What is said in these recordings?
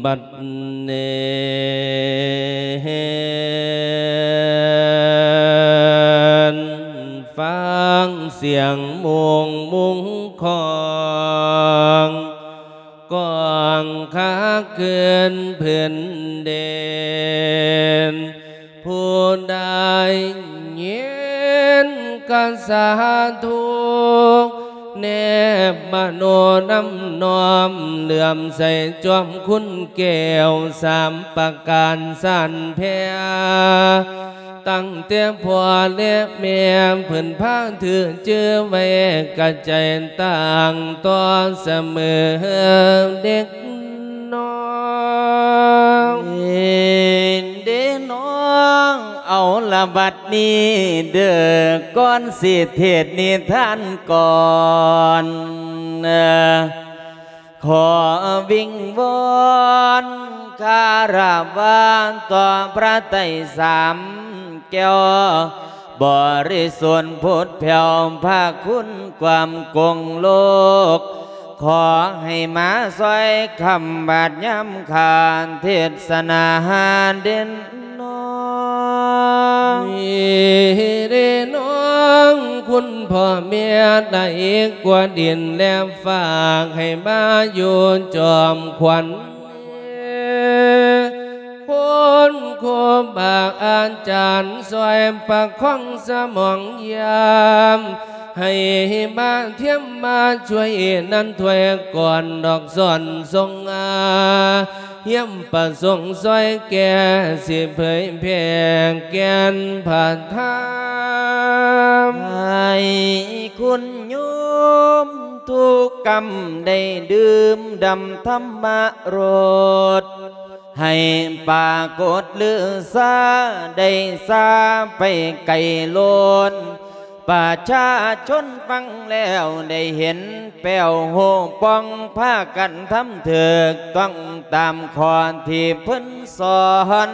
ບັດເນນ ຟັງສຽງມຸງມຸງຂອງ ກ້ອງຄາກຄືນພື້ນດິນ ຜູ້ໃດຍິນກະສາທຸ ແນບມະໂນນຳນ້ອມ ເຫຼື້ອມໃສຈອມຄຸນແກ້ວສາມປະການສານແຜ່ ຕັ້ງແຕ່ພໍ່ແລະແມ່ ເພິ່ນພາຖືຈື່ໄວ້ກະໃຈ ຕັ້ງຕໍ່ສະເໝີເດັກນ້ອຍ ເດ້ນ້ອງ. ເອົາລະບັດນີ້ເດີ້ ກ່ອນຊິເທດນິທານກ່ອນ ຂໍວິງວອນຄາລະວະຕໍ່ພະໄຕສາມແກ້ວ ບໍລິສຸດຜຸດແຜ່ວພະຄຸນກວ້າງກົງໂລກ ຂໍໃຫ້ມາຊ່ອຍຄ້ຳບາດຍາມຂ້າເທດສະໜາເດັ່ນນ້ອຍ ເດ້ນ້ອງ ຄຸນພໍ່ແມ່ໄດ້ກວ່າດິນແລະ ຝາກໃຫ້ມາຢູ່ຈອມຂວັນ ຄຸນຄູບາອາຈານຊ່ອຍປະຄອງສະໝອງຢາມ ໃຫ້ມາທຽມມາຊ່ວຍນັ້ນຖ້ວຍກ່ອນດອກສອນຊົງອາ ຮຽມປະສົງຊ່ອຍແກ່ ຊິເຜີຍແຜ່ແກ່ນພະທຳ ໃຫ້ຄຸນໂຍມທຸກກຳໄດ້ດື່ມດຳທຳມະລົດ ໃຫ້ປາກົດລືຊາໄດ້ຊາໄປໄກໂລນ ປະຊາຊົນຟັງແລ້ວໄດ້ເຫັນແປ້ວຮູ້ປ່ອງ ພາກັນທຳຖືກຕ້ອງຕາມຂໍ້ທີ່ເພິ່ນສອນ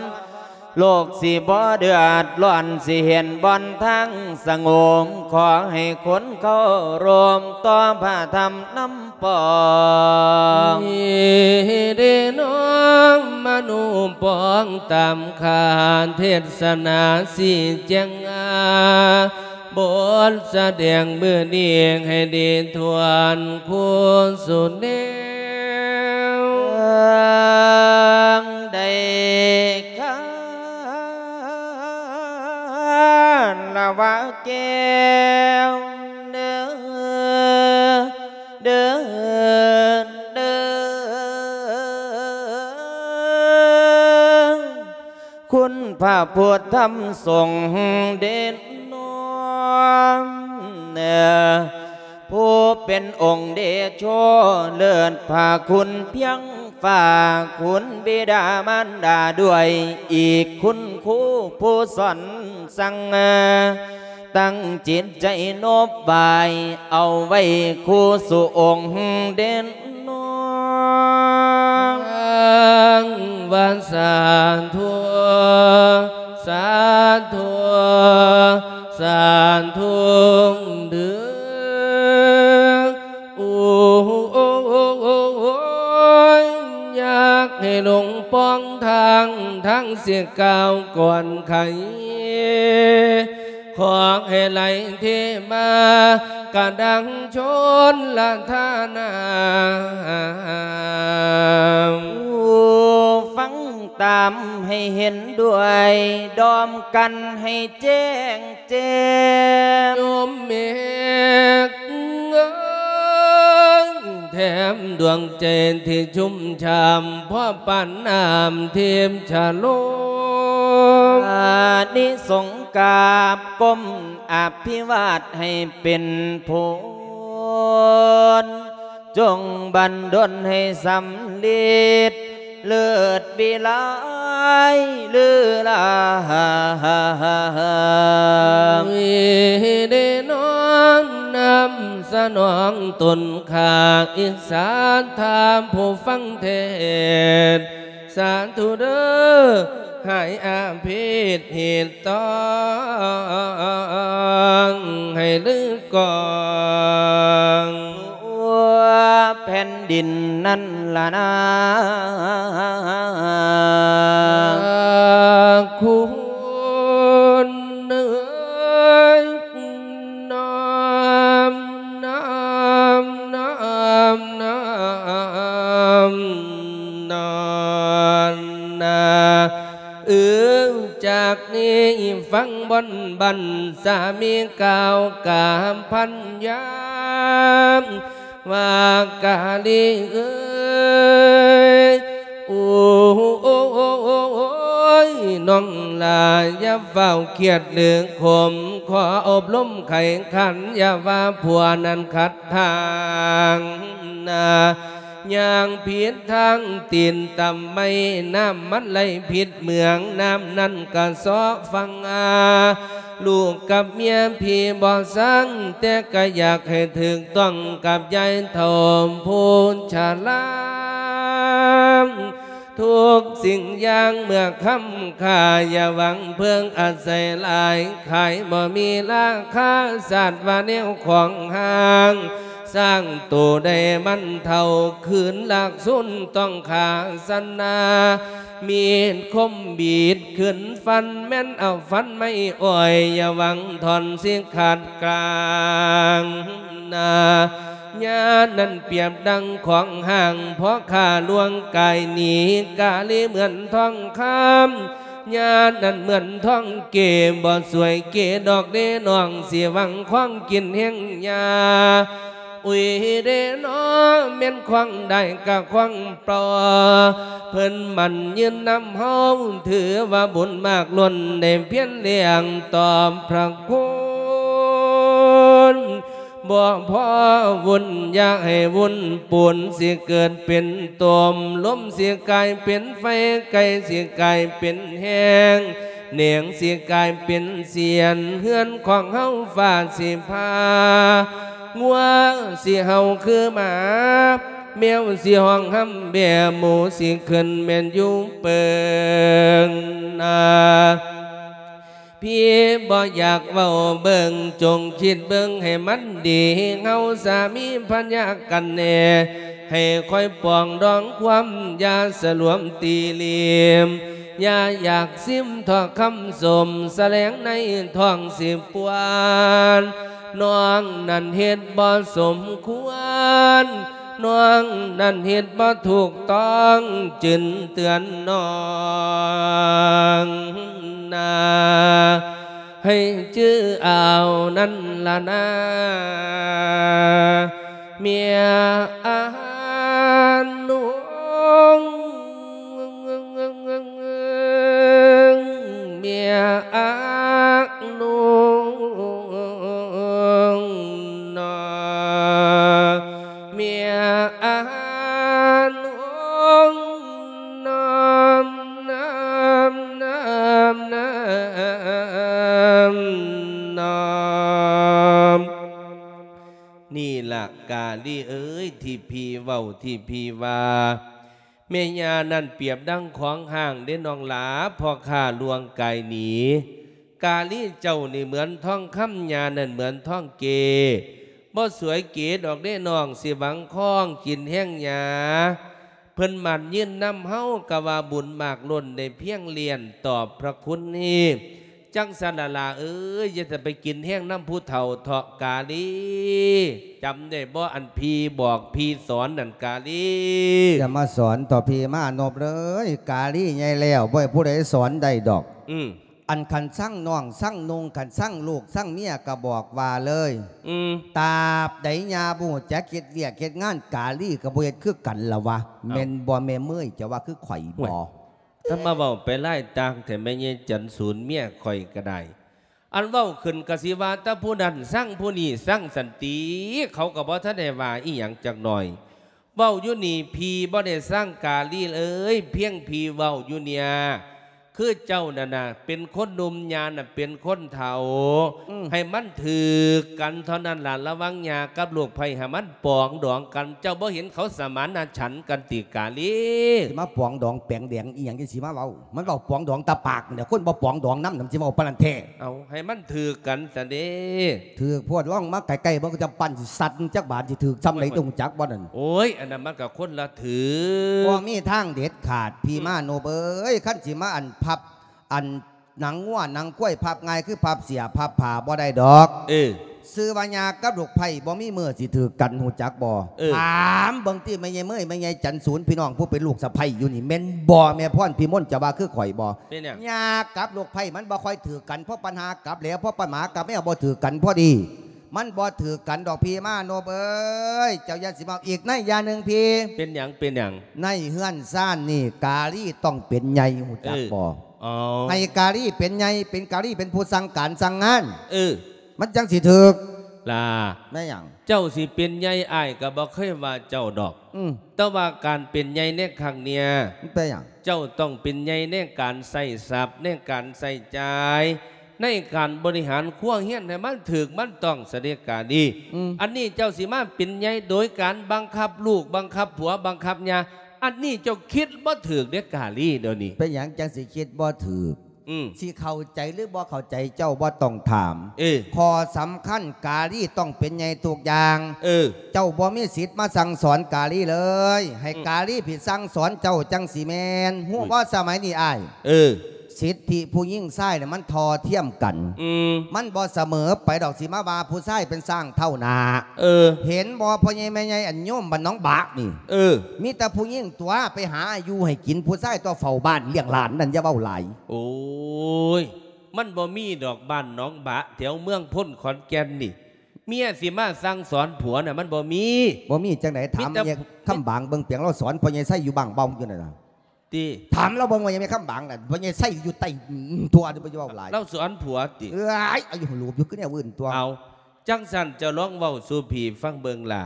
ໂລກຊິບໍ່ເດືອດຮ້ອນ ຊິເຫັນບ່ອນທາງສະຫງົບ ຂໍໃຫ້ຄົນເຄົາລົບຕໍ່ພະທຳນຳປອງ ເດ້ນ້ອງ ມະນຸປອງຕາມຂ້າເທດສະໜາຊີ້ແຈງອາ ບົດສະແດງມື້ນີ້ໃຫ້ດີທວນຄູ່ສູ່ແນວ ເອີງໄດ້ຄາລະວະແກ້ວເດີ ເດີ ເດີ ຄຸນພະພຸດທຳສົງເດນນອມ ຜູ້ເປັນອົງເດໂຊເລີດພະຄຸນພຽງຟ້າ ຄຸນບິດາມານດາດ້ວຍ ອີກຄຸນຄູຜູ້ສອນສັ່ງ ຕັ້ງຈິດໃຈໂນບບາຍ ເອົາໄວ້ຄູ່ສູ່ອົງເດນນ້ອງ ວ່າສາທຸ ສາທຸ ສາທຸເດີ້ ໂອ້ຍ ຢາກໃຫ້ຫຼົງປ່ອງທາງ ທາງຊິກ້າວກ່ອນໃຜ ຂໍໃຫ້ໄຫຼເທມາກະດັງຊົນລະທານາ ຜູ້ຟັງຕາມໃຫ້ເຫັນດ້ວຍ ດອມກັນໃຫ້ແຈ້ງແຈ້ງ ໂຍມເມກເອີຍ ແຖມດວງໃຈທີ່ຊຸ່ມຊ່ຳ ພໍປານນ້ຳທິບຊະໂລມ ອານິສົງກາບກົ້ມອະພິວາດໃຫ້ເປັນຜົນ ຈົ່ງບັນດົນໃຫ້ສຳເລັດ ເລີດວິໄລລືລາ ເດ້ນ້ອມນຳສະໜອງຕົນຂ້າ ອິດສາທາຜູ້ຟັງເທດ ສາທຸເດີ້ ຫາຍອາເພດຮີດຕ້ອງໃຫ້ລືກ້ອງ ຜ່ນດິນນັ້ນລະນາ ຄຸນເອີຍ ນ້ອມ ນ້ອມ ນ້ອມ ນ້ອມ ນ້ອມນາ ເອີ ຈາກນີ້ຟັງບ່ອນບັນ ສາມີກ່າວກາພັນຍາມ ວ່າກາລີເອີຍ ໂອ້ຍ ນ້ອງຫຼ້າຢ່າຟ້າວຄຽດຫຼືຂົມ ຂໍອົບຮົມໄຂຂັນ ຢ່າວ່າຜົວນັ້ນຂັດທາງນາ ຍ່າງຜິດທາງຕີນຕຳໄມ້ ນ້ຳມັນໄຫຼຜິດເມືອງ ນ້ຳນັ້ນກະເຊາະຝັ່ງອາ ລູກກັບເມຍພີ່ບໍ່ຊ່າງ ແຕ່ກະຢາກໃຫ້ຖືກຕ້ອງກັບຍາຍເຖົ້າຜູ້ຊະລາ ທຸກສິ່ງຢ່າງເມື່ອຄ່ຳຄ່າ ຢ່າຫວັງເພິ່ງອາໄສຫຼາຍ ຂາຍບໍ່ມີລາຄາ ຊາດວ່າແນວຂອງຫ່າງ ສ້າງໂຕໄດ້ມັນເຖົ້າ ຄືນລາກສູນຕ້ອງຂ້າສັນນາ ມີດຄົມບີດຂຶ້ນຟັນ ແມ່ນເອົາຟັນໄມ້ອ້ອຍ ຢ່າຫວັງທ່ອນຊິຂາດກາງນາ ຍານັ້ນປຽບດັ່ງຂອງຫ່າງ ພໍຂ້າລວງກາຍໜີ ກາລີເໝືອນທອງຄຳ ຍານັ້ນເໝືອນທອງເກ ບໍ່ສວຍເກດອກເດ້ນ້ອງ ຊິຫວັງຄວາມກິນແຮງຍາ ອຸຍເດ້ນໍ ແມ່ນຂວາງໄດ້ກະຂວາງເປົ່າ ເພິ່ນໝັ້ນຢືນນຳເຮົາ ຖືວ່າບຸນມາກລົ້ນ ໄດ້ພຽນລ້ຽງຕອບພະຄຸນ ບໍ່ພໍວຸ້ນຢ່າໃຫ້ວຸ້ນ ປູນຊິເກີດເປັນຕົມ ລົມຊິກາຍເປັນໄຟ ໄກ່ຊິກາຍເປັນແຮງ ແໜງຊິກາຍເປັນສຽນ ເຮືອນຂອງເຮົາຟ້າຊິຜ່າ ງົວຊິເຫົ່າຄືໝາ ແມວຊິຮ້ອງຮຳແບ ໝູຊິຂຶ້ນແມ່ນຢູ່ເປິງນາ ພີ່ບໍ່ຢາກເວົ້າເບິ່ງ ຈົ່ງຄິດເບິ່ງໃຫ້ມັນດີ ເຮົາສາມີພັນຍາກັນແນ່ ໃຫ້ຄອຍປອງດອງຄວາມ ຢ່າສະຫຼວມຕີຫຼີມ ຢ່າຢາກຊິມເທາະຄຳຊົມ ສະແຫຼງໃນທ້ອງຊິປວນ ນ້ອງນັ້ນເຮັດບໍ່ສົມຄວນ ນ້ອງນັ້ນເຮັດບໍ່ຖືກຕ້ອງ ຈຶ່ງເຕືອນນ້ອງນາ ໃຫ້ຈື່ເອົານັ້ນລະນາ ເມຍອານຸ ເມຍອານຸນາ ເມຍອານຸນາ ນາ ນາ ນາ ນາ ນີ້ລະກາລີເອີຍ ທີ່ພີ່ເວົ້າ ທີ່ພີ່ວ່າ ແມ່ຍ່ານັ້ນປຽບດັ່ງຂວາງຮ່າງເດ້ນ້ອງຫຼ້າ ພໍ່ຂ້າລ່ວງກາຍໜີ ກາລີເຈົ້ານີ້ເໝືອນທອງຄຳ ຍ່ານັ້ນເໝືອນທອງເກ ບໍ່ສວຍເກດອກເດ້ນ້ອງ ຊິຫວັງຄອງກິນແຮງຫຍ້າ ເພິ່ນໝັ້ນຢືນນຳເຮົາ ກະວ່າບຸນມາກລົ້ນ ໄດ້ພຽງລ້ຽງຕອບພະຄຸນນີ້ ຈັ່ງຊັ້ນລະຫຼ້າເອີຍ ຢ່າໄປກິນແຮງນຳຜູ້ເຖົ້າເທາະກາລີ ຈຳໄດ້ບໍ່ ອັນພີ່ບອກພີ່ສອນນັ້ນກາລີ ຢ່າມາສອນຕໍ່ພີ່ມານົບເອີຍ ກາລີໃຫຍ່ແລ້ວ ບໍ່ໃຫ້ຜູ້ໃດສອນໄດ້ດອກ ອືມ ອັນຄັນຊັງນ້ອງຊັງນຸ່ງ ຄັນຊັງລູກຊັງເມຍກະບອກວ່າເລີຍ ອືມ ຕາບໃດຍ່າບໍ່ຮູ້ຈັກເຮັດວຽກເຮັດງານ ກາລີກະບໍ່ເຮັດຄືກັນລະວະ ເອົ້າ ແມ່ນບໍ່ແມ່ເມີຍ ເຈົ້າວ່າຄືຂ້ອຍບໍ່? ໂອ້ຍ ຖ້າມາເວົ້າໄປຫຼາຍຕ່າງແທ້ ແມ່ໃຫຍ່ຈັນສູນ ເມຍຂ້ອຍກະໄດ້ ອັນເວົ້າຂຶ້ນກະຊິວ່າແຕ່ຜູ້ນັ້ນຊັງຜູ້ນີ້ຊັງຊັ້ນຕິ ເຂົາກະບໍ່ທັນໄດ້ວ່າອີ່ຫຍັງຈັກໜ້ອຍ ເວົ້າຢູ່ນີ້ ພີ່ບໍ່ໄດ້ຊັງກາລີເອີຍ ພຽງພີ່ເວົ້າຢູ່ເນຍ ຄືເຈົ້ານັ້ນນະ ເປັນຄົນໜຸ່ມ ຍ່ານະເປັນຄົນເຖົ້າ. ອືມ ໃຫ້ມັນຖືກກັນເທົ່ານັ້ນລະ. ລະວັງຍ່າກັບລູກໃພ້ ໃຫ້ມັນປອງດອງກັນ. ເຈົ້າບໍ່ເຫັນເຂົາສະມານະສັນກັນຕິກາລີ? ຊິມາປອງດອງແປງແດງອີ່ຫຍັງ ຈັ່ງຊິມາເວົ້າ? ມັນເວົ້າປອງດອງແຕ່ປາກນີ້ແຫຼະ ຄົນບໍ່ປອງດອງນຳນະ ມັນຊິເວົ້າປານນັ້ນແທ້. ເອົາ ໃຫ້ມັນຖືກກັນຊະເດ້. ຖືກໂພດ ລອງມາໃກ້ໆເບິ່ງ ກຳປັ່ນຊິສັດຈັກບາດ ຊິຖືກຊ່ຳໃດ ເຈົ້າຮູ້ຈັກບໍ່ນັ້ນ? ໂອ້ຍ ອັນນັ້ນມັນກໍຄົນລະຖືກ. ບໍ່ມີທາງເດັດຂາດ ພີ່ມານົບເອີຍ. ອືມ ຄັນຊິມາອັນພັບ ອັນໜັງງົວໜັງຄວາຍພັບງ່າຍ ຄືພັບເສື້ອພັບຜ້າບໍ່ໄດ້ດອກ. ເອີ ຊື່ວ່າຍ່າກັບລູກໃພ້ ບໍ່ມີມື້ຊິຖືກກັນ ຮູ້ຈັກບໍ່? ເອີ ຖາມເບິ່ງຕິ ແມ່ໃຫຍ່ເມີຍ ແມ່ໃຫຍ່ຈັນສູນ ພີ່ນ້ອງຜູ້ເປັນລູກສະໃພ້ຢູ່ນີ້ ແມ່ນບໍ່? ແມ່ພອນພິມົນ ເຈົ້າວ່າຄືຂ້ອຍບໍ່? ເປັນຫຍັງ? ຍ່າກັບລູກໃພ້ມັນບໍ່ຄ່ອຍຖືກກັນ ເພາະປັນຫາກັບແລ້ວ ເພາະປັນໝາກັບແມວບໍ່ຖືກກັນພໍດີ. ມັນບໍ່ຖືກກັນດອກ ພີ່ມານົບເອີຍ. ເຈົ້າຢ່າຊິເວົ້າອີກໃນຢ່າໜຶ່ງພີ່. ເປັນຫຍັງ? ເປັນຫຍັງ? ໃນເຮືອນຊານນີ້ ກາລີຕ້ອງເປັນໃຫຍ່ ຮູ້ຈັກບໍ່? ເອີ ອໍ ໃຫ້ກາລີເປັນໃຫຍ່ ເປັນກາລີເປັນຜູ້ສັ່ງການສັ່ງງານ. ເອີ ມັນຈັ່ງຊິຖືກ. ລາ ແມ່ນຫຍັງ? ເຈົ້າຊິເປັນໃຫຍ່ ອ້າຍກໍບໍ່ເຄີຍວ່າເຈົ້າດອກ. ອືມ ແຕ່ວ່າການເປັນໃຫຍ່ໃນຄັ້ງເນີ້ຍ ມັນເປັນຫຍັງ? ເຈົ້າຕ້ອງເປັນໃຫຍ່ໃນການໃຊ້ຊັບ ໃນການໃຊ້ຈ່າຍ ໃນການບໍລິຫານຄົວເຮືອນໃຫ້ມັນຖືກມັນຕ້ອງຊະເດກາລີ. ອືມ ອັນນີ້ເຈົ້າຊິມາເປັນໃຫຍ່ໂດຍການບັງຄັບລູກ ບັງຄັບຜົວ ບັງຄັບເມຍ ອັນນີ້ເຈົ້າຄິດບໍ່ຖືກເດກາລີດຽວນີ້. ເປັນຫຍັງຈັ່ງຊິຄິດບໍ່ຖືກ? ອືມ ຊິເຂົ້າໃຈຫຼືບໍ່ເຂົ້າໃຈ ເຈົ້າບໍ່ຕ້ອງຖາມ. ເອີ ຂໍ້ສຳຄັນ ກາລີຕ້ອງເປັນໃຫຍ່ທຸກຢ່າງ. ເອີ ເຈົ້າບໍ່ມີສິດມາສັ່ງສອນກາລີເລີຍ. ໃຫ້ ອືມ ກາລີຜິດສັ່ງສອນເຈົ້າຈັ່ງຊິແມ່ນ. ຮູ້ບໍ່ ອຸ້ຍ ສະໄໝນີ້ອ້າຍ? ເອີ ສິດທິຜູ້ຍິງຊາຍນະ ມັນທໍ່ທຽມກັນ. ອືມ ມັນບໍ່ສະເໝີໄປດອກ ຊິມາວ່າຜູ້ຊາຍເປັນຊ້າງເທົ້າໜ້າ. ເອີ ເຫັນບໍ່ ພໍ່ໃຫຍ່ແມ່ໃຫຍ່ ອັນໂຍມບ້ານໜອງບາກນີ້? ເອີ ມີແຕ່ຜູ້ຍິງຕົວະ ໄປຫາຢູ່ໃຫ້ກິນ ຜູ້ຊາຍຕົວະເຝົ້າບ້ານລ້ຽງຫຼານນັ້ນ ຢ່າເວົ້າຫຼາຍ. ໂອ້ຍ ມັນບໍ່ມີດອກ ບ້ານໜອງບາກ ແຖວເມືອງພົນ ຂອນແກ່ນນີ້ ເມຍຊິມາສັ່ງສອນຜົວນະ ມັນບໍ່ມີ. ບໍ່ມີຈັ່ງໃດ? ຖາມ ມີແຕ່ ເມຍຄຳບາງເບິ່ງ ປຽງລາວສອນພໍ່ໃຫຍ່ໄຊຢູ່ບ້ານເບົາຢູ່ນັ້ນນະ. ຕິ ຖາມລາວເບິ່ງວ່າແມ່ຄຳບາງນັ້ນ ພໍ່ໃຫຍ່ໄຊຢູ່ໃຕ້ທົ່ວ ບໍ່ຢ່າເວົ້າຫຼາຍ. ລາວສອນຜົວຕິ? ເອີຍ ອາຍຸຮູບຢູ່ ຄືແນວອື່ນຕົວະ. ເອົາ ຈັ່ງຊັ້ນເຈົ້າລອງເວົ້າສູ່ພີ່ຟັງເບິ່ງລະ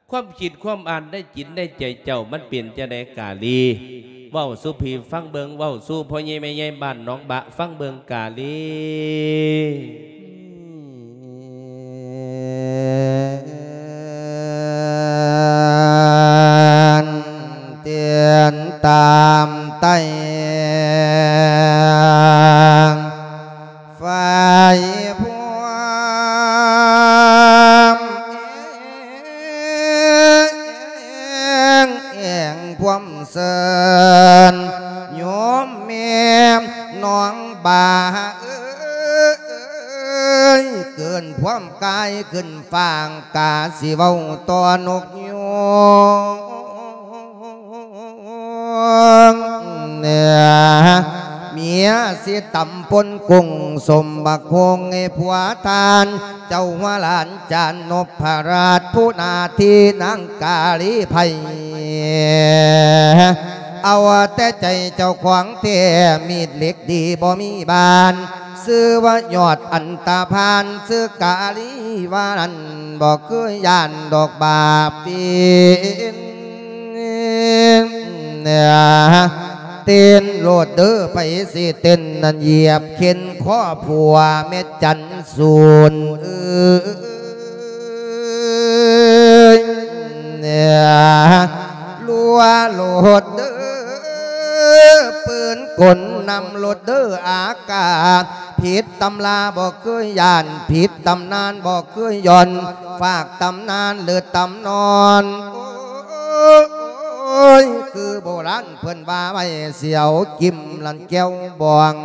ຄວາມຄິດຄວາມອ່ານໃນຈິດໃນໃຈເຈົ້າ ມັນເປັນຈັ່ງໃດກາລີ? ເວົ້າສູ່ພີ່ຟັງເບິ່ງ ເວົ້າສູ່ພໍ່ໃຫຍ່ແມ່ໃຫຍ່ບ້ານໜອງບາກຟັງເບິ່ງກາລີ. ຕຽນຕາມໄຕ້ ໄຟພວມ ແອງ ແອງພວມເຊີນ ໂຍມແມ່ນ້ອງບາເອີຍ ເກີນພວມກາຍຂຶ້ນຟ້າ ກາຊິເວົ້າຕໍ່ນົກຍູງ ເມຍຊິຕຳປົນກຸ້ງ ສົມບັກໂຮງໃຫ້ຜົວທ່ານ ເຈົ້າຫົວຫຼານຈານນົບພະລາດ ຜູ້ໜ້າທີ່ນາງກາລີໄພ ເອົາແຕ່ໃຈເຈົ້າຂອງແທ້ ມີດເຫຼັກດີບໍ່ມີບານ ຊື່ວ່າຍອດອັນຕະພານ ຊື່ກາລີວ່ານັ້ນ ບໍ່ເຄີຍຢ້ານດອກບາບເປັນ ເຕັ້ນໂລດເດີ ໃຜຊິເຕັ້ນນັ້ນ ຢຽບເຂັນຄໍຜົວແມ່ຈັນສູນເອີຍ ລັວໂລດເດີ ປືນກົນນຳໂລດເດີ ອາກາດ ຜິດຕຳລາບໍ່ເຄີຍຢ້ານ ຜິດຕຳນານບໍ່ເຄີຍຢ່ອນ ຝາກຕຳນານຫຼືຕຳນອນ ໂອ້ຍ ຄືໂບລານເພິ່ນວ່າໄວ້ ສຽວກິມລັນແກ້ວບອງ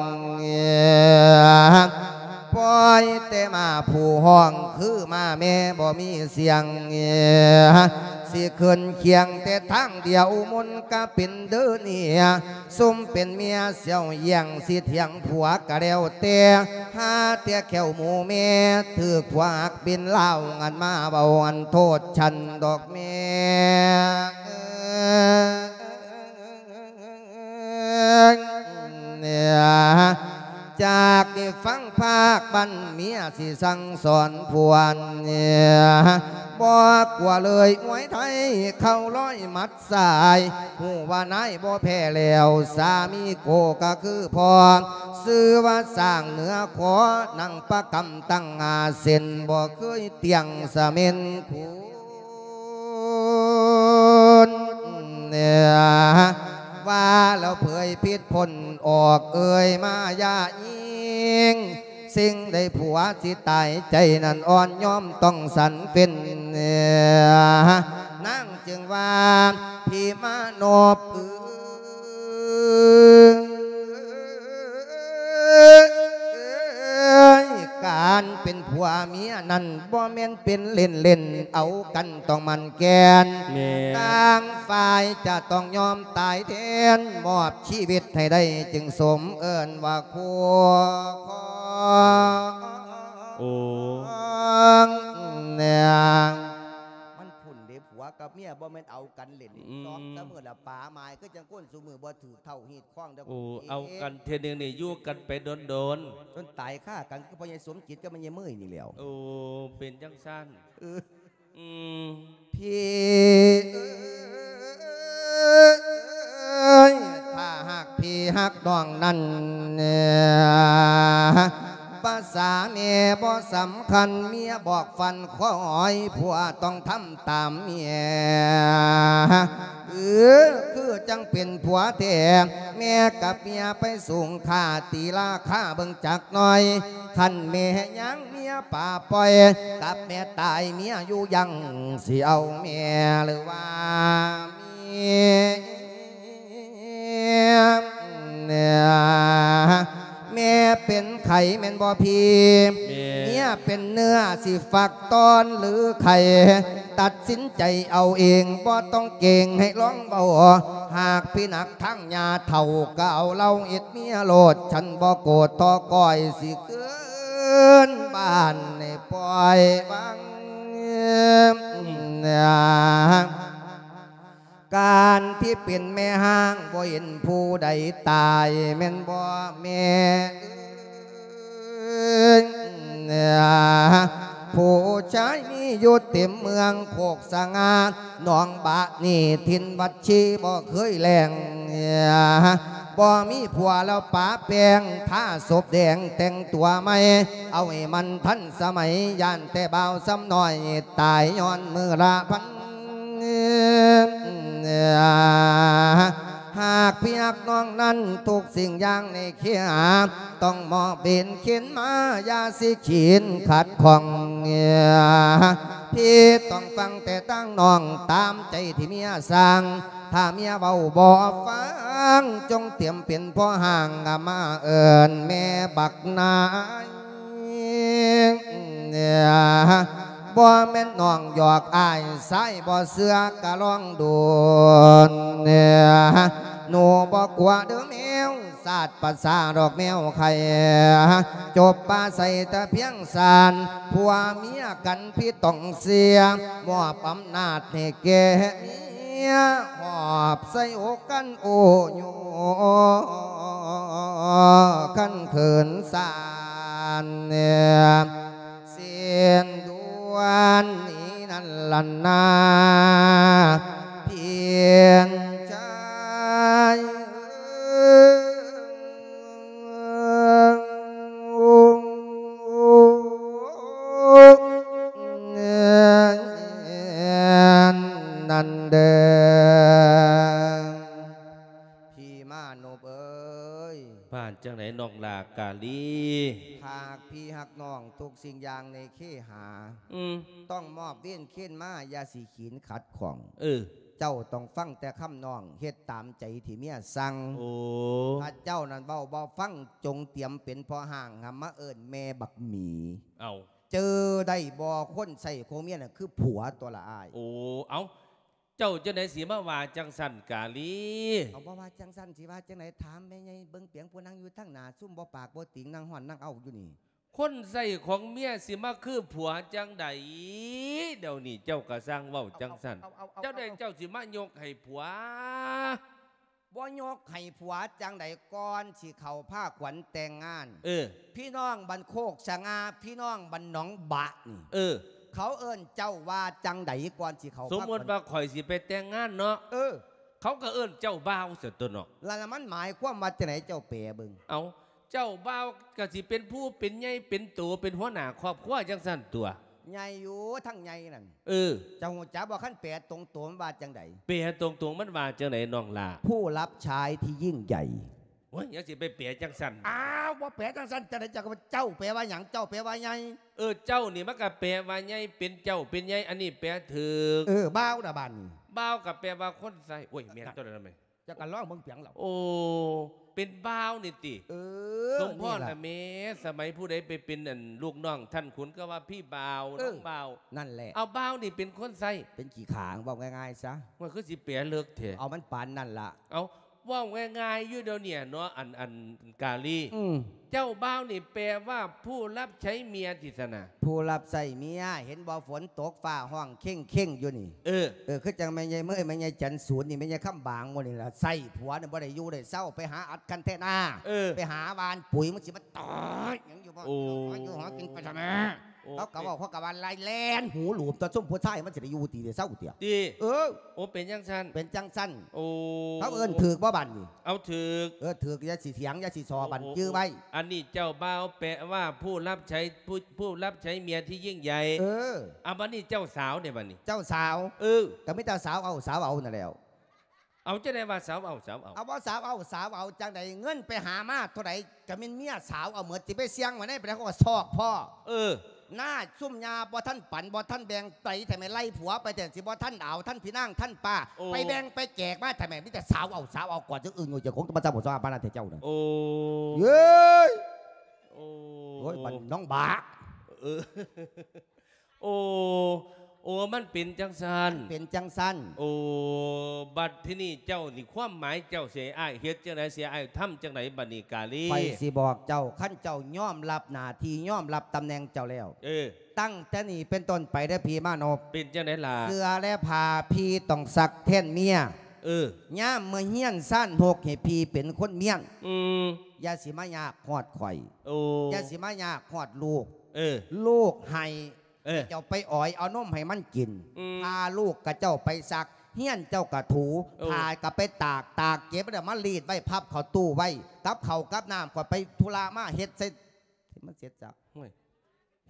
ປ່ອຍແຕ່ໝາຜູ້ຮ້ອງ ຄືໝາແມ່ບໍ່ມີສຽງ ຊິຂຶ້ນຄຽງແຕ່ທາງດຽວ ມົນກະເປັນເດີເນຍ ຊຸມເປັນເມຍສຽວຢ່ຽງ ຊິຖຽງຜົວກະແລ້ວແຕ່ ຫາແຕ່ແຂ້ວໝູແມ່ ຖືກຜົວຮັກເປັນລາວ ງັນມາເວົ້າອັນໂທດສັນດອກແມ່ ຈາກນີ້ຟັງພາກບັ້ນ ເມຍຊິສັ່ງສອນຜົວ ບໍ່ກົວເລີຍມວຍໄທເຂົ້າຮ້ອຍໝັດຊາຍ ຮູ້ວ່ານາຍບໍ່ແພ້ແລ້ວ ສາມີໂກກໍຄືພໍ່ ຊື່ວ່າຊ້າງເໜືອຂໍ ນັ່ງປະກຳຕັ້ງຫ້າເສັ້ນ ບໍ່ເຄີຍຕຽງສະເໝັນຄູນ ວ່າແລ້ວເຜີຍພິດພົ້ນອອກເອີຍມາຢ່າຍິງ ສິ່ງໃດຜົວຊິຕາຍໃຈນັ້ນອ່ອນຍອມຕ້ອງສັນເປັນ ນາງຈຶ່ງວ່າ ພີ່ມານົບເອີຍ ການເປັນຜົວເມຍນັ້ນບໍ່ແມ່ນເປັນເລ່ນໆ ເອົາກັນຕ້ອງໝັ້ນແກ່ນ ແມ່ນ ຕ່າງຝ່າຍຈະຕ້ອງຍອມຕາຍແທນ ມອບ ຊີວິດໃຫ້ໄດ້ຈຶ່ງສົມເອີ້ນວ່າຄູ່ຄອງ ໂອ້ ແນງ ມັນພຸ້ນເດ້ ຜົວກັບເມຍບໍ່ແມ່ນເອົາກັນເລ່ນ ອືມ ຊອກຊະມື້ລະປາໝາຍ ຄືຈັ່ງຄົນຊຸມື້ບໍ່ຖືກເທົ້າຮີດຄອງເດີ້ ໂອ້ ເອົາກັນເທື່ອໜຶ່ງນີ້ຢູ່ກັນໄປດົນໆ ຈົນຕາຍຄາກັນ ຄືພໍ່ໃຫຍ່ສົມຈິດກັບແມ່ໃຫຍ່ເມີຍນີ້ແຫຼ້ວ ໂອ້ ເປັນຈັ່ງຊັ້ນ ເອີ ອືມ ພີ່ເອີຍ ຖ້າຫາກພີ່ຮັກນ້ອງນັ້ນ ພາສາແມ່ບໍ່ສຳຄັນ ເມຍບອກຟັນຄອຍ ຜົວຕ້ອງທຳຕາມເມຍ ເອີ ຄືຈັ່ງເປັນຜົວແທ້ ແມ່ກັບເມຍໄປສູງຄ່າ ຕີລາຄາເບິ່ງຈັກໜ່ອຍ ຄັນແມ່ຍັງ ເມຍປ່າປ່ອຍ ກັບແມ່ຕາຍເມຍຢູ່ຍັງ ຊິເອົາແມ່ຫຼືວ່າເມຍ ແມ່ເປັນໄຂ້ແມ່ນບໍ່ພີ່? ແມ່ ເມຍເປັນເນື້ອ ຊິຟັກຕອນຫຼືໄຂ້? ຕັດສິນໃຈເອົາເອງ ບໍ່ຕ້ອງເກງໃຫ້ລອງເວົ້າ ຫາກພີ່ໜັກທາງຍ່າເຖົ້າ ກໍເອົາເຫຼົ້າເຮັດເມຍໂລດ ສັນບໍ່ໂກດຕໍ່ກ້ອຍ ຊິ ເກີນບ້ານໃຫ້ປ່ອຍວາງ ການທີ່ເປັນແມ່ຮ້າງ ບໍ່ເຫັນຜູ້ໃດຕາຍແມ່ນບໍ່ແມ່ເອີຍ? ຜູ້ຊາຍມີຢູ່ເຕັມເມືອງໂຄກສະຫງ່າ ໜອງບານີ້ຖິ່ນວັດຊີບໍ່ເຄີຍແລ້ງ ບໍ່ມີຜົວແລ້ວປະແປ້ງ ທາສົບແດງ ແຕ່ງຕົວໃໝ່ ເອົາໃຫ້ມັນທັນສະໄໝ ຢ້ານແຕ່ບ່າວຊຳນ້ອຍ ຕາຍຍ້ອນມື້ລະພັນ ຫາກພີ່ຮັກນ້ອງນັ້ນ ທຸກສິ່ງຢ່າງໃນເຄຫາ ຕ້ອງມອບເວນເຂັນມາ ຢ່າຊິຂີນຂັດຂ້ອງ ພີ່ຕ້ອງຟັງແຕ່ທາງນ້ອງ ຕາມໃຈທີ່ເມຍສັ່ງ ຖ້າເມຍເວົ້າບໍ່ຟັງ ຈົ່ງຕຽມເປັນພໍ່ຮ້າງ ມາເອີ້ນແມ່ບັກນາຍ ບໍ່ແມ່ນນ້ອງຫຍອກອ້າຍ ຊາຍບໍ່ເຊື່ອກະລອງດູ ໜູບໍ່ກົວເດີ້ແມວ ສາດປາສາດອກແມວໄຂ່ ຈົບປາໃສ່ແຕ່ພຽງສານ ຜົວເມຍກັນ ພີ່ຕ້ອງເສຍ ມອບອຳນາດໃຫ້ແກ່ເມຍ ຫອບໃສ່ອົກກັນໂອ້ໂຍ ຄັນເຂີນສານ ເສັ້ນດ່ວນນີ້ນັ້ນລະນາ ພຽງໃຈ ນັ້ນເດີ ພີ່ມານົບເອີຍ. ວ່າຈັ່ງໃດນ້ອງຫຼ້າກາລີ? ຫາກພີ່ຮັກນ້ອງ ທຸກສິ່ງຢ່າງໃນເຄຫາ ອືມ ຕ້ອງມອບເວນເຄນມາ ຢ່າຊິຂີນຂັດຂ້ອງ ເອີ ເຈົ້າຕ້ອງຟັງແຕ່ຄຳນ້ອງ ເຮັດຕາມໃຈທີ່ເມຍສັ່ງ ໂອ້ ຖ້າເຈົ້ານັ້ນເວົ້າບໍ່ຟັງ ຈົ່ງຕຽມເປັນພໍ່ຮ້າງ ຫາມາເອີ້ນແມ່ບັກໝີ ເອົ້າ ເຈີໄດ້ບໍ່? ຄົນໃຊ້ຂອງເມຍນັ້ນຄືຜົວຕົວລະອ້າຍ ໂອ້ ເອົ້າ ເຈົ້າຈັ່ງໃດຊິມາວ່າຈັ່ງຊັ້ນກາລີ? ເອົາ ບໍ່ວ່າຈັ່ງຊັ້ນ ຊິວ່າຈັ່ງໃດ? ຖາມແມ່ໃຫຍ່ເບິ່ງປຽງຜູ້ນັ່ງຢູ່ທາງໜ້າ ຊຸມບໍ່ປາກບໍ່ຕິງ ນັ່ງຮ້ອນນັ່ງເອົ້າຢູ່ນີ້ ຄົນໃຊ້ຂອງເມຍຊິມາຄືຜົວຈັ່ງໃດ? ດຽວນີ້ເຈົ້າກໍຊ່າງເວົ້າຈັ່ງຊັ້ນ ເຈົ້າໃດເຈົ້າຊິມາຍົກໃຫ້ຜົວ? ບໍ່ຍົກໃຫ້ຜົວຈັ່ງໃດ? ກ່ອນຊິເຂົ້າພາຂວັນແຕ່ງງານ ເອີ ພີ່ນ້ອງບ້ານໂຄກສະຫງ່າ ພີ່ນ້ອງບ້ານໜອງບະນີ້ ເອີ ເຂົາເອີ້ນເຈົ້າວ່າຈັ່ງໃດກ່ອນຊິເຂົ້າ ສົມມຸດວ່າຂ້ອຍຊິໄປແຕ່ງງານເນາະ ເອີ ເຂົາກໍເອີ້ນເຈົ້າບ່າວຊັ້ນຕົວະເນາະ. ແລ້ວມັນໝາຍຄວາມວ່າຈັ່ງໃດ ເຈົ້າແປເບິ່ງ. ເອົ້າ ເຈົ້າບ່າວກໍຊິເປັນຜູ້ເປັນໃຫຍ່ເປັນໂຕ ເປັນຫົວໜ້າຄອບຄົວຈັ່ງຊັ້ນຕົວະ. ໃຫຍ່ຢູ່ ທັງໃຫຍ່ນັ້ນ. ເອີ ເຈົ້າຮູ້ຈັກບໍ່ ຄັນແປຕົງໂຕມັນວ່າຈັ່ງໃດ? ແປຕົງໆມັນວ່າຈັ່ງໃດນ້ອງຫຼ້າ? ຜູ້รับใช้ที่ยิ่งใหญ่. ໂອ້ຍ ຍັງຊິໄປແປຈັ່ງຊັ້ນ? ອ້າວ ບໍ່ແປຈັ່ງຊັ້ນຈັ່ງໃດ? ເຈົ້າກໍວ່າເຈົ້າແປວ່າຫຍັງ? ເຈົ້າແປວ່າໃຫຍ່. ເອີ ເຈົ້ານີ້ມັນກໍແປວ່າໃຫຍ່ ເປັນເຈົ້າເປັນໃຫຍ່ ອັນນີ້ແປຖືກ. ເອີ ບ່າວນະບາດນີ້ ບ່າວກໍແປວ່າຄົນໃຊ້. ໂອ້ຍ ແມ່ນຕົວະນັ້ນແມ່ນ. ເຈົ້າກໍລອງເບິ່ງເປີຍງລະ. ໂອ້ ເປັນບ່າວນີ້ຕິ? ເອີ ສົມພໍນລະແມ່. ສະໄໝຜູ້ໃດໄປເປັນອັນລູກນ້ອງທ່ານຂຸນກໍວ່າພີ່ບ່າວ ເອີ ນ້ອງບ່າວ ນັ້ນແຫຼະ. ເອົາ ບ່າວນີ້ເປັນຄົນໃຊ້ ເປັນຂີ້ຂ້າ ເວົ້າງ່າຍໆຊະ. ມັນຄືຊິແປເລິກແທ້. ເອົາ ມັນປານນັ້ນລະ. ເອົາ ເວົ້າງ່າຍໆຢູ່ດຽວນີ້ເນາະ ອັນ ອັນກາລີ. ອືມ ເຈົ້າບ່າວນີ້ແປວ່າຜູ້ຮັບໃຊ້ເມຍຕິຊັ້ນນະ? ຜູ້ຮັບໃຊ້ເມຍ. ເຫັນບໍ່ ຝົນຕົກຟ້າຮ້ອງເຄັ່ງໆຢູ່ນີ້. ເອີ ເອີ ຄືຈັ່ງແມ່ໃຫຍ່ເມີຍ ແມ່ໃຫຍ່ຈັນສູນນີ້ ແມ່ໃຫຍ່ຄຳບາງໝູ່ນີ້ລະ ໃຊ້ຜົວນີ້ບໍ່ໄດ້ຢູ່ໄດ້ເຊົາ ໄປຫາອັດຄັນແທນາ. ເອີ ໄປຫາຫວ່ານປຸ໋ຍ ມັນຊິມາຕາຍຫຍັງຢູ່ບໍ່? ໂອ້ ຫາຢູ່ຫາກິນໄປຊະແມ່. ໂອ້ ເຂົາກໍເວົ້າ ເຂົາກໍວ່າໄລ່ແລ່ນຫູຫຼູມຕົວະ ຊຸມຜູ້ຊາຍມັນຊິໄດ້ຢູ່ດີໄດ້ເຊົາຕິ? ຕິ? ເອີ ໂອ້ ເປັນຈັ່ງຊັ້ນ. ເປັນຈັ່ງຊັ້ນ. ໂອ້ ເຂົາເອີ້ນຖືກບໍ່ບັດນີ້? ເອົາ ຖືກ. ເອີ ຖືກ ຢ່າຊິຖຽງ ຢ່າຊິສໍ້ ໂອ້ ບັດ ໂອ້ ຈື່ໄວ້. ໂອ້ ອັນນີ້ເຈົ້າບ່າວແປວ່າຜູ້ຮັບໃຊ້ ຜູ້ ຜູ້ຮັບໃຊ້ເມຍທີ່ຍິ່ງໃຫຍ່. ເອີ ເອົາ ບັດນີ້ເຈົ້າສາວເດ ບັດນີ້? ເຈົ້າສາວ. ເອີ ກໍມີແຕ່ສາວເອົາ ສາວເອົານັ້ນແຫຼ້ວ. ເອົາ ຈັ່ງໃດວ່າສາວເອົາ ສາວເອົາ? ເອົາ ບໍ່ສາວເອົາ ສາວເອົາຈັ່ງໃດ? ເງິນໄປຫາມາເທົ່າໃດ ກໍແມ່ນເມຍສາວເອົາໝົດ. ຊິໄປສ່ຽງໄວ້ໃນປານໃດ ເຂົາກໍຊອກພໍ້. ເອີ ໜ້າ ຊຸມຍ່າບໍ່ທັນປັນ ບໍ່ທັນແບ່ງໄປ ແທ້ແມ່ນໄລ່ຜົວໄປ ແທ້ຊິບໍ່ທັນເອົາ ທັນພີ່ນາງ ທັນປ້າ. ໂອ້ ໄປແບ່ງໄປແຈກມາ ແທ້ແມ່ນມີແຕ່ສາວເອົາ ສາວເອົາ ກ່ອນຈະອຶ່ງຢູ່ ເຈົ້າຂອງຕ້ອງມາຈຳບໍ່ສອງອາບານແທ້ເຈົ້ານະ. ໂອ້ ເອີຍ ໂອ້ ໂອ້ຍ ບັດນ້ອງບາ. ເອີ ໂອ້ ໂອ້ ມັນເປັນຈັ່ງຊັ້ນ. ເປັນຈັ່ງຊັ້ນ. ໂອ້ ບັດທີນີ້ເຈົ້ານີ້ ຄວາມໝາຍເຈົ້າຊິໃຫ້ອ້າຍເຮັດຈັ່ງໃດ ຊິໃຫ້ອ້າຍທຳຈັ່ງໃດບັດນີ້ກາລີ? ຂ້ອຍຊິບອກເຈົ້າ ຄັນເຈົ້າຍອມຮັບໜ້າທີ່ ຍອມຮັບຕຳແໜ່ງເຈົ້າແລ້ວ ເອີ ຕັ້ງແຕ່ນີ້ເປັນຕົ້ນໄປເດີພີ່ມານົບ. ເປັນຈັ່ງໃດລະ? ເສື້ອແລະຜ້າພີ່ຕ້ອງຊັກແທນເມຍ. ເອີ ຍາມເມື່ອຮຽນຊານຫົກໃຫ້ພີ່ເປັນຄົນມ້ຽນ. ອືມ ຢ່າຊິມາຍາກຮອດຂ້ອຍ. ໂອ້ ຢ່າຊິມາຍາກຮອດລູກ. ເອີ ລູກໃຫ້ ເອີ ເຈົ້າໄປອອຍເອົານົມໃຫ້ມັນກິນ. ອືມ ພາລູກກະເຈົ້າໄປຊັກ ຮຽນເຈົ້າກະຖູ. ໂອ້ ຜ້າກະໄປຕາກ ຕາກເກັບແລ້ວມາລີດໄວ້ ພັບເຂົ້າຕູ້ໄວ້. ກັບເຂົ້າກັບນ້ຳ ຂ້ອຍໄປທຸລະມາເຮັດໃສ່ ໃຫ້ມັນເສັດສັບ. ໂອ້ຍ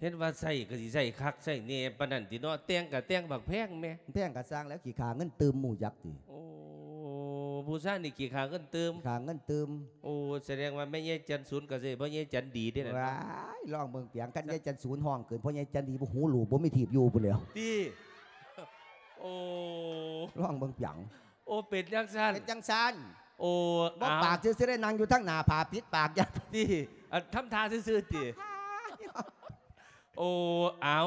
ເຮັດວ່າໃຊ້ກະຊິໃຊ້ຄັກໃຊ້ແນ່ປານນັ້ນຕິເນາະ. ແຕ່ງກະແຕ່ງບັກແພງແມ້. ແພງກະຊ່າງແລ້ວ ຂີ້ຂ້າເງິນຕື່ມ ຮູ້ຈັກຕິ? ໂອ້ ຜູ້ຊາຍນີ້ຂີ້ຂ້າເງິນຕື່ມ. ຂ້າເງິນຕື່ມ. ໂອ້ ສະແດງວ່າແມ່ໃຫຍ່ຈັນສູນກໍຊິໃຫ້ພໍ່ໃຫຍ່ຈັນດີເດ້ນະ. ວ້າຍ ລອງເບິ່ງປຽງ ຄັນຍາຍຈັນສູນຮ້ອງເກີນ ພໍ່ໃຫຍ່ຈັນດີບໍ່ຫູຫຼູກ ບໍ່ມີທີ່ຢູ່ພຸ້ນແຫຼ້ວ. ຕິ? ໂອ້ ລອງເບິ່ງປຽງ. ໂອ້ ເປັນຈັ່ງຊັ້ນ. ເປັນຈັ່ງຊັ້ນ. ໂອ້ ບໍ່ ເອົ້າ ປາກຊື່ໆ ໄດ້ນັ່ງຢູ່ທາງໜ້າ ຜ້າປິດປາກຢ່າງ. ຕິ? ອັນທຳທ່າຊື່ໆ ຕິ? ໂອ້ ເອົາ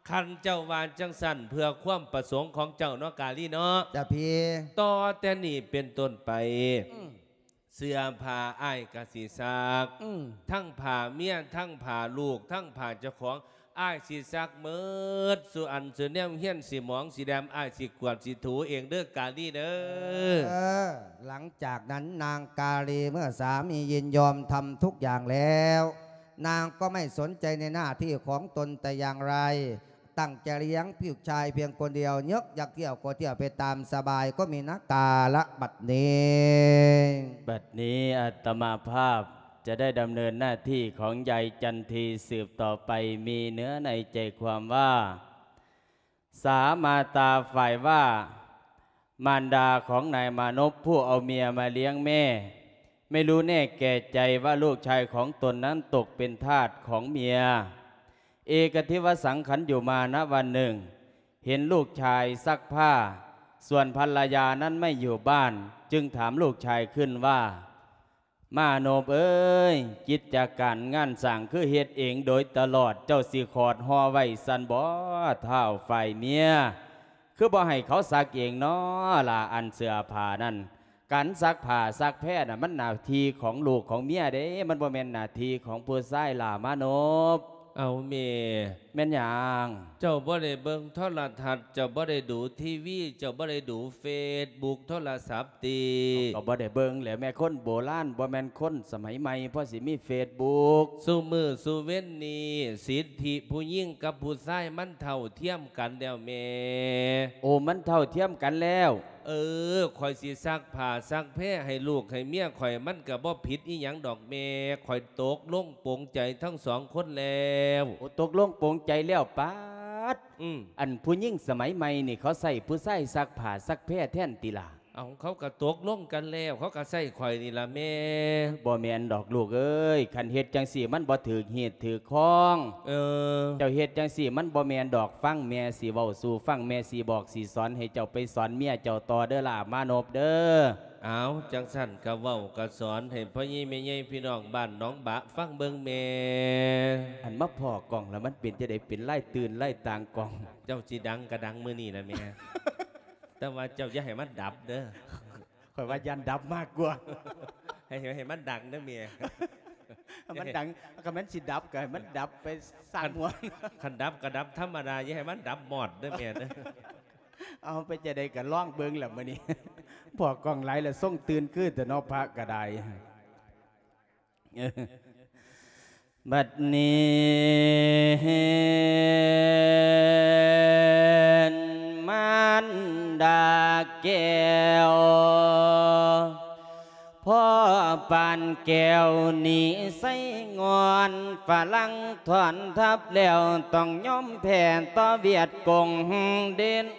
ຄັນເຈົ້າວ່າຈັ່ງຊັ້ນ ເພື່ອຄວາມປະສົງຂອງເຈົ້າເນາະ ກາລີເນາະ. ຈ້າພີ່. ຕໍ່ແຕ່ນີ້ເປັນຕົ້ນໄປ ອືມ ເສື້ອຜ້າອ້າຍກະຊິຊັກ. ອືມ ທັງຜ້າເມຍ ທັງຜ້າລູກ ທັງຜ້າເຈົ້າຂອງ ອ້າຍຊິຊັກໝົດ ສູ່ອັນສູ່ແນວ ຮຽນຊິໝອງຊິແດມ ອ້າຍຊິກວາດຊິຖູເອງເດີ ກາລີເດີ. ເອີ ຫຼັງຈາກນັ້ນນາງກາລີ ເມື່ອສາມີຍິນຍອມທຳທຸກຢ່າງແລ້ວ ນາງກໍໄມ່ສົນໃຈໃນໜ້າທີ່ຂອງຕົນແຕ່ຢ່າງໃດ ຕັ້ງໃຈລ້ຽງລູກຊາຍພຽງຄົນດຽວ ຍົກຢາກທ່ຽວກໍທ່ຽວໄປຕາມສະບາຍ ກໍມີນະ ກາລະບັດນີ້. ບັດນີ້ອາດຕະມາພາບຈະໄດ້ດຳເນີນໜ້າທີ່ຂອງຍາຍຈັນທີສືບຕໍ່ໄປ ມີເນື້ອໃນໃຈຄວາມວ່າ ສາມາຕາຝ່າຍວ່າ ມານດາຂອງນາຍມານົບ ຜູ້ເອົາເມຍມາລ້ຽງແມ່ ໄມ່ຮູ້ແນ່ແກ່ໃຈວ່າລູກຊາຍຂອງຕົນນັ້ນຕົກເປັນທາດຂອງເມຍ. ເອກະທິວະສັງ ຂັນຢູ່ມານະວັນໜຶ່ງ ເຫັນລູກຊາຍຊັກຜ້າ ສ່ວນພັນລະຍານັ້ນໄມ່ຢູ່ບ້ານ ຈຶ່ງຖາມລູກຊາຍຂຶ້ນວ່າ ມານົບເອີຍ ກິດຈະການງານສ້າງຄືເຮັດເອງໂດຍຕະຫຼອດ ເຈົ້າຊິຂອດຫໍ່ໄວ້ຊັ້ນບໍ ທ້າວຝ່າຍເມຍ? ຄືບໍ່ໃຫ້ເຂົາຊັກເອງນໍລະ ອັນເສື້ອຜ້ານັ້ນ? ການຊັກຜ້າຊັກແພນະ ມັນໜ້າທີ່ຂອງລູກຂອງເມຍເດ້ ມັນບໍ່ແມ່ນໜ້າທີ່ຂອງຜູ້ຊາຍລະມານົບ. ເອົາແມ່ ແມ່ນຫຍັງ? ເຈົ້າບໍ່ໄດ້ເບິ່ງໂທລະທັດ ເຈົ້າບໍ່ໄດ້ດູທີວີ ເຈົ້າບໍ່ໄດ້ດູເຟສບຸກໂທລະສັບຕິ? ເຮົາກໍບໍ່ໄດ້ເບິ່ງແຫຼະ ແມ່ຄົນໂບລານ ບໍ່ແມ່ນຄົນສະໄໝໃໝ່ ພໍຊິມີເຟສບຸກ. ຊຸມື້ຊຸເວັນນີ້ ສິດທິຜູ້ຍິງກັບຜູ້ຊາຍມັນເທົ່າທຽມກັນແລ້ວແມ່. ໂອ້ ມັນເທົ່າທຽມກັນແລ້ວ? ເອີ ຂ້ອຍຊິຊັກຜ້າຊັກແພໃຫ້ລູກໃຫ້ເມຍຂ້ອຍ ມັນກໍບໍ່ຜິດອີ່ຫຍັງດອກແມ່. ຂ້ອຍຕົກລົງ ປົງໃຈທັງສອງຄົນແລ້ວ. ໂອ້ ຕົກລົງປົງໃຈແລ້ວ. ປາດ ອືມ ອັນຜູ້ຍິງສະໄໝໃໝ່ນີ້ ເຂົາໃຊ້ຜູ້ຊາຍຊັກຜ້າຊັກແພແທນຕິລະ? ເອົາ ເຂົາກໍຕົກລົງກັນແລ້ວ ເຂົາກໍໃຊ້ຂ້ອຍນີ້ລະແມ່. ບໍ່ແມ່ນດອກລູກເອີຍ ຄັນເຮັດຈັ່ງຊີ້ມັນບໍ່ຖືກຮີດຖືກຄອງ. ເອີ ເຈົ້າເຮັດຈັ່ງຊີ້ມັນບໍ່ແມ່ນດອກ. ຟັງແມ່ຊິເວົ້າສູ່ຟັງ ແມ່ຊິບອກຊິສອນ ໃຫ້ເຈົ້າໄປສອນເມຍເຈົ້າຕໍ່ເດີຫຼ້າມານົບເດີ. ເອົາ ຈັ່ງຊັ້ນກໍເວົ້າກໍສອນໃຫ້ພໍ່ໃຫຍ່ແມ່ໃຫຍ່ພີ່ນ້ອງບ້ານໜອງບະຟັງເບິ່ງແມ່. ອັນມາພໍ້ກ້ອງລະມັນເປັນຈັ່ງໃດ ເປັນລາຍຕື່ນລາຍຕ່າງກ້ອງ? ເຈົ້າຊິດັງກໍດັງມື້ນີ້ລະແມ່ ແຕ່ວ່າເຈົ້າຢ່າໃຫ້ມັນດັບເດີ. ຂ້ອຍວ່າຢ້ານດັບມາກກວ່າ. ໃຫ້ ໃຫ້ມັນດັງເດີແມ່. ໃຫ້ມັນດັງ ຄັນມັນຊິດັບກໍໃຫ້ມັນດັບໄປຊ່າງຫົວ. ຄັນດັບກໍດັບທຳມະດາ ຢ່າໃຫ້ມັນດັບມອດເດີແມ່ເດີ. ເອົາ ໄປຈັ່ງໃດກໍລອງເບິ່ງລະມື້ນີ້. ພໍ້ກ້ອງຫຼາຍລະຊົງຕື່ນຄືແຕ່ເນາະ ພະກໍໄດ້. ບັດນີ້ມານດາແກ້ວ ພໍປານແກ້ວໜີໄຊງ່ອນ ຝຣັ່ງຖອນທັບແລ້ວ ຕ້ອງຍອມແພ້ຕໍ່ຫວຽດກົງເດນນອ.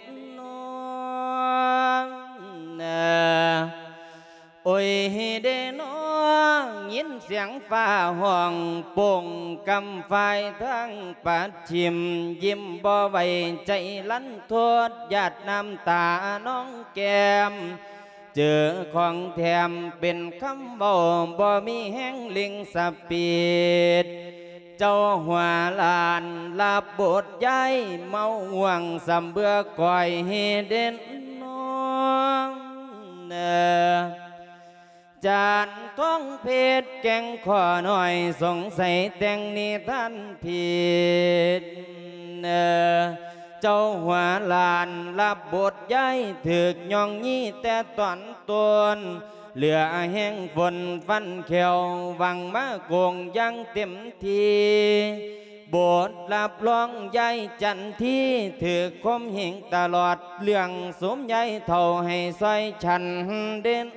ໂອຍເດນອ ຍິນສຽງຟ້າຮ້ອງໂປ່ງກຳຝ່າຍທາງປັດຖິ້ມ ຍິ້ມບໍ່ໄຫວໃຈລັນທົດ ຫຍາດນ້ຳຕານອງແກ້ມ ເຈີຂອງແຖມເປັນຄຳເວົ້າ ບໍ່ມີແຮງເລັ່ງສະປີດ ເຈົ້າຫົວລ້ານລັບບົດຍ້າຍ ເມົາຫວ່າງສຳເບືອກ້ອຍເດນນອ. ຈານທອງເພັດແກ່ງຂໍໜ້ອຍ ສົງໄສແຕ່ງນິທານຜິດ ເຈົ້າຫົວລ້ານລັບບົດຍ້າຍ ຖືກຍ່ອງຢີແຕ່ຕອນຕົ້ນ ເຫຼືອແຮງຝົນຟັນແຂ້ວ ຫວັງມາໂກງຢ່າງເຕັມທີ່ ບົດຮັບຮອງຍ້າຍຈັນທີ ຖືກຂົ່ມເຫງຕະຫຼອດ ເລື່ອງສຸມຍາຍເຖົ້າໃຫ້ຊ່ອຍສັນເດນອ.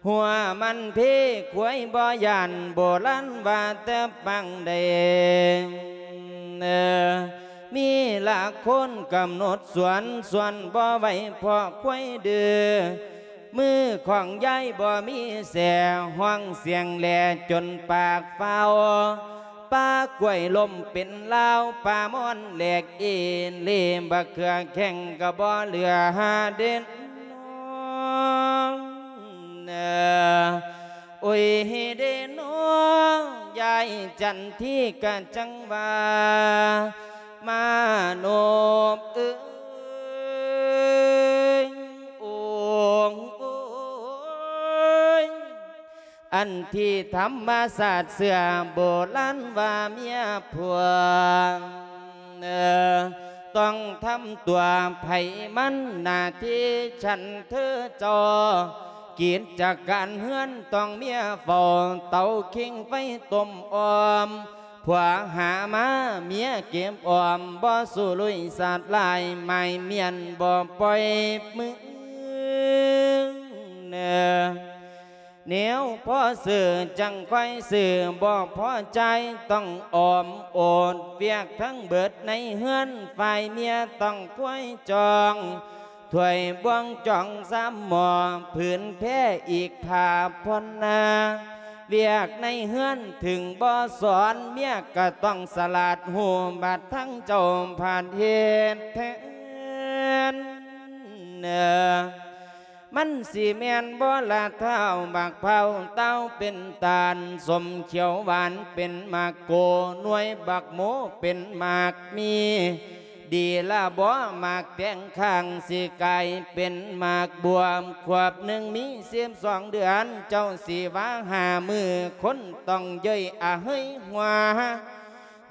ຫົວມັນເພຄວາຍບໍ່ຢ້ານ ໂບລານວ່າແຕ່ປາງໃດ ມີຫຼັກຄົນກຳນົດສວນ ສວນບໍ່ໄຫວເພາະຄວາຍດື້ ມືຂອງຍາຍບໍ່ມີແສ ຮ້ອງສຽງແຫຼຈົນປາກຟ້າວ ປາກ້ວຍລົ້ມເປັນລາວ ປາມ່ອນແຫຼກເອເລ ບັກເຂືອແຂ້ງກໍບໍ່ເຫຼືອເດນອ. ໂອຍເດນອ ຍາຍຈັນທີກະຈັ່ງວ່າ ມາໂນບເອີຍ ໂອງໂອຍ ອັນທີ່ທຳມະຊາດເຊື່ອ ໂບລານວ່າເມຍຜົວ ຕ້ອງທຳຕົວໃຜມັນ ໜ້າທີ່ຊັ້ນເທີເຈົ້າ ກິດຈະການເຮືອນຕ້ອງເມຍເຝົ້າ ເຕົາຄິງໄຟຕົ້ມອ້ອມ ຜົວຫາມາເມຍເກັບອ້ອມ ບໍ່ສູ້ລຸຍສາດລາຍ ໝາຍມ້ຽນບໍ່ປ່ອຍມື. ແນວພໍຊື້ຈັ່ງຄ່ອຍຊື້ ບໍ່ພໍຈ່າຍຕ້ອງອອມໂອດ ວຽກທັງເບິດໃນເຮືອນ ຝ່າຍເມຍຕ້ອງຄວຍຈອງ ຖ້ວຍບ່ວງຈອງຊາມໝໍ້ ຜືນແພອີກຜ້າຜ່ອນນາ ວຽກໃນເຮືອນເຖິງບໍ່ສອນ ເມຍກໍຕ້ອງສະຫຼາດຮູ້ ບາດທັງເຈົ້າພາດເຮັດແທນ. ມັນຊິແມ່ນບໍ່ລະທ້າວ ບັກພ້າວເຕົ້າເປັນຕານ ສົ້ມຂຽວຫວານເປັນໝາກໂກ ໜ່ວຍບັກໂມເປັນໝາກມີ ດີລະບໍ່ ໝາກແຕງຂ້າງຊິກາຍເປັນໝາກບວມ ຂວບໜຶ່ງມີສິບສອງເດືອນ ເຈົ້າຊິວ່າຫ້າມື້ ຄົນຕ້ອງເຍີ້ຍອະເຮີຍຫົວ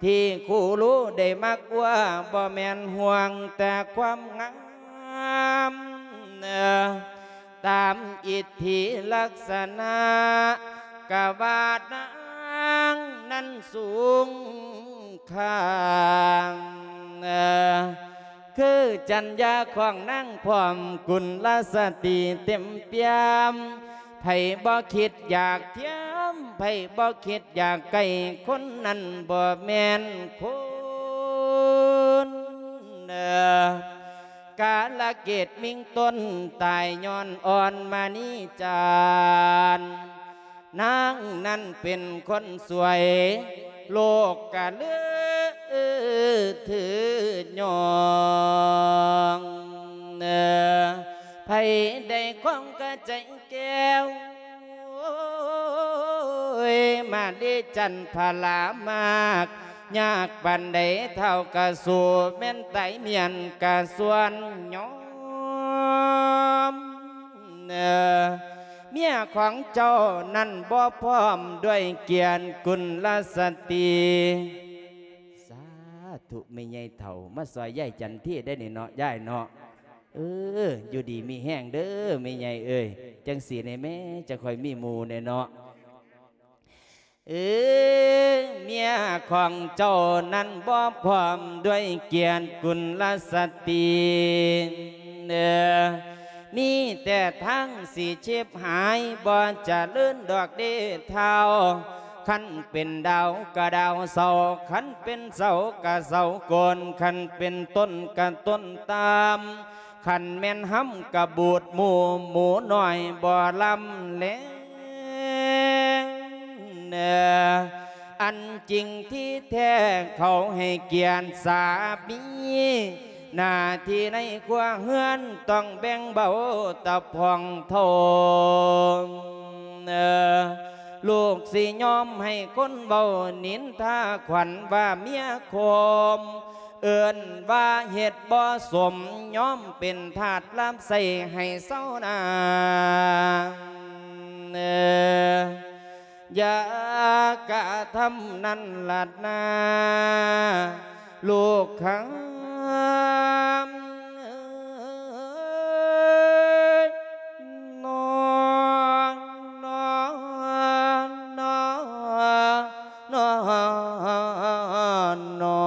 ທີ່ຄູຮູ້ໄດ້ມັກວ່າ ບໍ່ແມ່ນຫ່ວງແຕ່ຄວາມງາມ ຕາມອິດທິລັກສະນະ ກະວ່ານາງນັ້ນສູງຄ່າ ຄືຈັນຍາຂອງນາງພ້ອມກຸນລະສະຕິເຕັມປ່ຽມ ໃຜບໍ່ຄິດຢາກທຽມ ໃຜບໍ່ຄິດຢາກໃກ້ ຄົນນັ້ນບໍ່ແມ່ນຄົນ ກາລະເກດມິງຕົ້ນ ຕາຍຍ້ອນອ່ອນມະນີຈານ ນາງນັ້ນເປັນຄົນສວຍ ໂລກກະລືຖືຍ້ອງ ໃຜໄດ້ຄອງກະໃຈແກ້ວ ໂອ້ຍ ມາເດຈັນພະລາມາກ ຍາກປານໃດເທົ່າກະສູ້ ແມ່ນຕາຍມ້ຽນກະສ່ວນຍອມ ເມຍຂອງເຈົ້ານັ້ນບໍ່ພ້ອມດ້ວຍກຽນກຸນລະສະຕິ ສາທຸ ແມ່ໃຫຍ່ເຖົ້າ ມາຊ່ອຍຍາຍຈັນທີໄດ້ນີ້ເນາະ ຍາຍເນາະ ເອີ ຢູ່ດີມີແຮງເດີແມ່ໃຫຍ່ເອີຍ ຈັ່ງຊີ້ແນ່ແມ່ ຈະຄ່ອຍມີໝູ່ແນ່ເນາະ ເອີ ເມຍຂອງເຈົ້ານັ້ນບໍ່ພ້ອມດ້ວຍກຽນກຸນລະສະຕິ ເອີ ມີແຕ່ທາງຊິຊິບຫາຍ ບໍ່ຈະເລີນດອກເດເຖົ້າ ຄັນເປັນດາວກະດາວເສົາ ຄັນເປັນເສົາກະເສົາໂກນ ຄັນເປັນຕົ້ນກະຕົ້ນຕາມ ຄັນແມ່ນຮຳກະບູດໝູ່ ໝູນ້ອຍບໍ່ລຳແລງ ອັນຈິງທີ່ແທ້ເຂົາໃຫ້ກຽນສາມີ ໜ້າທີ່ໃນຄົວເຮືອນຕ້ອງແບ່ງເບົາຕະພອງໂທ ລູກຊິຍອມໃຫ້ຄົນເວົ້ານິນທາຂວັນວ່າເມຍໂຄມ ເອີ້ນວ່າເຮັດບໍ່ສົມ ຍອມເປັນທາດລາບໃຊ້ໃຫ້ເຊົານາ ຢ່າກະທຳນັ້ນລະນາ ລູກຄຳເອີຍ ນອ ນອ ນອ ນອ ນອ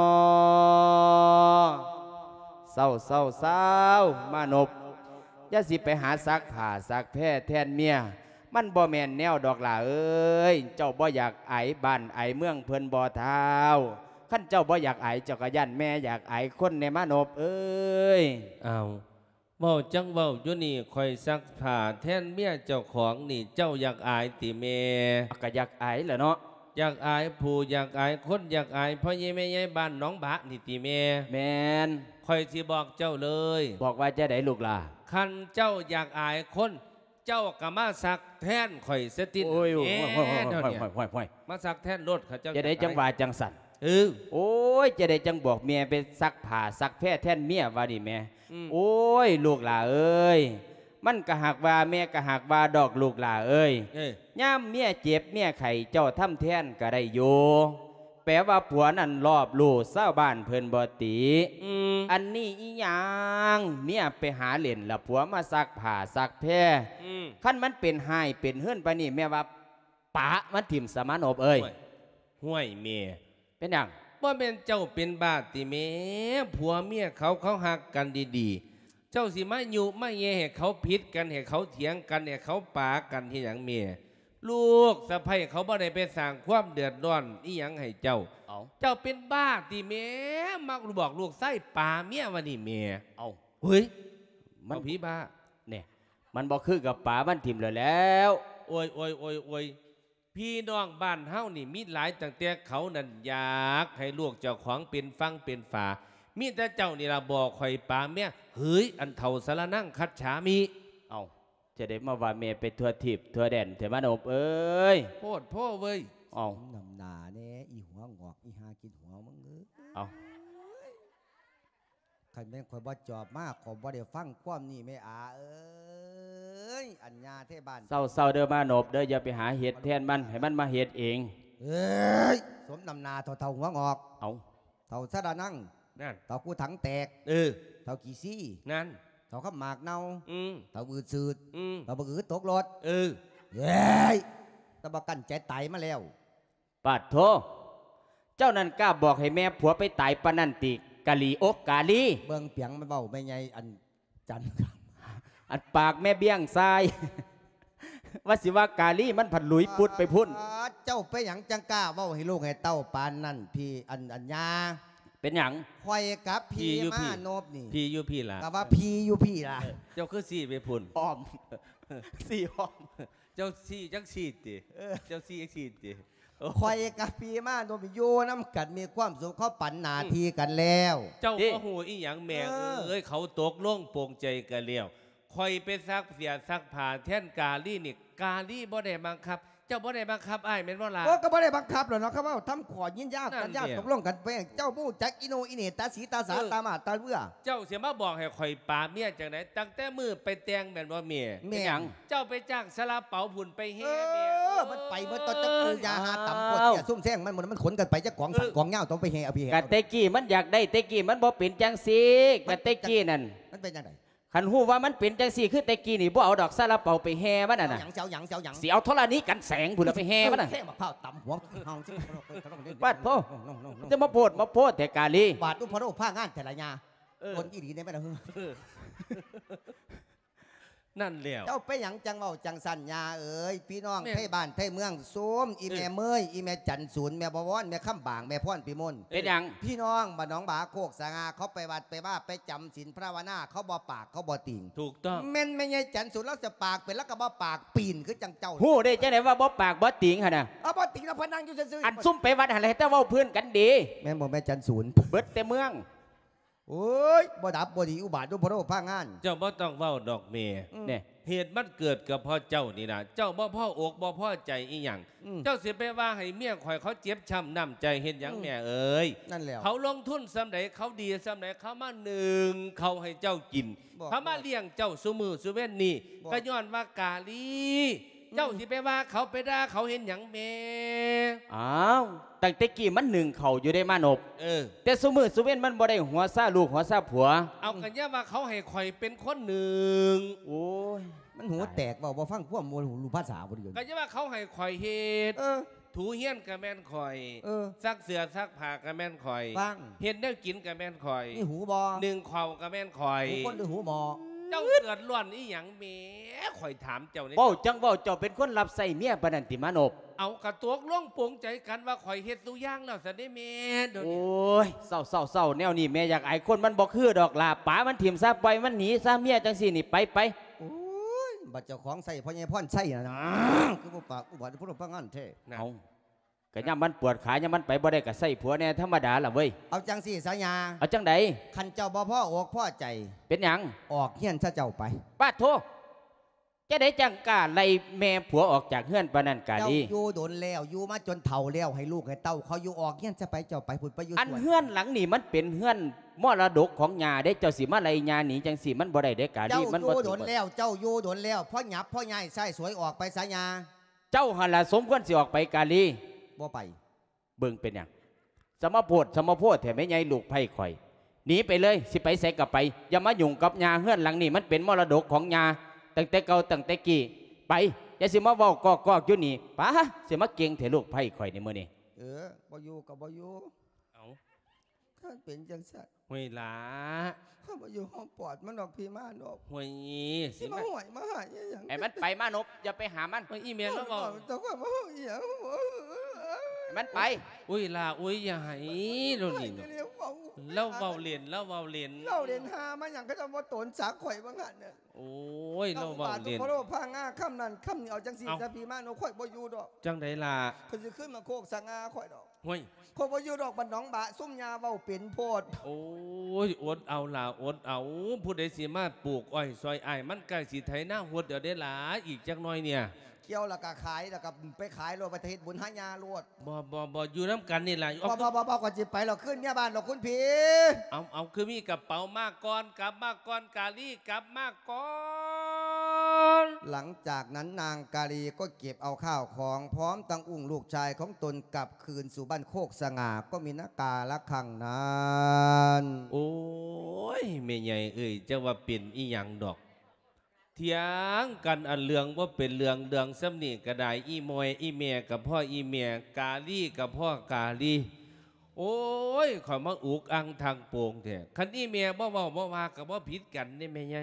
ເຊົາ ເຊົາ ເຊົາ ມານົບ ຢ່າຊິໄປຫາຊັກຜ້າຊັກແພແທນເມຍ ມັນບໍ່ແມ່ນແນວດອກຫຼ້າເອີຍ ເຈົ້າບໍ່ຢາກອາຍບ້ານອາຍເມືອງເພິ່ນບໍ່ທ້າວ? ຄັນເຈົ້າບໍ່ຢາກອາຍ ເຈົ້າກໍຢ້ານແມ່ຢາກອາຍຄົນແດ່ມານົບເອີຍ. ອ້າວ ເວົ້າຈັ່ງເວົ້າຢູ່ນີ້ ຂ້ອຍຊັກຜ້າແທນເມຍເຈົ້າຂອງນີ້ ເຈົ້າຢາກອາຍຕິແມ່? ກໍຢາກອາຍແຫຼະເນາະ. ຢາກອາຍຜູ້ ຢາກອາຍຄົນ ຢາກອາຍພໍ່ໃຫຍ່ແມ່ໃຫຍ່ບ້ານໜອງບາກນີ້ຕິແມ່? ແມ່ນ. ຂ້ອຍຊິບອກເຈົ້າເລີຍ. ບອກວ່າຈັ່ງໃດລູກຫຼ້າ? ຄັນເຈົ້າຢາກອາຍຄົນ ເຈົ້າກໍມາຊັກແທນຂ້ອຍຊະຕິ. ໂອ້ຍ ໂອ້ຍ ໂອ້ຍ ໂອ້ຍ ມາຊັກແທນໂລດ ເຂົາເຈົ້າ. ຈັ່ງໃດຈັ່ງວ່າຈັ່ງຊັ້ນ? ເອີ ໂອ້ຍ ຈັ່ງໃດຈັ່ງບອກແມ່ໄປຊັກຜ້າຊັກແພແທນເມຍວ່ານີ້ແມ່. ອືມ ໂອ້ຍ ລູກຫຼ້າເອີຍ ມັນກໍຫາກວ່າ ແມ່ກໍຫາກວ່າດອກລູກຫຼ້າເອີຍ. ເອີ ຍາມເມຍເຈັບເມຍໄຂ້ ເຈົ້າທຳແທນກໍໄດ້ຢູ່. ແປວ່າຜົວນັ້ນລອບຮູ້ຊາວບ້ານເພິ່ນບໍ່ຕິ? ອືມ ອັນນີ້ອີຫຍັງ ເມຍໄປຫາຫຼິ້ນລະ ຜົວມາຊັກຜ້າຊັກແພ. ອືມ ຄັນມັນເປັນຮ້າຍເປັນເຮືອນປານນີ້ ແມ່ວ່າປະມັນຖິ້ມສະມານົບເອີຍ. ຫ້ວຍ ຫ້ວຍແມ່ ເປັນຫຍັງ? ບໍ່ແມ່ນເຈົ້າເປັນບ້າຕິແມ່? ຜົວເມຍເຂົາ ເຂົາຮັກກັນດີໆ ເຈົ້າຊິມາຍຸມາແຍ່ໃຫ້ເຂົາຜິດກັນ ໃຫ້ເຂົາຖຽງກັນ ໃຫ້ເຂົາປາກັນເຮັດຫຍັງແມ່? ລູກສະໃພ້ເຂົາບໍ່ໄດ້ໄປສ້າງຄວາມເດືອດຮ້ອນອີ່ຫຍັງໃຫ້ເຈົ້າ. ເອົ້າ ເຈົ້າເປັນບ້າຕິແມ່? ມາບອກລູກຊາຍປາເມຍວ່ານີ້ແມ່. ເອົ້າ ເຮີ້ຍ ມັນ ເອົາຜີບ້າ ແນ່ ມັນບໍ່ຄືກັບປາມັນຖິ້ມແລ້ວແຫຼ້ວ. ໂອ້ຍ ໂອ້ຍ ໂອ້ຍ ໂອ້ຍ ພີ່ນ້ອງບ້ານເຮົານີ້ມີຫຼາຍ ຕັ້ງແຕ່ເຂົານັ້ນຢາກໃຫ້ລູກເຈົ້າຂອງເປັນຝັ່ງເປັນຝາ ມີແຕ່ເຈົ້ານີ້ລະບໍ່ຄ່ອຍປາເມຍ. ເຮີ້ຍ ອັນເຖົ້າສະລະນັງຄັດສາມິ. ເອົ້າ ຈະໄດ້ມາວ່າແມ່ໄປທົ່ວທີບທົ່ວແດນແທ້ມານົບເອີຍ. ໂພດໂພເວີຍ. ເອົ້າ ນຳໜ້າແດ່ ອີຫົວງອກ ອີຫາກິນຫົວມຶງເອີຍ. ເອົ້າ ຄັນແມ່ນຂ້ອຍບໍ່ຈອບມາ ຂ້ອຍບໍ່ໄດ້ຟັງຄວາມນີ້ແມ່ອາເອີຍ ອັນຍາເທບ້ານ. ເຊົາໆເດີມານົບເດີ ຢ່າໄປຫາເຮັດແທນມັນ ໃຫ້ມັນມາເຮັດເອງ. ເອີຍ ສົມນ້ຳໜ້າເຖົ້າໆຫົວງອກ. ເອົ້າ ເຖົ້າສາລະນັງ ນັ້ນ ເຖົ້າກູຖັງແຕກ. ເອີ ເຖົ້າຂີ້ຊີ້ ນັ້ນ ເຖົ້າຄຳໝາກເນົ່າ. ອືມ ເຖົ້າອືດຊືດ. ອືມ ເຖົ້າບັກອືດຕົກລົດ. ເອີ ເອີຍ ຕະບໍ່ກັ້ນໃຈຕາຍມາແລ້ວ. ປາດໂທ ເຈົ້ານັ້ນກ້າບອກໃຫ້ແມ່ຜົວໄປຕາຍປານນັ້ນຕິ ກາລີ ໂອ ກາລີ. ເບິ່ງປຽງມັນເວົ້າແມ່ໃຫຍ່ອັນຈັນ ອັນປາກແມ່ບ້ຽງຊາຍ ວ່າຊິວ່າກາລີ ມັນພັດຫຼຸຍປຸດໄປພຸ້ນ. ອາ ເຈົ້າໄປຫຍັງຈັ່ງກ້າເວົ້າໃຫ້ລູກໃຫ້ເຕົ້າປານນັ້ນ ພີ່ ອັນ ອັນຍາ? ເປັນຫຍັງ? ຂ້ອຍກັບພີ່ ພີ່ຢູ່ ມາ ພີ່ ນົບນີ້ ພີ່ຢູ່ພີ້ລະ ກໍວ່າພີ່ຢູ່ພີ້ລະ. ເອີ ເຈົ້າຄືຊີ້ໄປພຸ້ນ? ອ້ອມ ຊີ້ອ້ອມ. ເຈົ້າຊີ້ຈັກຊີ້ຕິ? ເອີ ເຈົ້າຊີ້ຈັກຊີ້ຕິ? ໂອ້ ຂ້ອຍກັບພີ່ມານົບຢູ່ນຳກັນມີຄວາມສຸກ ເຮົາປັນໜ້າທີ່ກັນແລ້ວ. ເຈົ້າ ເອີ ບໍ່ຮູ້ອີ່ຫຍັງແມ່ເອີຍ ເອີ ເຂົາຕົກລົງປົງໃຈກັນແລ້ວ. ຂ້ອຍໄປຊັກເສື້ອຊັກຜ້າແທນກາລີນີ້ ກາລີບໍ່ໄດ້ບັງຄັບ. ເຈົ້າບໍ່ໄດ້ບັງຄັບອ້າຍແມ່ນບໍ່ລະ? ໂອ້ ກໍບໍ່ໄດ້ບັງຄັບແລ້ວເນາະ ຄຳເວົ້າທຳຂໍ້ຍິນຍາ ສັນຍາ ຕົກລົງກັນໄປ. ເຈົ້າບໍ່ຮູ້ຈັກອີໂນອີເນ ຕາສີຕາສາ ເອີ ຕາມາດຕາເວືອ. ເຈົ້າຊິມາບອກໃຫ້ຂ້ອຍປາເມຍຈັ່ງໃດ? ຕັ້ງແຕ່ມື້ໄປແຕ່ງແມ່ນບໍ່ແມ່? ແມ່ນຫຍັງ? ເຈົ້າໄປຈ້າງຊາລາເປົາພຸ້ນໄປແຫ່ແມ່. ເອີ ມັນໄປເບິດຕົວຈັກປູຢາຫາຕຳ ປວດເຈ້ຍຊຸ່ມແຊງ ມັນ ມັນຂົນກັນໄປຈັກກອງ ເອີ ສັນກອງຍາວ ຕ້ອງໄປແຫ່ເອົາພີ່ແຫ່ ກະແຕ່ກີ້ມັນຢາກໄດ້ ແຕ່ກີ້ມັນບໍ່ເປັນຈັ່ງຊີ້ ກະແຕ່ກີ້ນັ້ນ ມັນເປັນຈັ່ງໃດ? ຄັນຮູ້ວ່າມັນເປັນຈັ່ງຊີ້ ຄືແຕ່ກີ້ນີ້ ບໍ່ເອົາດອກຊາລາເປົາໄປແຫ່ມັນຫັ້ນນະ. ເອົາຫຍັງ ຊິເອົາຫຍັງ ຊິເອົາຫຍັງ? ຊິເອົາທໍລະນີກັນແສງພຸ້ນລະໄປແຫ່ມັນນະ. ເອີ ແຂ້ງບັກພ້າວຕຳຫົວ ປາດໂທ ຈະມາໂພດມາໂພດແທ້ກາລີ. ບາດອຸພະໂລພາງານແທ້ລະຍາ. ເອີ ຄົນອີ່ຫຼີແດ່ແມ່ນລະ. ເອີ ນັ້ນແລ້ວ ເຈົ້າໄປຫຍັງຈັ່ງເວົ້າຈັ່ງຊັ້ນ ຍ່າເອີຍ? ພີ່ນ້ອງ ແມ່ນ ໄທບ້ານໄທເມືອງຊຸມ ອີ່ແມ່ເມີຍ ອີ່ແມ່ຈັນສູນ ແມ່ບໍວອນ ແມ່ຄຳບາງ ແມ່ພອນພິມົນ. ເປັນຫຍັງ? ພີ່ນ້ອງບ້ານໜອງບາໂຄກສະຫງ່າ ເຂົາໄປວັດໄປວາ ໄປຈຳສິນພາວະນາ ເຂົາບໍ່ປາກ ເຂົາບໍ່ຕີງ. ຖືກຕ້ອງ. ແມ່ນແມ່ໃຫຍ່ຈັນສູນ ລາວຈະປາກເປັນ ລາວກໍບໍ່ປາກ ປີ້ນຄືຈັ່ງເຈົ້າ. ຮູ້ໄດ້ຈັ່ງໃດວ່າບໍ່ປາກບໍ່ຕີງຫັ້ນນະ? ເອົາ ບໍ່ຕີງແລ້ວ ເພິ່ນນັ່ງຢູ່ຊື່ໆ. ອັນຊຸມໄປວັດຫັ້ນແຫຼະ ແຕ່ເວົ້າພື້ນກັນດີ. ແມ່ນບໍ່ແມ່ຈັນສູນ? ເບິດແຕ່ເມືອງ. ໂອ້ຍ ບໍ່ດັບບໍ່ດີ ອຸບາດອຸພະໂລພາງານ. ເຈົ້າບໍ່ຕ້ອງເວົ້າດອກແມ່. ອືມ ແນ່ ເຫດມັນເກີດກໍເພາະເຈົ້ານີ້ລະ ເຈົ້າບໍ່ພໍອົກບໍ່ພໍໃຈອີ່ຫຍັງ. ອືມ ເຈົ້າຊິໄປວ່າໃຫ້ເມຍຂ້ອຍເຂົາເຈັບຊ້ຳນ້ຳໃຈເຮັດຫຍັງ ອືມ ແມ່ເອີຍ? ນັ້ນແຫຼະ ເຂົາລົງທຶນສ່ຳໃດ ເຂົາດີສ່ຳໃດ ເຂົາມາໜຶ້ງເຂົ້າໃຫ້ເຈົ້າກິນ ເຂົາມາລ້ຽງເຈົ້າຊຸມື້ຊຸເວັນນີ້ ກໍຍ້ອນວ່າກາລີ ອືມ ເຈົ້າຊິໄປວ່າເຂົາ ໄປດ່າເຂົາເຮັດຫຍັງແມ່? ອ້າວ ຕັ້ງແຕ່ກີ້ມັນໜຶ້ງເຂົ້າຢູ່ເດ້ມານົບ. ເອີ ແຕ່ຊຸມື້ຊຸເວັນມັນບໍ່ໄດ້ຫົວຊາລູກຫົວຊາຜົວ. ເອົາ ກໍຢ່າວ່າເຂົາໃຫ້ຂ້ອຍເປັນຄົນໜຶ້ງ. ໂອ້ຍ ມັນຫູແຕກ ເວົ້າບໍ່ຟັງຄວາມ ບໍ່ຮູ້ພາສາບໍ່ເລື່ອງ. ກໍຢ່າວ່າເຂົາໃຫ້ຂ້ອຍເຮັດ. ເອີ ຖູເຮືອນກໍແມ່ນຂ້ອຍ. ເອີ ຊັກເສື້ອຊັກຜ້າກໍແມ່ນຂ້ອຍ. ຟັງ ເຮັດແນວກິນກໍແມ່ນຂ້ອຍ. ມີຫູບໍ່? ໜຶ້ງເຂົ້າກໍແມ່ນຂ້ອຍ. ຫູຄົນຫຼືຫູໝໍ້? ເຈົ້າເດືອດຮ້ອນອີ່ຫຍັງແມ່? ຂ້ອຍຖາມເຈົ້ານີ້. ເວົ້າຈັ່ງເວົ້າ ເຈົ້າເປັນຄົນຮັບໃຊ້ເມຍປານນັ້ນຕິມານົບ? ເອົາ ກະຕົກລົງປົງໃຈກັນວ່າຂ້ອຍເຮັດທຸກຢ່າງແລ້ວຊັ້ນເດ້ແມ່. ໂອ້ຍ ເຊົາໆໆ ແນວນີ້ແມ່ຢາກອາຍຄົນ ມັນບໍ່ຄືດອກຫຼ້າ. ປາມັນຖິ້ມຊະ ປ່ອຍມັນໜີຊະ ເມຍຈັ່ງຊີ້ນີ້ ໄປໆ. ໂອ້ຍ ບັດເຈົ້າຂອງໃຊ້ພໍ່ໃຫຍ່ພອນໄຊນະ ຄືບໍ່ປາກອຸບາດ ຜູ້ລົງພະງານແທ້. ເອົາ ກະຍາມມັນປວດຂາ ຍາມມັນໄປບໍ່ໄດ້ກະໃຊ້ຜົວແດ່ທຳມະດາລະເວີຍ. ເອົາຈັ່ງຊີ້ສາຍາ. ເອົາຈັ່ງໃດ? ຄັນເຈົ້າບໍ່ພໍອົກພໍໃຈ ເປັນຫຍັງ? ອອກເຮືອນຊະເຈົ້າໄປ. ປາດໂທ ຈັ່ງໃດຈັ່ງກ້າໄລ່ແມ່ຜົວອອກຈາກເຮືອນປານນັ້ນກາລີ? ເຈົ້າຢູ່ດົນແລ້ວ ຢູ່ມາຈົນເຖົ້າແລ້ວ ໃຫ້ລູກໃຫ້ເຕົ້າເຂົາຢູ່ ອອກເຮືອນຊະໄປ ເຈົ້າໄປພຸ້ນ ໄປຢູ່ສວນ. ອັນເຮືອນຫຼັງນີ້ມັນເປັນເຮືອນມໍລະດົກຂອງຍ່າເດ້ ເຈົ້າຊິມາໄລ່ຍ່າໜີຈັ່ງຊີ້ ມັນບໍ່ໄດ້ເດ້ກາລີ. ເຈົ້າຢູ່ດົນແລ້ວ ເຈົ້າຢູ່ດົນແລ້ວ ພໍຫຍັບພໍຍ້າຍ ໃຊ້ສວຍອອກໄປສາຍາ. ເຈົ້າຫັ້ນລະສົມຄວນຊິອອກໄປກາລີ. ບໍ່ໄປ. ເບິ່ງເປັນຫຍັງ ສະມາໂພດສະມາໂພດແທ້ແມ່ໃຫຍ່ລູກໃພ້ຂ້ອຍ. ໜີໄປເລີຍ ຊິໄປໃສກໍໄປ ຢ່າມາຫຍຸ້ງກັບຍ່າ. ເຮືອນຫຼັງນີ້ມັນເປັນມໍລະດົກຂອງຍ່າຕັ້ງແຕ່ເກົ່າຕັ້ງແຕ່ກີ້. ໄປ ຢ່າຊິມາເວົ້າກອກໆຢູ່ນີ້. ປາ ຊິມາເກັ່ງແທ້ລູກໃພ້ຂ້ອຍນີ້ມື້ນີ້. ເອີ ບໍ່ຢູ່ກໍບໍ່ຢູ່. ເອົ້າ ຄັນເປັນຈັ່ງຊັ້ນ ຫ້ວຍຫຼ້າ ຂ້ອຍບໍ່ຢູ່ຫ້ອງປອດມັນດອກ ພີ່ມານົບ. ຫ້ວຍ ຊິມາຫ້ວຍມາຫາຍອີ່ຫຍັງ? ໃຫ້ມັນໄປມານົບ ຢ່າໄປຫາມັນ. ໂອ້ຍ ອີ່ແມ່ລາວເວົ້າ ເຈົ້າຂ້ອຍມາເວົ້າອີ່ຫຍັງ? ໃຫ້ມັນໄປ. ໂອ້ຍຫຼ້າ ໂອ້ຍ ຢ່າໄຫ້ລາວນີ້. ລາວເວົ້າເລ່ນ ລາວເວົ້າເລ່ນ. ເວົ້າເລ່ນຫາມາຫຍັງ ເຂົາເຈົ້າບໍ່ໂຕນສັກຂ້ອຍວ່າຊັ້ນ. ໂອ້ຍ ລາວເວົ້າເລ່ນ. ພະໂລພາງາ ຄຳນັ້ນຄຳນີ້ ເອົາຈັ່ງຊີ້ຊະ ພີ່ມານົບ ຂ້ອຍບໍ່ຢູ່ດອກ. ຈັ່ງໃດລະ? ຂ້ອຍຊິຂຶ້ນມາໂຄກສະຫງ່າຂ້ອຍດອກ. ຫ້ວຍ ຂ້ອຍບໍ່ຢູ່ດອກ ບ້ານໜອງບະ ຊຸມຍ່າເວົ້າເປັນໂພດ. ໂອ້ຍ ອົດເອົາຫຼ້າ ອົດເອົາ. ຜູ້ໃດຊິມາປູກອ້ອຍຊ່ອຍອ້າຍ? ມັນໃກ້ຊິໄຖນາຫົດແລ້ວເດ້ຫຼາ ອີກຈັກໜ່ອຍນີ້. ກ່ຽວແລ້ວກໍຂາຍ ແລ້ວກໍໄປຂາຍໂລດ ໄປເຮັດບຸນຫາຍ່າໂລດ. ບໍ່ ບໍ່ ບໍ່ ຢູ່ນຳກັນນີ້ລະ. ບໍ່ ບໍ່ ບໍ່ ຂ້ອຍຊິໄປແລ້ວ ຄືນເມຍບ້ານດອກຄຸນພີ່. ເອົາ ເອົາ ຄືມີກະເປົາມາກ່ອນ ກັບມາກ່ອນ ກາລີ ກັບມາກ່ອນ. ຫຼັງຈາກນັ້ນນາງກາລີກໍເກັບເອົາຂ້າວຂອງ ພ້ອມທັງອຸ້ງລູກຊາຍຂອງຕົນກັບຄືນສູ່ບ້ານໂຄກສະຫງ່າ ກໍມີນາກາລະຄັ້ງນັ້ນ. ໂອ້ຍ ແມ່ໃຫຍ່ເອີຍ ຈັກວ່າເປັນອີ່ຫຍັງດອກ ຖຽງກັນອັນເລື່ອງບໍ່ເປັນເລື່ອງ ເລື່ອງສ່ຳນີ້ກໍໄດ້. ອີ່ໝວຍ ອີ່ແມ່ກໍພໍອີ່ແມ່ ກາລີກໍພໍກາລີ. ໂອ້ຍ ຂ້ອຍມາອຸກອັ່ງທັງໂປງແທ້. ຄັນອີ່ແມ່ບໍ່ເວົ້າບໍ່ວ່າກໍບໍ່ຜິດກັນເດ້ແມ່ໃຫຍ່.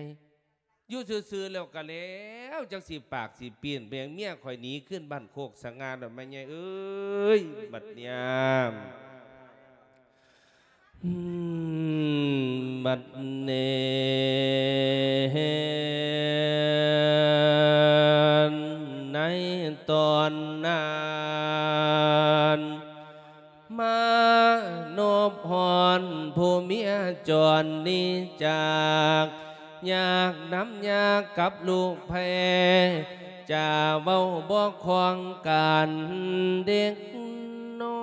ຢູ່ຊື່ໆແລ້ວກໍແລ້ວ ຈັກຊິປາກຊິປີ້ນໄປຫຍັງ. ເມຍຂ້ອຍໜີຂຶ້ນບ້ານໂຄກສະຫງ່າແລ້ວແມ່ໃຫຍ່ເອີຍ ບັດຍາມ ອືມ ບັດນີ້ ໃນຕອນນັ້ນ ມານົບຮອນຜູ້ເມຍຈອນໜີຈາກ ຍາກນຳຍາກັບລູກແພ້ ຈາເວົ້າບໍ່ຄ່ອງກັນເດັກນ້ອ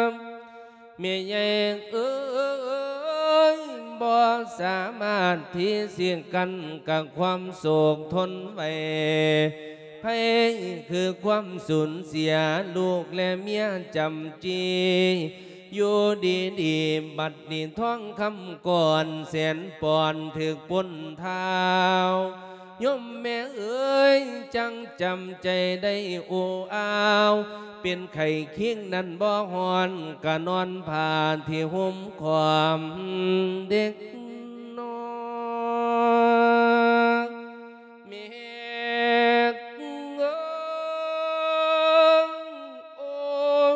ຍ. ແມ່ໃຫຍ່ເອີຍ ບໍ່ສາມາດທີ່ຊິກັ້ນກັນຄວາມໂສກທົນໄຫວ ໄພຄືຄວາມສູນເສຍລູກແລະເມຍຈຳຈີ ຢູ່ດີໆ ບັດນີ້ທອງຄຳກ້ອນແສນປອນຖືກປົນທ້າວ ໂຍມແມ່ເອີຍ ຈັ່ງຈຳໃຈໄດ້ໂອ້ອາວ ເປັນໄຂ້ຄິງນັ້ນບໍ່ຮ້ອນ ກະນອນຜ້າທີ່ຫົ່ມຄ້ອມເດັກນ້ອຍ. ແມ່ເອີຍ ໂອ້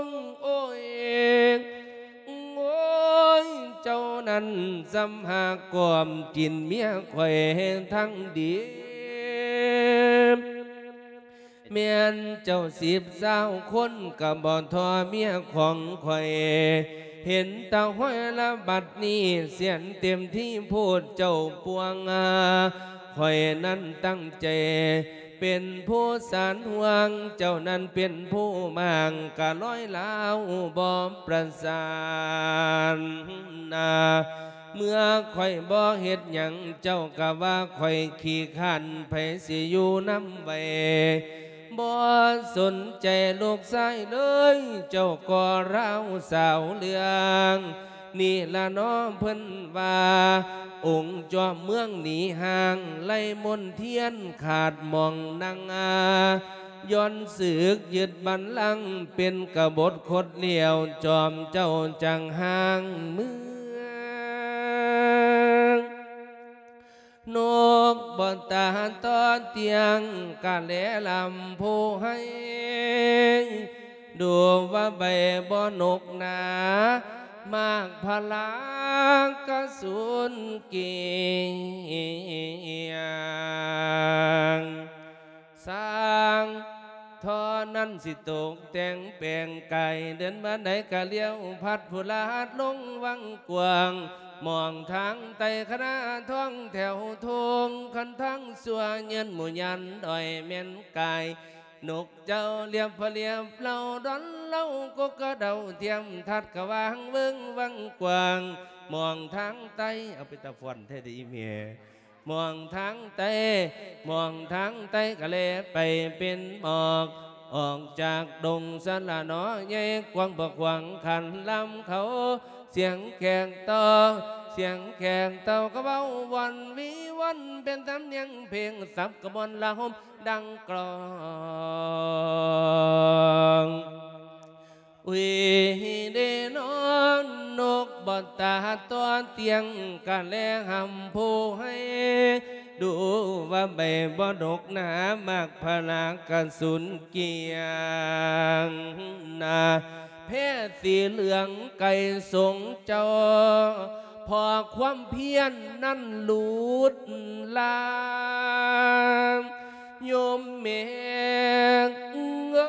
ຍ ໂອ້ຍ ໂອ້ຍ ເຈົ້ານັ້ນສ່ຳຫາກກອມກິນເມຍຂ້ອຍທັງດີ ແມ່ນເຈົ້າສິບຊາວຄົນກໍບໍ່ທໍ່ເມຍຂອງຂ້ອຍ ເຫັນແຕ່ຫ້ອຍລະບັດນີ້ ສຽນເຕັມທີ່ໂພດເຈົ້າປວງ ຂ້ອຍນັ້ນຕັ້ງໃຈເປັນຜູ້ສານຫ່ວງ ເຈົ້ານັ້ນເປັນຜູ້ມ້າງ ກະລອຍລາວບໍ່ປະສານນາ ເມື່ອຂ້ອຍບໍ່ເຮັດຫຍັງ ເຈົ້າກະວ່າຂ້ອຍຂີ້ຄ້ານ ໃຜຊິຢູ່ນຳໄຫວ ບໍ່ສົນໃຈລູກຊາຍເລີຍ ເຈົ້າກໍລາວສາວເລື່ອງນີ້ລະເນາະ ເພິ່ນວ່າ ອົງຈອມເມືອງໜີຫ່າງ ໄລມົນທຽນຂາດໝ່ອງນັ່ງ ຍ້ອນສຶກຍຶດບັນລັງ ເປັນກະບົດຄົດລ້ຽວ ຈອມເຈົ້າຈັ່ງຫ່າງເມືອງ. ນົກບໍ່ຕາຕໍ່ຕຽງກະແລລຳໂພໄຮ ດູວ່າໃບບໍ່ນົກໜາ ໝາກພະລາກະສູນກຽງ ສ້າງທໍ່ນັ້ນຊິຕົກແຕ່ງແປງກາຍ ເດີນມາໃດກະລ້ຽວພັດ ຜູ້ລາດລົງວັງກວ້າງ ມອງທາງໃຕ້ຄະນະທອງແຖວໂທງ ຄັນທາງຊົ່ວເຍີນໝູ່ຍານດອຍແມ່ນກາຍ ນົກເຈົ້າລຽບພະລຽບເຫຼົ່າດອນເລົ່າ ກົກກະເດົາທຽມທັດກະຫວ່າງເວິ້ງວັງກວ້າງ ມອງທາງໃຕ້ ເອົາ ເປັນຕາຟ້ອນແທ້ເດອີ່ແມ່ ມອງທາງໃຕ້ ມອງທາງໃຕ້ກະແລໄປເປັນໝອກ ອອກຈາກດົງສະລະໜໍໃຫຍ່ກວ້າງ ພວກຂວາງຄັນລຳເຂົາ ສຽງແຂກຕໍ່ ສຽງແຂກເຕົ້າກະເວົ້າວອນວີວອນ ເປັນສຳນຽງເພງສັບກະມວນລະຫົມ ດັ່ງກລອງ ອຸຍເດນອນ ນົກບໍ່ຕາຕໍ່ຕຽງກະແລຫຳໂພໄຮ ດູວ່າໃບບໍ່ດົກໜາ ໝາກພະລາກະສູນກຽງນາ ແພສີເຫຼືອງໄກ່ສົງເຈົ້າ ເພາະຄວາມພຽນນັ້ນຫຼຸດລາ ໂຍມແມ່ເອີ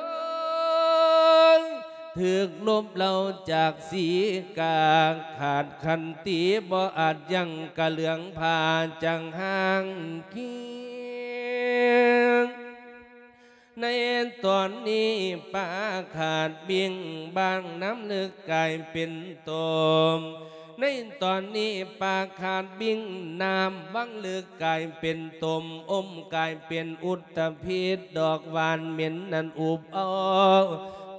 ຍ ຖືກລົບເລົາຈາກສີກາ ຂາດຂັນຕິບໍ່ອາດຢັ້ງ ກະເຫຼືອງຜ້າຈາງຫາງຄີ. ໃນຕອນນີ້ປາຂາດບິ້ງ ບາງນ້ຳເລິກກາຍເປັນຕົມ. ໃນຕອນນີ້ປາຂາດບິ້ງ ນ້ຳວັງເລິກກາຍເປັນຕົມ ອົມກາຍເປັນອຸດຕະພິດ ດອກຫວານເໝັນນັ້ນອຸບເອົາ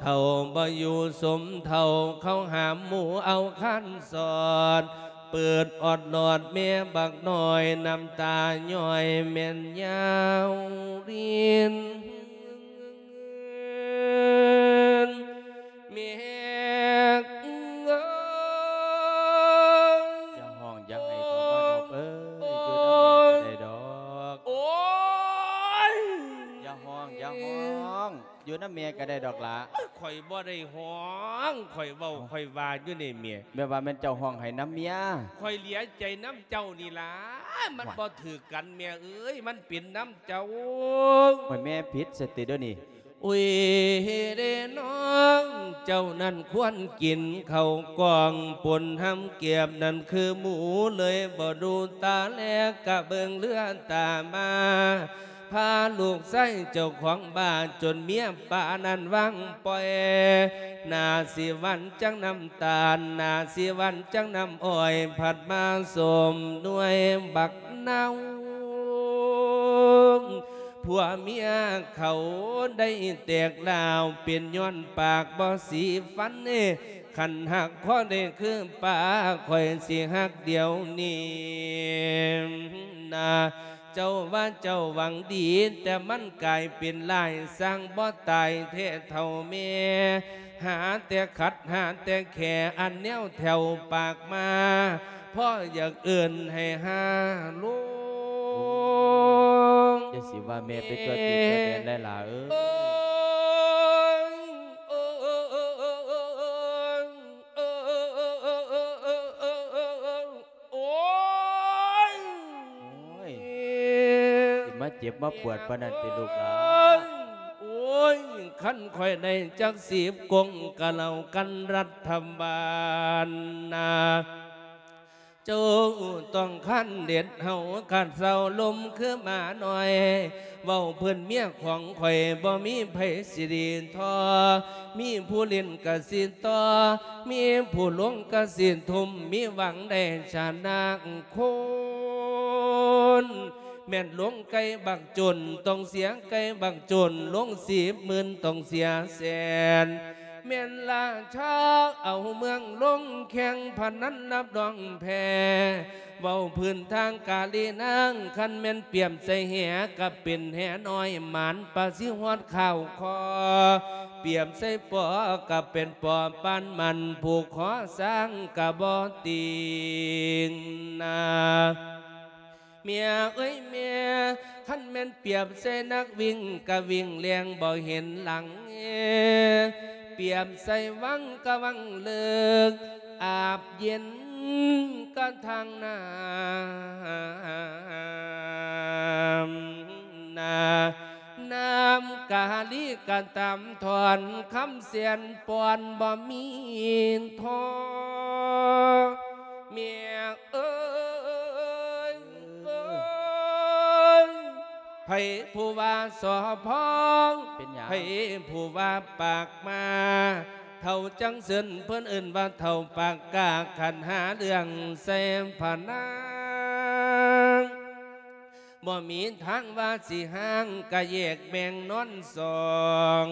ເຖົ້າບໍ່ຢູ່ສົມເຖົ້າ ເຂົ້າຫາໝູ່ເອົາຄານສອດ ເປີດອອດຫຼອດແມ່ບັກນ້ອຍ ນ້ຳຕາຍ້ອຍແມ່ນຍາວລິນ ແມ່ເອີຍ. ຢ່າຮ້ອງຢ່າໄຫ້ເຖົ້າມານອບເອີຍ ຢູ່ນຳແມ່ກະໄດ້ດອກ. ໂອ້ຍ ຢ່າຮ້ອງຢ່າຮ້ອງ ຢູ່ນຳແມ່ກະໄດ້ດອກຫຼ້າ. ໂອ້ຍ ຂ້ອຍບໍ່ໄດ້ຮ້ອງ ຂ້ອຍເວົ້າ ເອົ້າ ຂ້ອຍວ່າຢູ່ນີ້ແມ່. ແມ່ນວ່າແມ່ນເຈົ້າຮ້ອງໄຫ້ນຳເມຍ? ຂ້ອຍເຫຼືອໃຈນຳເຈົ້ານີ້ຫຼ້າ ມັນ ຫວາຍ ບໍ່ຖືກກັນແມ່ເອີຍ ມັນເປັນນຳເຈົ້າ. ໂອ້ຍ ແມ່ຜິດສະຕິເດີນີ້. ອຸຍເດນ້ອງ ເຈົ້ານັ້ນຄວນກິນເຂົ້າກ້ອງ ປົນຮຳກຽບນັ້ນຄືໝູ ເລີຍບໍ່ດູຕາແລ ກະເບິ່ງເຫຼືອຕາມາ ພາລູກຊາຍເຈົ້າຂອງບ້ານ ຈົນເມຍປານັ້ນວາງປ່ອຍ ໜ້າຊິຫວານຈັ່ງນ້ຳຕານ ໜ້າຊິຫວານຈັ່ງນ້ຳອ້ອຍ ພັດມາສົມໜ່ວຍບັກນາວ. ຜົວເມຍເຂົາໄດ້ແຕກລາວ ເປັນຍ້ອນປາກບໍ່ສີຟັນເດ້. ຄັນຮັກພໍໄດ້ຄືປາ ຂ້ອຍຊິຮັກດຽວນີ້ນາ. ເຈົ້າວ່າເຈົ້າຫວັງດີ ແຕ່ມັນກາຍເປັນຮ້າຍ ສ້າງບໍ່ຕາຍແທ້ເຖົ້າແມ່. ຫາແຕ່ຂັດຫາແຕ່ແຂ ອັນແນວແຖວປາກມາ ພໍຢາກເອີ້ນໃຫ້ຫາລົງ. ຢ່າຊິວ່າແມ່ໄປຕົວະຕີຕົວະແຕນຫຼາຍຫຼ້າເອີຍ. ໂອ້ຍ ໂອ້ຍ ໂອ້ຍ ຊິມາເຈັບມາປວດປານນັ້ນຕິລູກຫຼ້າ? ໂອ້ຍ ຄັນຂ້ອຍໄດ້ຈັກສິບກົງ ກະເລົ່າກັນລັດຖະບານນາ. ເຈົ້າຕ້ອງຄັນເດັດເຮົາ ກະເຊົາລົມຄືໝານ້ອຍ. ເວົ້າພື້ນເມຍຂອງຂ້ອຍ ບໍ່ມີໃຜຊິດີທໍ່ ມີຜູ້ຫຼິ້ນກະຊິຕໍ່ ມີຜູ້ລົງກະຊິທຸ່ມ ມີຫວັງໄດ້ຊະນະຄົນ. ແມ່ນລົງໄກ່ບັກຈົນ ຕ້ອງເສຍໄກ່ບັກຈົນ ລົງສິບໝື່ນ ຕ້ອງເສຍແສນ. ແມ່ນລາຊາເອົາເມືອງລົງແຂ່ງພະນັນ ຮັບຮອງແພ້. ເວົ້າພື້ນທາງກາລີນາງ ຄັນແມ່ນປຽບໃສ່ແຫ ກະເປັນແຫນ້ອຍ ໝານປາຊິຮອດຂ້າວຄໍ. ປຽບໃສ່ປໍ ກະເປັນປໍປານມັນ ຜູກຄໍຊ້າງກະບໍ່ຕິງນາ. ເມຍເອີຍແມ່ ຄັນແມ່ນປຽບໃສ່ນັກວິ່ງ ກະວິ່ງແລ່ນບໍ່ເຫັນຫຼັງ. ປຽບໃສ່ວັງ ກະວັງເລິກ ອາບເຢັນກະທາງນ້ຳນາ. ນ້ຳກາລີກະຕາມທອນ ຄຳແສນປ່ອນບໍ່ມີທໍ່. ເມຍເອີຍ ເອີຍ ໃຜຜູ້ວ່າສໍພອງ ເປັນຫຍັງ? ໃຜຜູ້ວ່າປາກມາ? ເຖົ້າຈັ່ງເຊີນ ເພິ່ນເອີ້ນວ່າເຖົ້າປາກກາ ຄັນຫາເລື່ອງໃສ່ພະນາງ ບໍ່ມີທາງວ່າຊິຫ່າງ ກະແຍກແບ່ງນອນສອງ.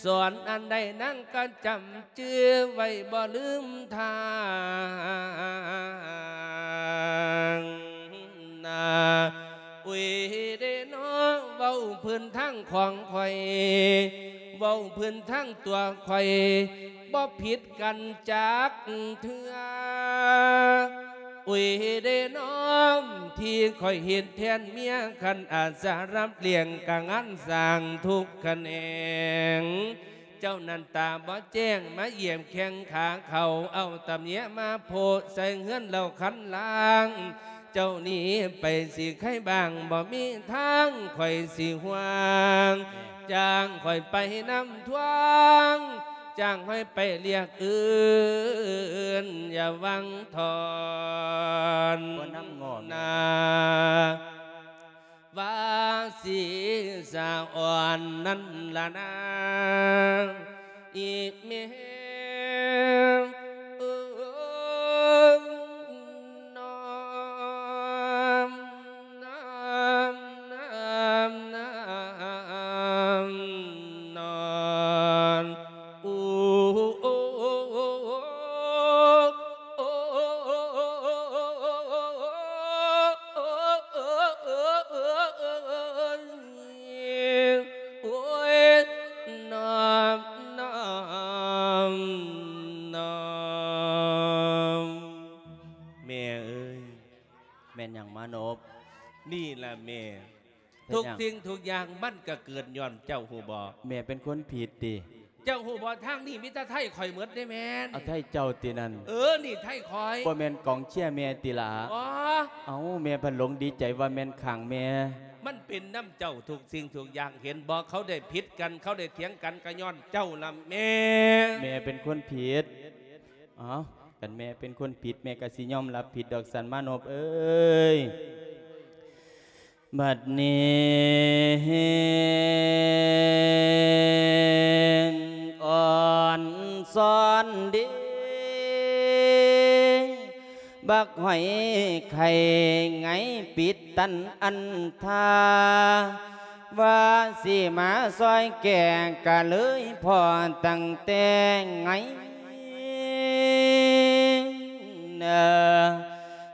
ສອນອັນໃດນາງກະຈຳຈື່ໄວ້ ບໍ່ລືມທາງນາ. ອຸຍເດນໍ ເວົ້າພື້ນທາງຂອງຂ້ອຍ ເວົ້າພື້ນທາງຕົວຂ້ອຍ ບໍ່ຜິດກັນຈັກເທື່ອ. ອຸຍເດນໍ ທີ່ຂ້ອຍເຮັດແທນເມຍ ຄັນອາດສະຮັບລ້ຽງ ກະງານສ້າງທຸກຂະແໜງ. ເຈົ້ານັ້ນຕາບໍ່ແຈ້ງ ມາຢຽບແຂ້ງຂາເຂົາ ເອົາຕຳແຍມາໂພະໃສ່ເຮືອນເລົ່າຄັນລາງ. ເຈົ້າໜີໄປຊິໃຄບ້າງ ບໍ່ມີທາງຂ້ອຍຊິຫວງ ຈ້າງຂ້ອຍໄປນຳທວງ ຈ້າງຂ້ອຍໄປລຽກອື່ນ ຢ່າຫວັງຖອນ ບໍ່ນຳງໍແມ່ ນາ ວ່າຊິສະອ່ອນນັ້ນລະນາ ອີແມ່ ເອີຍ ນອນ ນອນ ນອນ ອູ ໂອ້ຍ ນອນ ນອນ ນອນ ແມ່ເອີຍ ແມ່ນຫຍັງມານົບ? ນີ້ລະແມ່ ເຮັດຫຍັງ? ທຸກສິ່ງທຸກຢ່າງມັນກະເກີດຍ້ອນເຈົ້າ ຮູ້ບໍ່? ແມ່ເປັນຄົນຜິດຕິ? ເຈົ້າຮູ້ບໍ່? ທາງນີ້ມີແຕ່ໄທຂ້ອຍໝົດເດ້ແມ່ນ. ເອົາໄທເຈົ້າຕິນັ້ນ? ເອີ ນີ້ໄທຂ້ອຍ. ບໍ່ແມ່ນກອງເຊຍແມ່ຕິລະ? ອໍ ເອົາ ແມ່ພັດຫຼົງດີໃຈວ່າແມ່ນຂ້າງແມ່. ມັນເປັນນຳເຈົ້າທຸກສິ່ງທຸກຢ່າງ ເຫັນບໍ່? ເຂົາໄດ້ຜິດກັນ ເຂົາໄດ້ຖຽງກັນ ກະຍ້ອນເຈົ້າລະແມ່. ແມ່ເປັນຄົນຜິດ. ເອົາ ຄັນແມ່ເປັນຄົນຜິດ ແມ່ກະຊິຍອມຮັບຜິດດອກ ສັນມານົບເອີຍ. ບັດນີ້ອ່ອນຊອນເດ ບັກຫອຍໄຂ່ໄງປິດຕັນອັນທາ ວ່າຊິມາຊ່ອຍແກ້ ກະເລີຍພໍ້ຕັ້ງແຕ່ໄງ ເອີ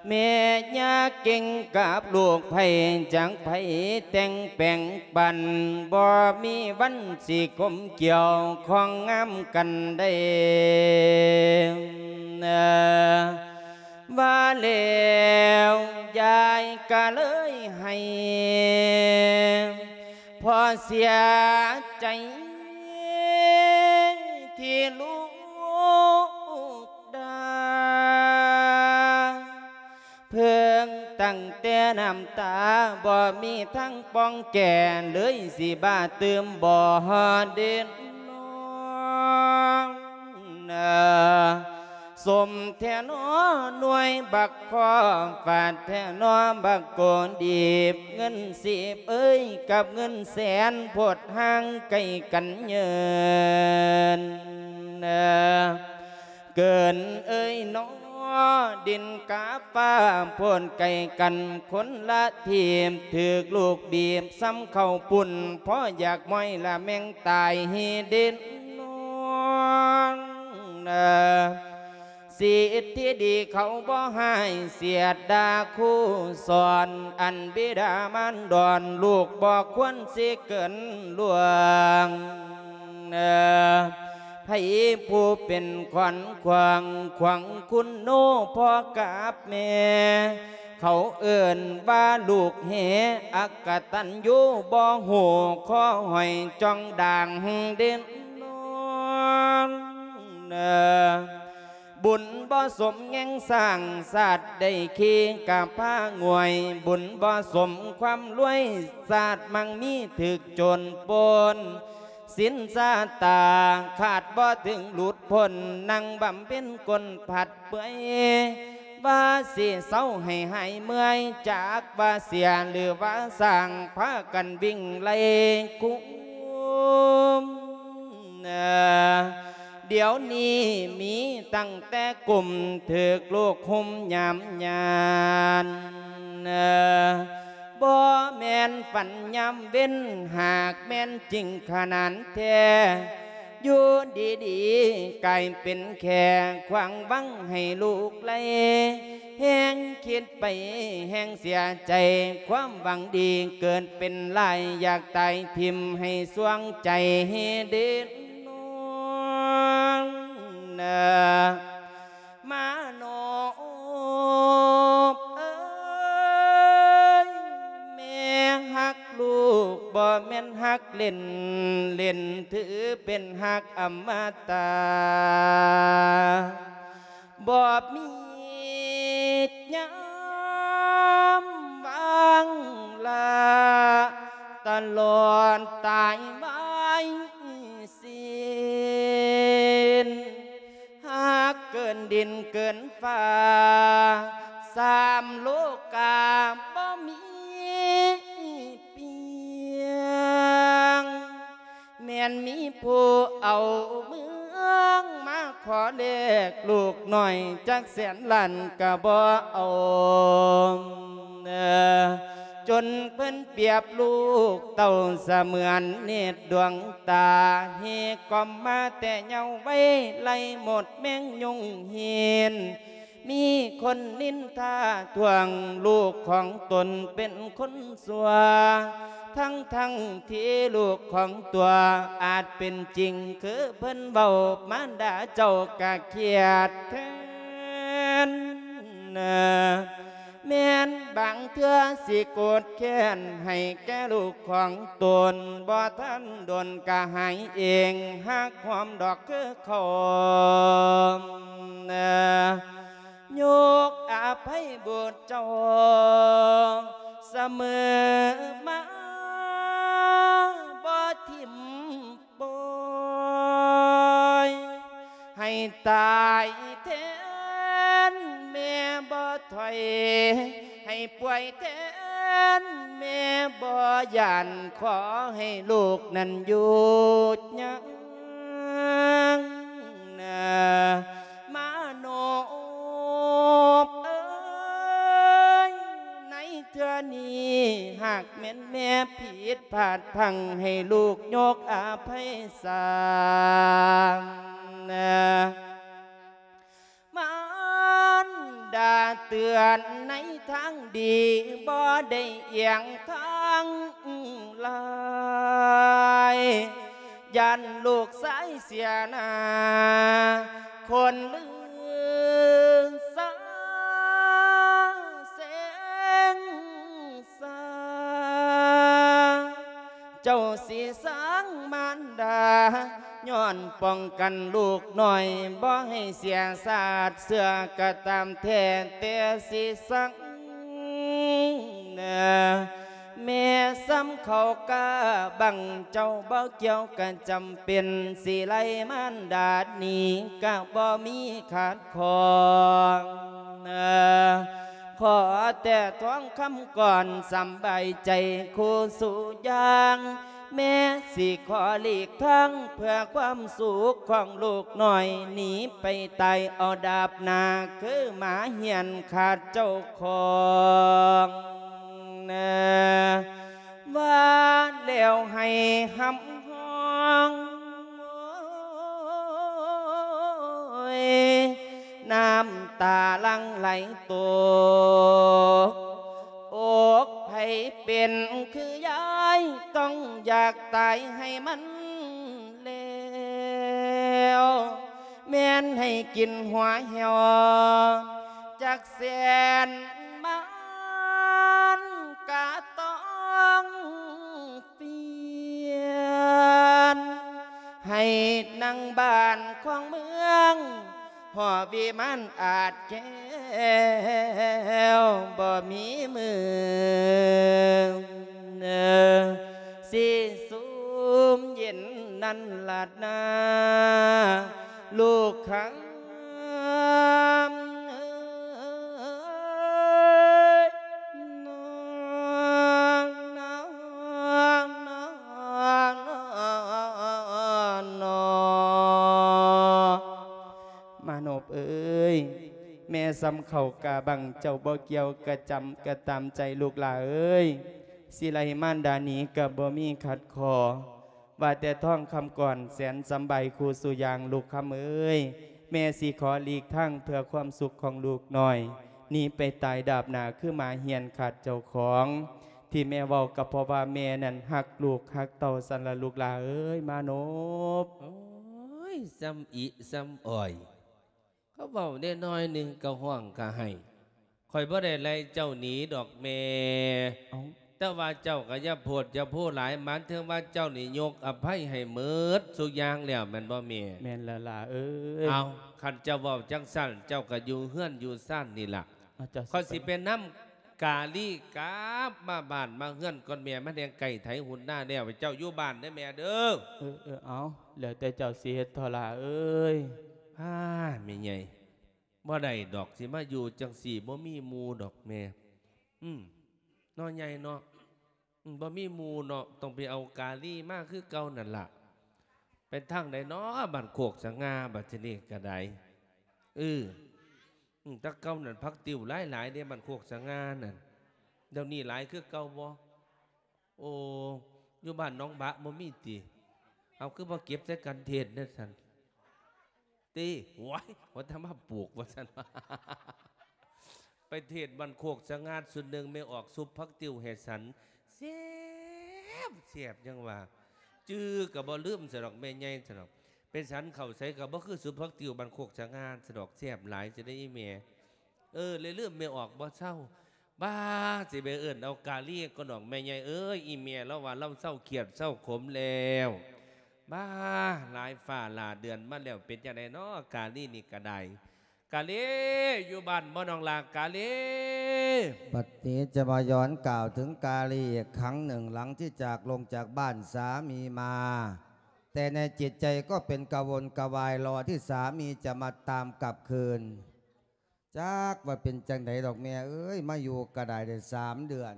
ແມ່ຢ່າເກັ່ງກັບລູກໃຜ ຈັກໃຜແຕ່ງແປງປັນ ບໍ່ມີວັນຊິກົມກ່ຽວຂ້ອງງາມກັນໄດ້ ວ່າແລ້ວຍາຍກະເລີຍໃຫ້ພໍ່ເສຍໃຈ ທີ່ລູກ ດາ ເພິ່ງຕັ້ງແຕ່ນ້ຳຕາ ບໍ່ມີທາງປ່ອງແກ້ ເລີຍຊິບ້າຕື່ມບໍ່ເດນອນ ສົມແທ້ນໍໜ່ວຍບັກຄໍ ຟາດແທ້ນໍບັກໂກດີບ ເງິນສິບເອີຍ ກັບເງິນແສນ ໂພດຫ່າງໄກກັນເຍີນ ເກີນເອີຍນໍ ດິນກັບຟ້າໂພດໄກກັນຄົນລະທີບ ຖືກລູກບີບສ່ຳເຂົ້າປຸ້ນ ພໍຢາກມ້ອຍລະແມ່ງຕາຍເດນອນ ສິດທີ່ດີເຂົາບໍ່ຮ້າຍ ສຽດດ່າຄູສອນ ອັນບິດາມານດອນ ລູກບໍ່ຄວນຊິເກີນລ່ວງ ໃຜຜູ້ເປັນຂວັນຂວາງຂວາງຄຸນໂນພໍ່ກັບແມ່ ເຂົາເອີ້ນວ່າລູກເຫ ອັກກະຕັນຍູ ບໍ່ຮູ້ຂໍຫອຍຈ່ອງດ່າງເດນອນ ບຸນບໍ່ສົມແງງສ້າງ ຊາດໄດ້ຂີ່ກະພາງ່ວຍ ບຸນບໍ່ສົມຄວາມລວຍ ຊາດມັງມີຖືກໂຈນປົນ ສິນຊາຕາຂາດບໍ່ເຖິງຫຼຸດພົ້ນ ນັ່ງບຳເພັນກົ້ນພັດເປື່ອຍ ວ່າຊິເຊົາໃຫ້ຫາຍເມື່ອຍ ຈັກວ່າເສຍຫຼືວ່າສ້າງ ພາກັນວິ່ງໄລ່ກຸມ ດຽວນີ້ມີຕັ້ງແຕ່ກຸ່ມ ຖືກລູກຮຸມຍາມຍານ ບໍ່ແມ່ນຝັນຍາມເວັນ ຫາກແມ່ນຈິງຂະໜານແທ້ ຢູ່ດີໆກາຍເປັນແຂ້ ຂວາງວັງໃຫ້ລູກໄລ່ ແຮງຄິດໄປແຮງເສຍໃຈ ຄວາມຫວັງດີເກີດເປັນລາຍ ຢາກຕາຍຖິ້ມໃຫ້ສວງໃຈເດນອນ ມາໂນບເອີຍ ແມ່ຮັກລູກ ບໍ່ແມ່ນຮັກເລ່ນ ເລ່ນຖືເປັນຮັກອຳມະຕະ ບໍ່ມີຍາ ງລາ ຕະຫຼອດຕາຍວາຍສິ້ນ ຫາກເກີນດິນເກີນຟ້າ ສາມໂລກາບໍ່ມີປ່ຽງ ແມ່ນມີຜູ້ເອົາເມືອງມາຂໍແລກລູກນ້ອຍ ຈັກແສນລ້ານກະບໍ່ເອົາ ຈົນເພິ່ນປຽບລູກເຕົ້າສະເໝືອນເນດດວງຕາ ເຮກອມມາແຕ່ເຍົາໄວ ໄລ່ໝົດແມງຍຸງຫີນ ມີຄົນນິນທາທ່ວງລູກຂອງຕົນເປັນຄົນຊົ່ວ ທັງໆທີ່ລູກຂອງຕົວອາດເປັນຈິງຄືເພິ່ນເວົ້າ ມານດາເຈົ້າກະຄຽດແທນ ແມ່ນບາງເທື່ອຊິໂກດແຄ້ນໃຫ້ແກ່ລູກຂອງຕົນ ບໍ່ທັນດົນກະຫາຍເອງ ຫາກຄວາມດອກຄືເຂົາ ຍົກອະໄພບຸດເຈົ້າສະເໝີມາ ບໍ່ຖິ້ມປ່ອຍ ໃຫ້ຕາຍແທນແມ່ບໍ່ຖອຍ ໃຫ້ປ່ວຍແທນແມ່ບໍ່ຢ້ານ ຂໍໃຫ້ລູກນັ້ນຢູ່ຍາວນານ ມາໂນບເອີຍ ໃນເທື່ອນີ້ຫາກແມ່ນແມ່ຜິດພາດພລັ້ງ ໃຫ້ລູກຍົກອະໄພສາ ມານດາເຕືອນໃນທາງດີ ບໍ່ໄດ້ອຽງທາງລາຍ ຢ້ານລູກຊາຍເສຍໜ້າ ຄົນລືສາເສັງສາ ເຈົ້າຊິສັງມານດາ ຍ້ອນປ້ອງກັນລູກນ້ອຍ ບໍ່ໃຫ້ເສຍຊາດເຊື້ອກະຕາມແທ້ ແຕ່ຊິສັງ ແມ່ສ່ຳເຂົ້າກາບັງ ເຈົ້າບໍ່ກ່ຽວກະຈຳເປັນ ຊິໄລ່ມານດາໜີກະບໍ່ມີຂາດຂ້ອງ ຂໍແຕ່ທອງຄຳກ່ອນສຳບາຍໃຈຄູ່ສູ່ຢ່າງ ແມ່ຊິຂໍຫຼີກທາງເພື່ອຄວາມສຸກຂອງລູກນ້ອຍ ໜີໄປຕາຍເອົາດາບໜ້າ ຄືໝາຮຽນຂາດເຈົ້າຂອງ ວ່າແລ້ວໃຫ້ຮຳຮ້ອງ ໂອ້ຍ ນ້ຳຕາຫຼັ່ງໄຫຼຕົກ ອົກໃຜເປັນຄືຍາຍ ຕ້ອງຢາກຕາຍໃຫ້ມັນແລ້ວ ແມ່ນໃຫ້ກິນຫົວແຫ້ວ ຈັກແສນມານກະຕ້ອງປ່ຽນ ໃຫ້ນັ່ງບ້ານຂອງເມືອງ ຫໍວິມານອາດແກ້ວ ບໍ່ມີມື້ ເອີ ຊິຊຸ່ມເຢັນນັ້ນລະນາ ລູກຂ້າເອີຍ ມາໂນບເອີຍ ແມ່ສ່ຳເຂົ້າກາບັງ ເຈົ້າບໍ່ກ່ຽວກະຈຳກະຕາມໃຈລູກຫຼ້າເອີຍ ຊິໄລ່ມານດາໜີກະບໍ່ມີຂັດຂໍ້ ວ່າແຕ່ທອງຄຳກ່ອນແສນສຳບາຍຄູ່ສູ່ຢ່າງ ລູກຄຳເອີຍ ແມ່ຊິຂໍຫຼີກທາງເພື່ອຄວາມສຸກຂອງລູກນ້ອຍ ໜີໄປຕາຍດາບໜ້າຄືໝາຮຽນຂາດເຈົ້າຂອງ ທີ່ແມ່ເວົ້າກໍເພາະວ່າແມ່ນັ້ນຮັກລູກຮັກເຕົ້າຊັ້ນລະລູກຫຼ້າເອີຍ ມາໂນບ. ໂອ້ຍ ສ່ຳອິສ່ຳອອຍ ເຂົາເວົ້າແດ່ນ້ອຍໜຶ່ງກໍຮ້ອງກະໄຫ້ ຂ້ອຍບໍ່ໄດ້ໄລ່ເຈົ້າໜີດອກແມ່ ເອົ້າ ແຕ່ວ່າເຈົ້າກໍຢ່າໂພດຢ່າໂພຫຼາຍ ໝາຍເຖິງວ່າເຈົ້ານີ້ຍົກອະໄພໃຫ້ໝົດສູ່ຢ່າງແລ້ວແມ່ນບໍ່ແມ່? ແມ່ນແລ້ວຫຼ້າເອີຍ. ເອົ້າ ຄັນເຈົ້າເວົ້າຈັ່ງຊັ້ນ ເຈົ້າກໍຢູ່ເຮືອນຢູ່ຊານນີ້ລະ ເອົາ ເຈົ້າ ຂ້ອຍຊິໄປນຳ ກາລີກລັບມາບ້ານມາເຮືອນກ່ອນແມ່ ມັນແຮ່ງໃກ້ໄຖຮຸນນາແລ້ວ. ເຈົ້າຢູ່ບ້ານເດີແມ່ເດີ. ເອີ ເອີ ເອົາ ແລ້ວແຕ່ເຈົ້າຊິເຮັດເຖາະຫຼ້າເອີຍ. ອ້າ ແມ່ໃຫຍ່ ບໍ່ໄດ້ດອກ ຊິມາຢູ່ຈັ່ງຊີ້ ບໍ່ມີໝູ່ດອກແມ່. ອືມ ເນາະ ໃຫຍ່ເນາະ. ອືມ ບໍ່ມີໝູ່ເນາະ ຕ້ອງໄປເອົາກາລີມາຄືເກົ່ານັ້ນລະ. ໄປທາງໃດເນາະ ບ້ານໂຄກສະຫງ່າ ບັດທີນີ້ກະໄດ້. ເອີ ອືມ ແຕ່ເກົ່ານັ້ນຜັກຕິວຫຼາຍໆເດ້ ບ້ານໂຄກສະຫງ່ານັ້ນ. ດຽວນີ້ຫຼາຍຄືເກົ່າບໍ່? ໂອ້ ຢູ່ບ້ານໜອງບະບໍ່ມີຕິ? ເອົາ ຄືບໍ່ເກັບໃສ່ກັນເທດແນວຊັ້ນ? ຕິ ໂອ້ຍ ວ່າແຕ່ມາປູກວ່າຊັ້ນ. ໄປເທດບ້ານໂຄກສະຫງ່າຊຸດໜຶ່ງ ແມ່ອອກຊຸບຜັກຕິວໃຫ້ສັນ ແຊບ ແຊບ ຍັງວ່າ ຈື່ກະບໍ່ລືມຊັ້ນດອກ ແມ່ໃຫຍ່ຊັ້ນດອກ. ໄປສັນເຂົ້າໃສກະບໍ່ຄືຊຸບຜັກຕິວບ້ານໂຄກສະຫງ່າຊັ້ນດອກ ແຊບຫຼາຍຊັ້ນເດ້ອີ່ແມ່. ເອີ ເລີຍລືມແມ່ອອກບໍ່ເຊົາ. ບ້າ ຊິໄປເອີ້ນເອົາກາລີກ່ອນດອກແມ່ໃຫຍ່ເອີຍ. ອີ່ແມ່ລາວວ່າລາວເຊົາຄຽດເຊົາຂົມແລ້ວ. ບ້າ ຫຼາຍຟ້າຫຼາຍເດືອນມາແລ້ວ ເປັນຈັ່ງໃດນໍ ກາລີນີ້ກະໄດ້. ກາລີ ຢູ່ບ້ານບໍ່ ນ້ອງຫຼ້າກາລີ? ບັດນີ້ຈະມາຍ້ອນກ່າວເຖິງກາລີອີກຄັ້ງໜຶ່ງ ຫຼັງທີ່ຈາກລົງຈາກບ້ານສາມີມາ ແຕ່ໃນຈິດໃຈກໍເປັນກະວົນກະວາຍ ລໍທີ່ສາມີຈະມາຕາມກັບຄືນ. ຈັກວ່າເປັນຈັ່ງໃດດອກແມ່ເອີຍ ມາຢູ່ກະໄດ້ໄດ້ສາມເດືອນ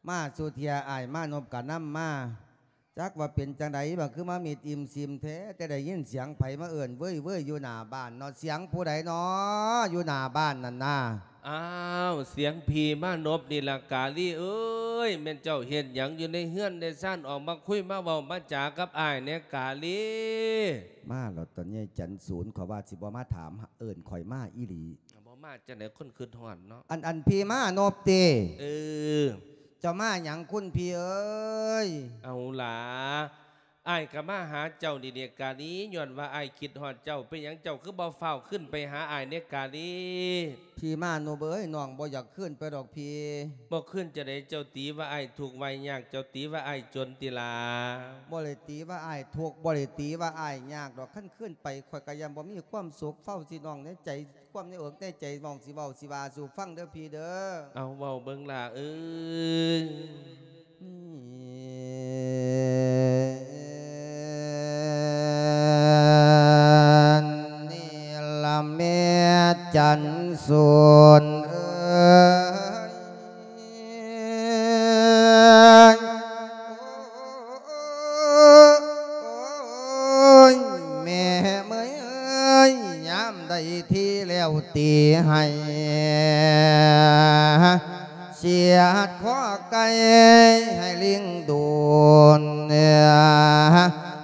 ມາສູ່ເທື່ອ ອ້າຍມານົບກະນຳມາ. ຈັກວ່າເປັນຈັ່ງໃດ ບາດຄືມາມິດອີ່ມຊີມແທ້ ແຕ່ໄດ້ຍິນສຽງໃຜມາເອີ້ນເວີ້ຍໆຢູ່ໜ້າບ້ານເນາະ. ສຽງຜູ້ໃດນໍ ຢູ່ໜ້າບ້ານນັ້ນນາ? ອ້າວ ສຽງພີ່ມານົບນີ້ລະກາລີເອີຍ. ແມ່ນເຈົ້າເຮັດຫຍັງຢູ່ໃນເຮືອນໃນຊານ ອອກມາຄຸຍມາເວົ້າມາຈາກັບອ້າຍແດ່ກາລີ. ມາແລ້ວຕົວະ ຍາຍຈັນສູນ ຂ້ອຍວ່າຊິບໍ່ມາຖາມ ເອີ້ນຂ້ອຍມາອີ່ຫຼີ. ບໍ່ມາຈັ່ງໃດ ຄົນຄຶດຮອດເນາະ. ອັນ ອັນ ພີ່ມານົບຕິ? ເອີ. ເຈົ້າມາຫຍັງຄຸນພີ່ເອີຍ? ເອົາຫຼ້າ ອ້າຍກະມາຫາເຈົ້ານີ້ເດກາລີ ຍ້ອນວ່າອ້າຍຄິດຮອດເຈົ້າ. ເປັນຫຍັງເຈົ້າຄືບໍ່ຟ້າວຂຶ້ນໄປຫາອ້າຍເດກາລີ? ພີ່ມານົບເອີຍ ນ້ອງບໍ່ຢາກຄືນໄປດອກພີ່. ບໍ່ຄືນຈັ່ງໃດ? ເຈົ້າຕີວ່າອ້າຍທຸກວ່າຍາກ ເຈົ້າຕີວ່າອ້າຍຈົນຕິຫຼ້າ? ບໍ່ໄດ້ຕີວ່າອ້າຍທຸກ ບໍ່ໄດ້ຕີວ່າອ້າຍຍາກດອກ. ຄັນຄືນໄປ ຂ້ອຍກະຢ້ານບໍ່ມີຄວາມສຸກ. ເຝົ້າຊິນ້ອງໃນໃຈ ຄວາມໃນເອິກໃນໃຈ ນ້ອງຊິເວົ້າຊິວ່າສູ່ຟັງເດີພີ່ເດີ. ເອົາ ເວົ້າເບິ່ງຫຼ້າເອີຍ. ນີ້ລະແມ່ຈັນສູນເອີຍ ໂອ້ຍ ແມ່ເອີຍ ຍາມໃດທີ່ແລ້ວຕີໃຫ້ ສຽດຄໍໄກ່ໃຫ້ລິງດູນ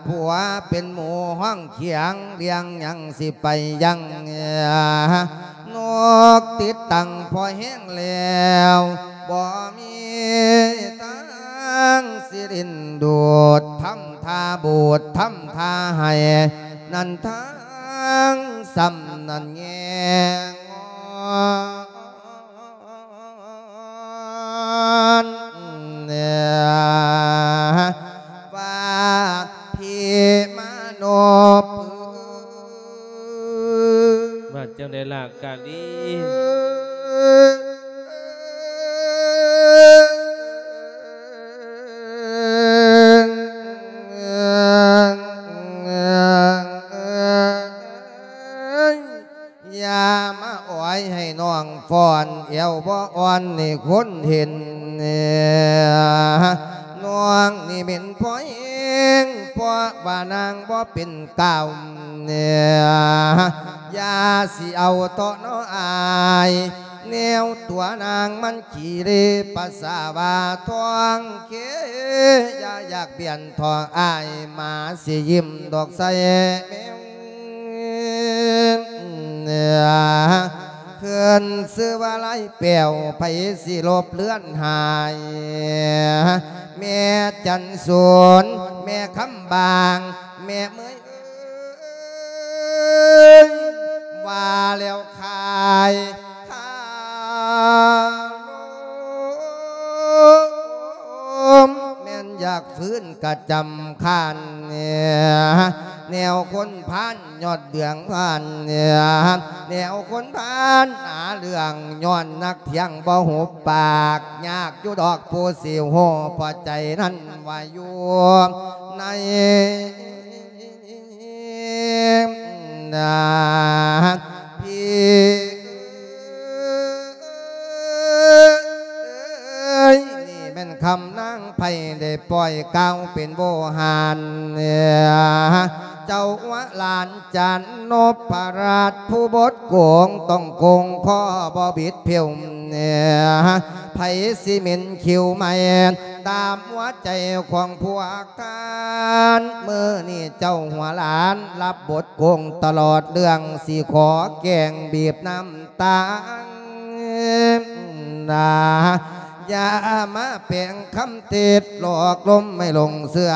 ຜົວເປັນໝູຫ້ອງຂຽງ ລ້ຽງຫຍັງຊິໄປຍັງ ນົກຕິດຕັ້ງພໍແຮງແລ້ວ ບໍ່ມີທາງຊິດຶງດູດ ທຳທ່າບູດ ທຳທ່າໃຫ້ ນັ້ນທາງຊ້ຳນັ້ນແງງອນ ວ່າພີ່ມານົບ ວ່າຈັ່ງໃດລະກາລີ? ຢ່າມາອ້ອຍໃຫ້ນ້ອງຟ້ອນ ແອວບໍ່ອ່ອນໃຫ້ຄົນເຫັນ. ນ້ອງນີ້ເປັນພໍ່ແຮງ ເພາະວ່ານາງບໍ່ເປັນກ້າວ. ຢ່າຊິເອົາເທາະເນາະອ້າຍ ແນວຕົວນາງມັນຂີ້ເລປາສາວາທອງເຄ ຢ່າຢາກບຽນເທາະອ້າຍ ໝາຊິຍິ້ມດອກໃສ່ແມວ. ເອີ້ນຊື່ວ່າລາຍແປ້ວ ໃຜຊິລົບເລືອນຫາຍ ແມ່ຈັນສອນ ແມ່ຄຳບາງ ແມ່ເມີຍ ເອີຍ ວ່າແລ້ວຄາຍຄາລົມ ແມ່ນຢາກຟື້ນກະຈຳຄານ ແນວຄົນພານຍອດເລື່ອງພານ ແນວຄົນພານຫາເລື່ອງ ຍ້ອນນັກທ່ຽງບໍ່ຫຸບປາກ ຍາກຢູ່ດອກຜູ້ຊິຮູ້ ເພາະໃຈນັ້ນວ່າຢູ່ໃນ ນາ ພີ່ເອີຍ ນີ້ແມ່ນຄຳນາງໄພ້ໄດ້ປ່ອຍກ່າວເປັນໂວຫານ ເຈົ້າວ່າຫຼານຈານນົບພະລາດ ຜູ້ບົດໂກງຕ້ອງໂກງ ຂໍບໍ່ບິດຜິວ ໃຜຊິເໝັນຄິວໃໝ່ ຕາມຫົວໃຈຂອງພວກທ່ານ ມື້ນີ້ເຈົ້າຫົວຫຼານ ຮັບບົດໂກງຕະຫຼອດເລື່ອງ ຊິຂໍແກງບີບນ້ຳຕາ ນາ ຢ່າມາແປງຄຳເທັດ ຫຼອກລົມໃຫ້ຫຼົງເຊື່ອ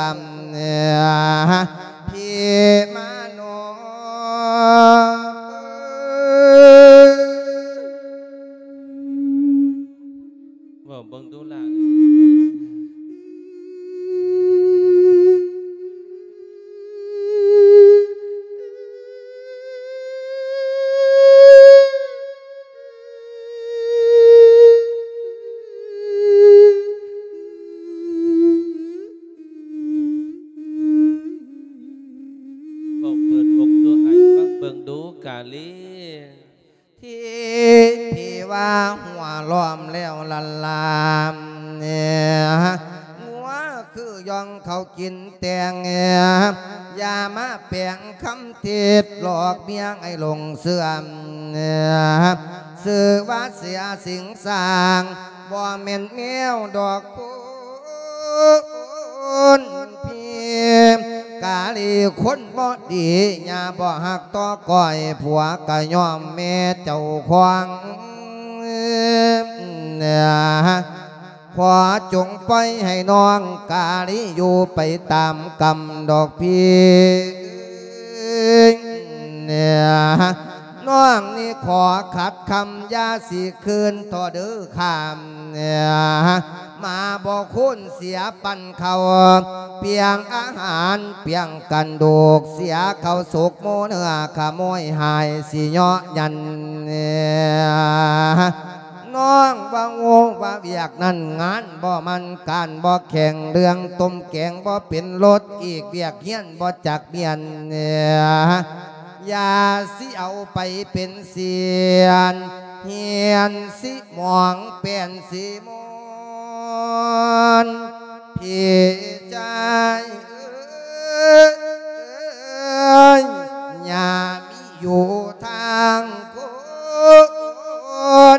ພີ່ມາໂນ ເວົ້າເບິ່ງດູລະ ເວົ້າເປີດອົກດູອ້າຍ ຟັງເບິ່ງດູກາລີ. ທີ່ ທີ່ວ່າຫົວລ້ອມແລ້ວລະລາມ ງົວຄືຢ່ອງເຂົ້າກິນແຕງ ຢ່າມາແປງຄຳເທັດ ຫຼອກເມຍໃຫ້ຫຼົງເຊື່ອ ຊື່ວ່າເສຍສິງສ້າງ ບໍ່ແມ່ນແນວດອກ ຄົນພີກາລີຄົນບໍ່ດີ ຢ່າບໍ່ຮັກຕໍ່ກ້ອຍ ຜົວກະຍອມແມ່ເຈົ້າຂອງ ຂໍຈົ່ງປ່ອຍໃຫ້ນ້ອງກາລີຢູ່ໄປຕາມກຳດອກພີ່ ນ້ອງນີ້ຂໍຂັດຄຳ ຢ່າຊິຄືນຕໍ່ເດີຂ້າມ ມາບໍ່ຄູນເສຍປັນເຂົ້າ ປ່ຽງອາຫານປ່ຽງກັນດູກ ເສຍເຂົ້າສຸກໝູເນື້ອຂະໂມຍຫາຍ ຊິເຍາະຢັນ ນ້ອງວ່າໂງ່ວ່າວຽກນັ້ນ ງານບໍ່ໝັ້ນການບໍ່ແຂງ ເລື່ອງຕົ້ມແກງບໍ່ເປັນລົດ ອີກວຽກຮຽນບໍ່ຈັກມຽນ ຢ່າຊິເອົາໄປເປັນສຽນ ຮຽນຊິໝອງແປ່ນຊິມອນ ພີ່ຊາຍເອີຍ ຢ່າມີຢູ່ທາງຄົ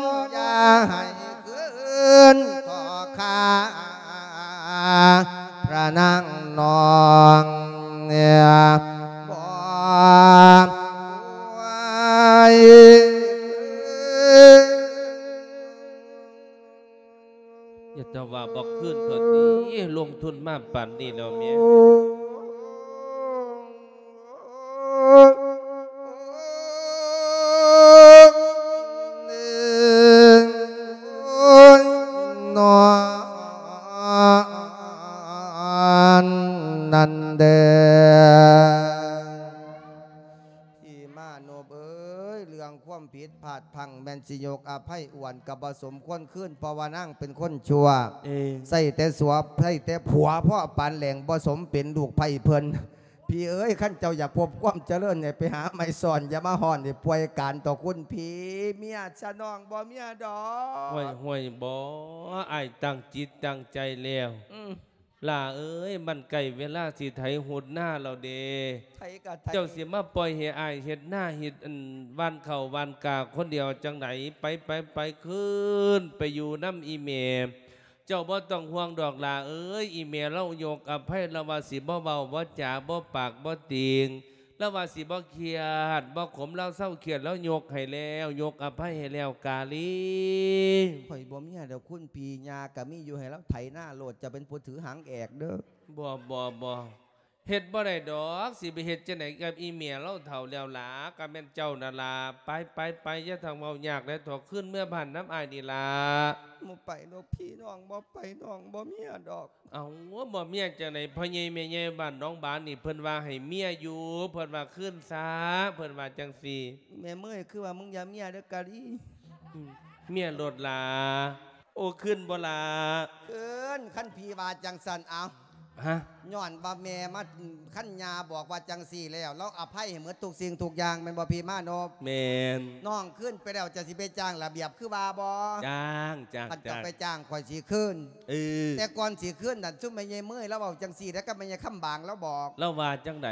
ນ ຢ່າໃຫ້ຄືນຕໍ່ຂ້າ ພະນາງນ້ອງເອີຍ ບໍ່ໄຫວ ຢ່າແຕ່ວ່າບໍ່ຄືນເທື່ອນີ້ ລົງທຶນມາປານນີ້ແລ້ວແມ່ ໂອ້ຍ ນ້ອງ ນັ້ນເດີ ທີ່ມາໂນບເອີຍ ເລື່ອງຄວາມຜິດພາດພັ້ງແມ່ນຊິຍົກອະໄພ ອ້ວນກໍບໍ່ສົມຄວນຄືນ ເພາະວ່ານາງເປັນຄົນຊົ່ວ ເອີ ໃສ່ແຕ່ສວ ໃສ່ແຕ່ຜົວພໍປານແຫຼງ ບໍ່ສົມເປັນລູກໃພ້ເພິ່ນ. ພີ່ເອີຍ ຄັນເຈົ້າຢາກພົບຄວາມຈະເລີນ ໃຫ້ໄປຫາໄມ້ຊ້ອນ ຢ່າມາຮ້ອນໃຫ້ປ່ວຍການຕໍ່ຄຸນພີ່ ເມຍຊະນ້ອງບໍ່ເມຍດອກ. ຫ້ວຍໆ ບໍ່ ອ້າຍຕັ້ງຈິດຕັ້ງໃຈແລ້ວ ອືມ ຫຼ້າເອີຍ ມັນໃກ້ເວລາຊິໄຖຫົດນາແລ້ວເດ້ ໃຜກໍໄຖ ເຈົ້າຊິມາປ່ອຍໃຫ້ອ້າຍເຮັດນາເຮັດອັນຫວ່ານເຂົ້າຫວ່ານກາຄົນດຽວຈັ່ງໃດ ໄປໆໆ ຄືນໄປຢູ່ນຳອີ່ແມ່ ເຈົ້າບໍ່ຕ້ອງຫ່ວງດອກຫຼ້າເອີຍ ອີ່ແມ່ລາວຍົກອະໄພ ລາວວ່າຊິບໍ່ເວົ້າບໍ່ຈາ ບໍ່ປາກບໍ່ຕີງ ລາວວ່າຊິບໍ່ຄຽດບໍ່ຂົມ ລາວເຊົາຄຽດ ລາວຍົກໃຫ້ແລ້ວ ຍົກອະໄພໃຫ້ແລ້ວ ກາລີ. ຂ້ອຍບໍ່ເມຍດອກຄຸນພີ່ ຍ່າກໍມີຢູ່ ໃຫ້ລາວໄຖນາໂລດ ເຈົ້າເປັນຜູ້ຖືຫາງແອກເດີ. ບໍ່ ບໍ່ ບໍ່ ເຮັດບໍ່ໄດ້ດອກ ຊິໄປເຮັດຈັ່ງໃດກັບອີ່ແມ່ລາວເຖົ້າແລ້ວຫຼ້າ ກໍແມ່ນເຈົ້ານັ້ນລະ ໄປ ໄປ ໄປ ຢ່າທັງເວົ້າຍາກແລ້ວ ຖອກຄືນເມືອບ້ານນຳອ້າຍນີ້ລະ ໝູ່ປ ດອກພີ່ນ້ອງ ບໍ່ໄປນ້ອງບໍ່ເມຍດອກ. ເອົ້າ ບໍ່ເມຍຈັ່ງໃດ? ພໍ່ໃຫຍ່ແມ່ໃຫຍ່ບ້ານໜອງບານນີ້ ເພິ່ນວ່າໃຫ້ເມຍຢູ່ ເພິ່ນວ່າຄືນຊາ ເພິ່ນວ່າຈັ່ງຊີ້. ແມ່ເມີຍ ຄືວ່າມຶງຢ່າເມຍເດີກາລີ. ອືມ ເມຍໂລດຫຼ້າ. ໂອ້ ຄືນບໍ່ຫຼ້າ? ຄືນ ຄັນພີ່ວ່າຈັ່ງຊັ້ນ. ເອົ້າ ຮະ? ຍ້ອນວ່າແມ່ມາ ຄັນຍ່າບອກວ່າຈັ່ງຊີ້ແລ້ວ ລາວອະໄພໃຫ້ໝົດທຸກສິ່ງທຸກຢ່າງ ແມ່ນບໍ່ພີ່ມານົບ? ແມ່ນ. ນ້ອງຄືນໄປແລ້ວ ເຈົ້າຊິໄປຈ້າງລະບຽບຄືວ່າບໍ່? ຈ້າງ ຈ້າງ ຄັນເຈົ້າໄປຈ້າງ ຂ້ອຍຊິຄືນ. ເອີ ແຕ່ກ່ອນຊິຄືນນັ້ນ ຊຸມແມ່ໃຫຍ່ເມີຍລາວເວົ້າຈັ່ງຊີ້ເດ້ ກັບແມ່ໃຫຍ່ຄຳບາງລາວບອກ. ລາວວ່າຈັ່ງໃດ?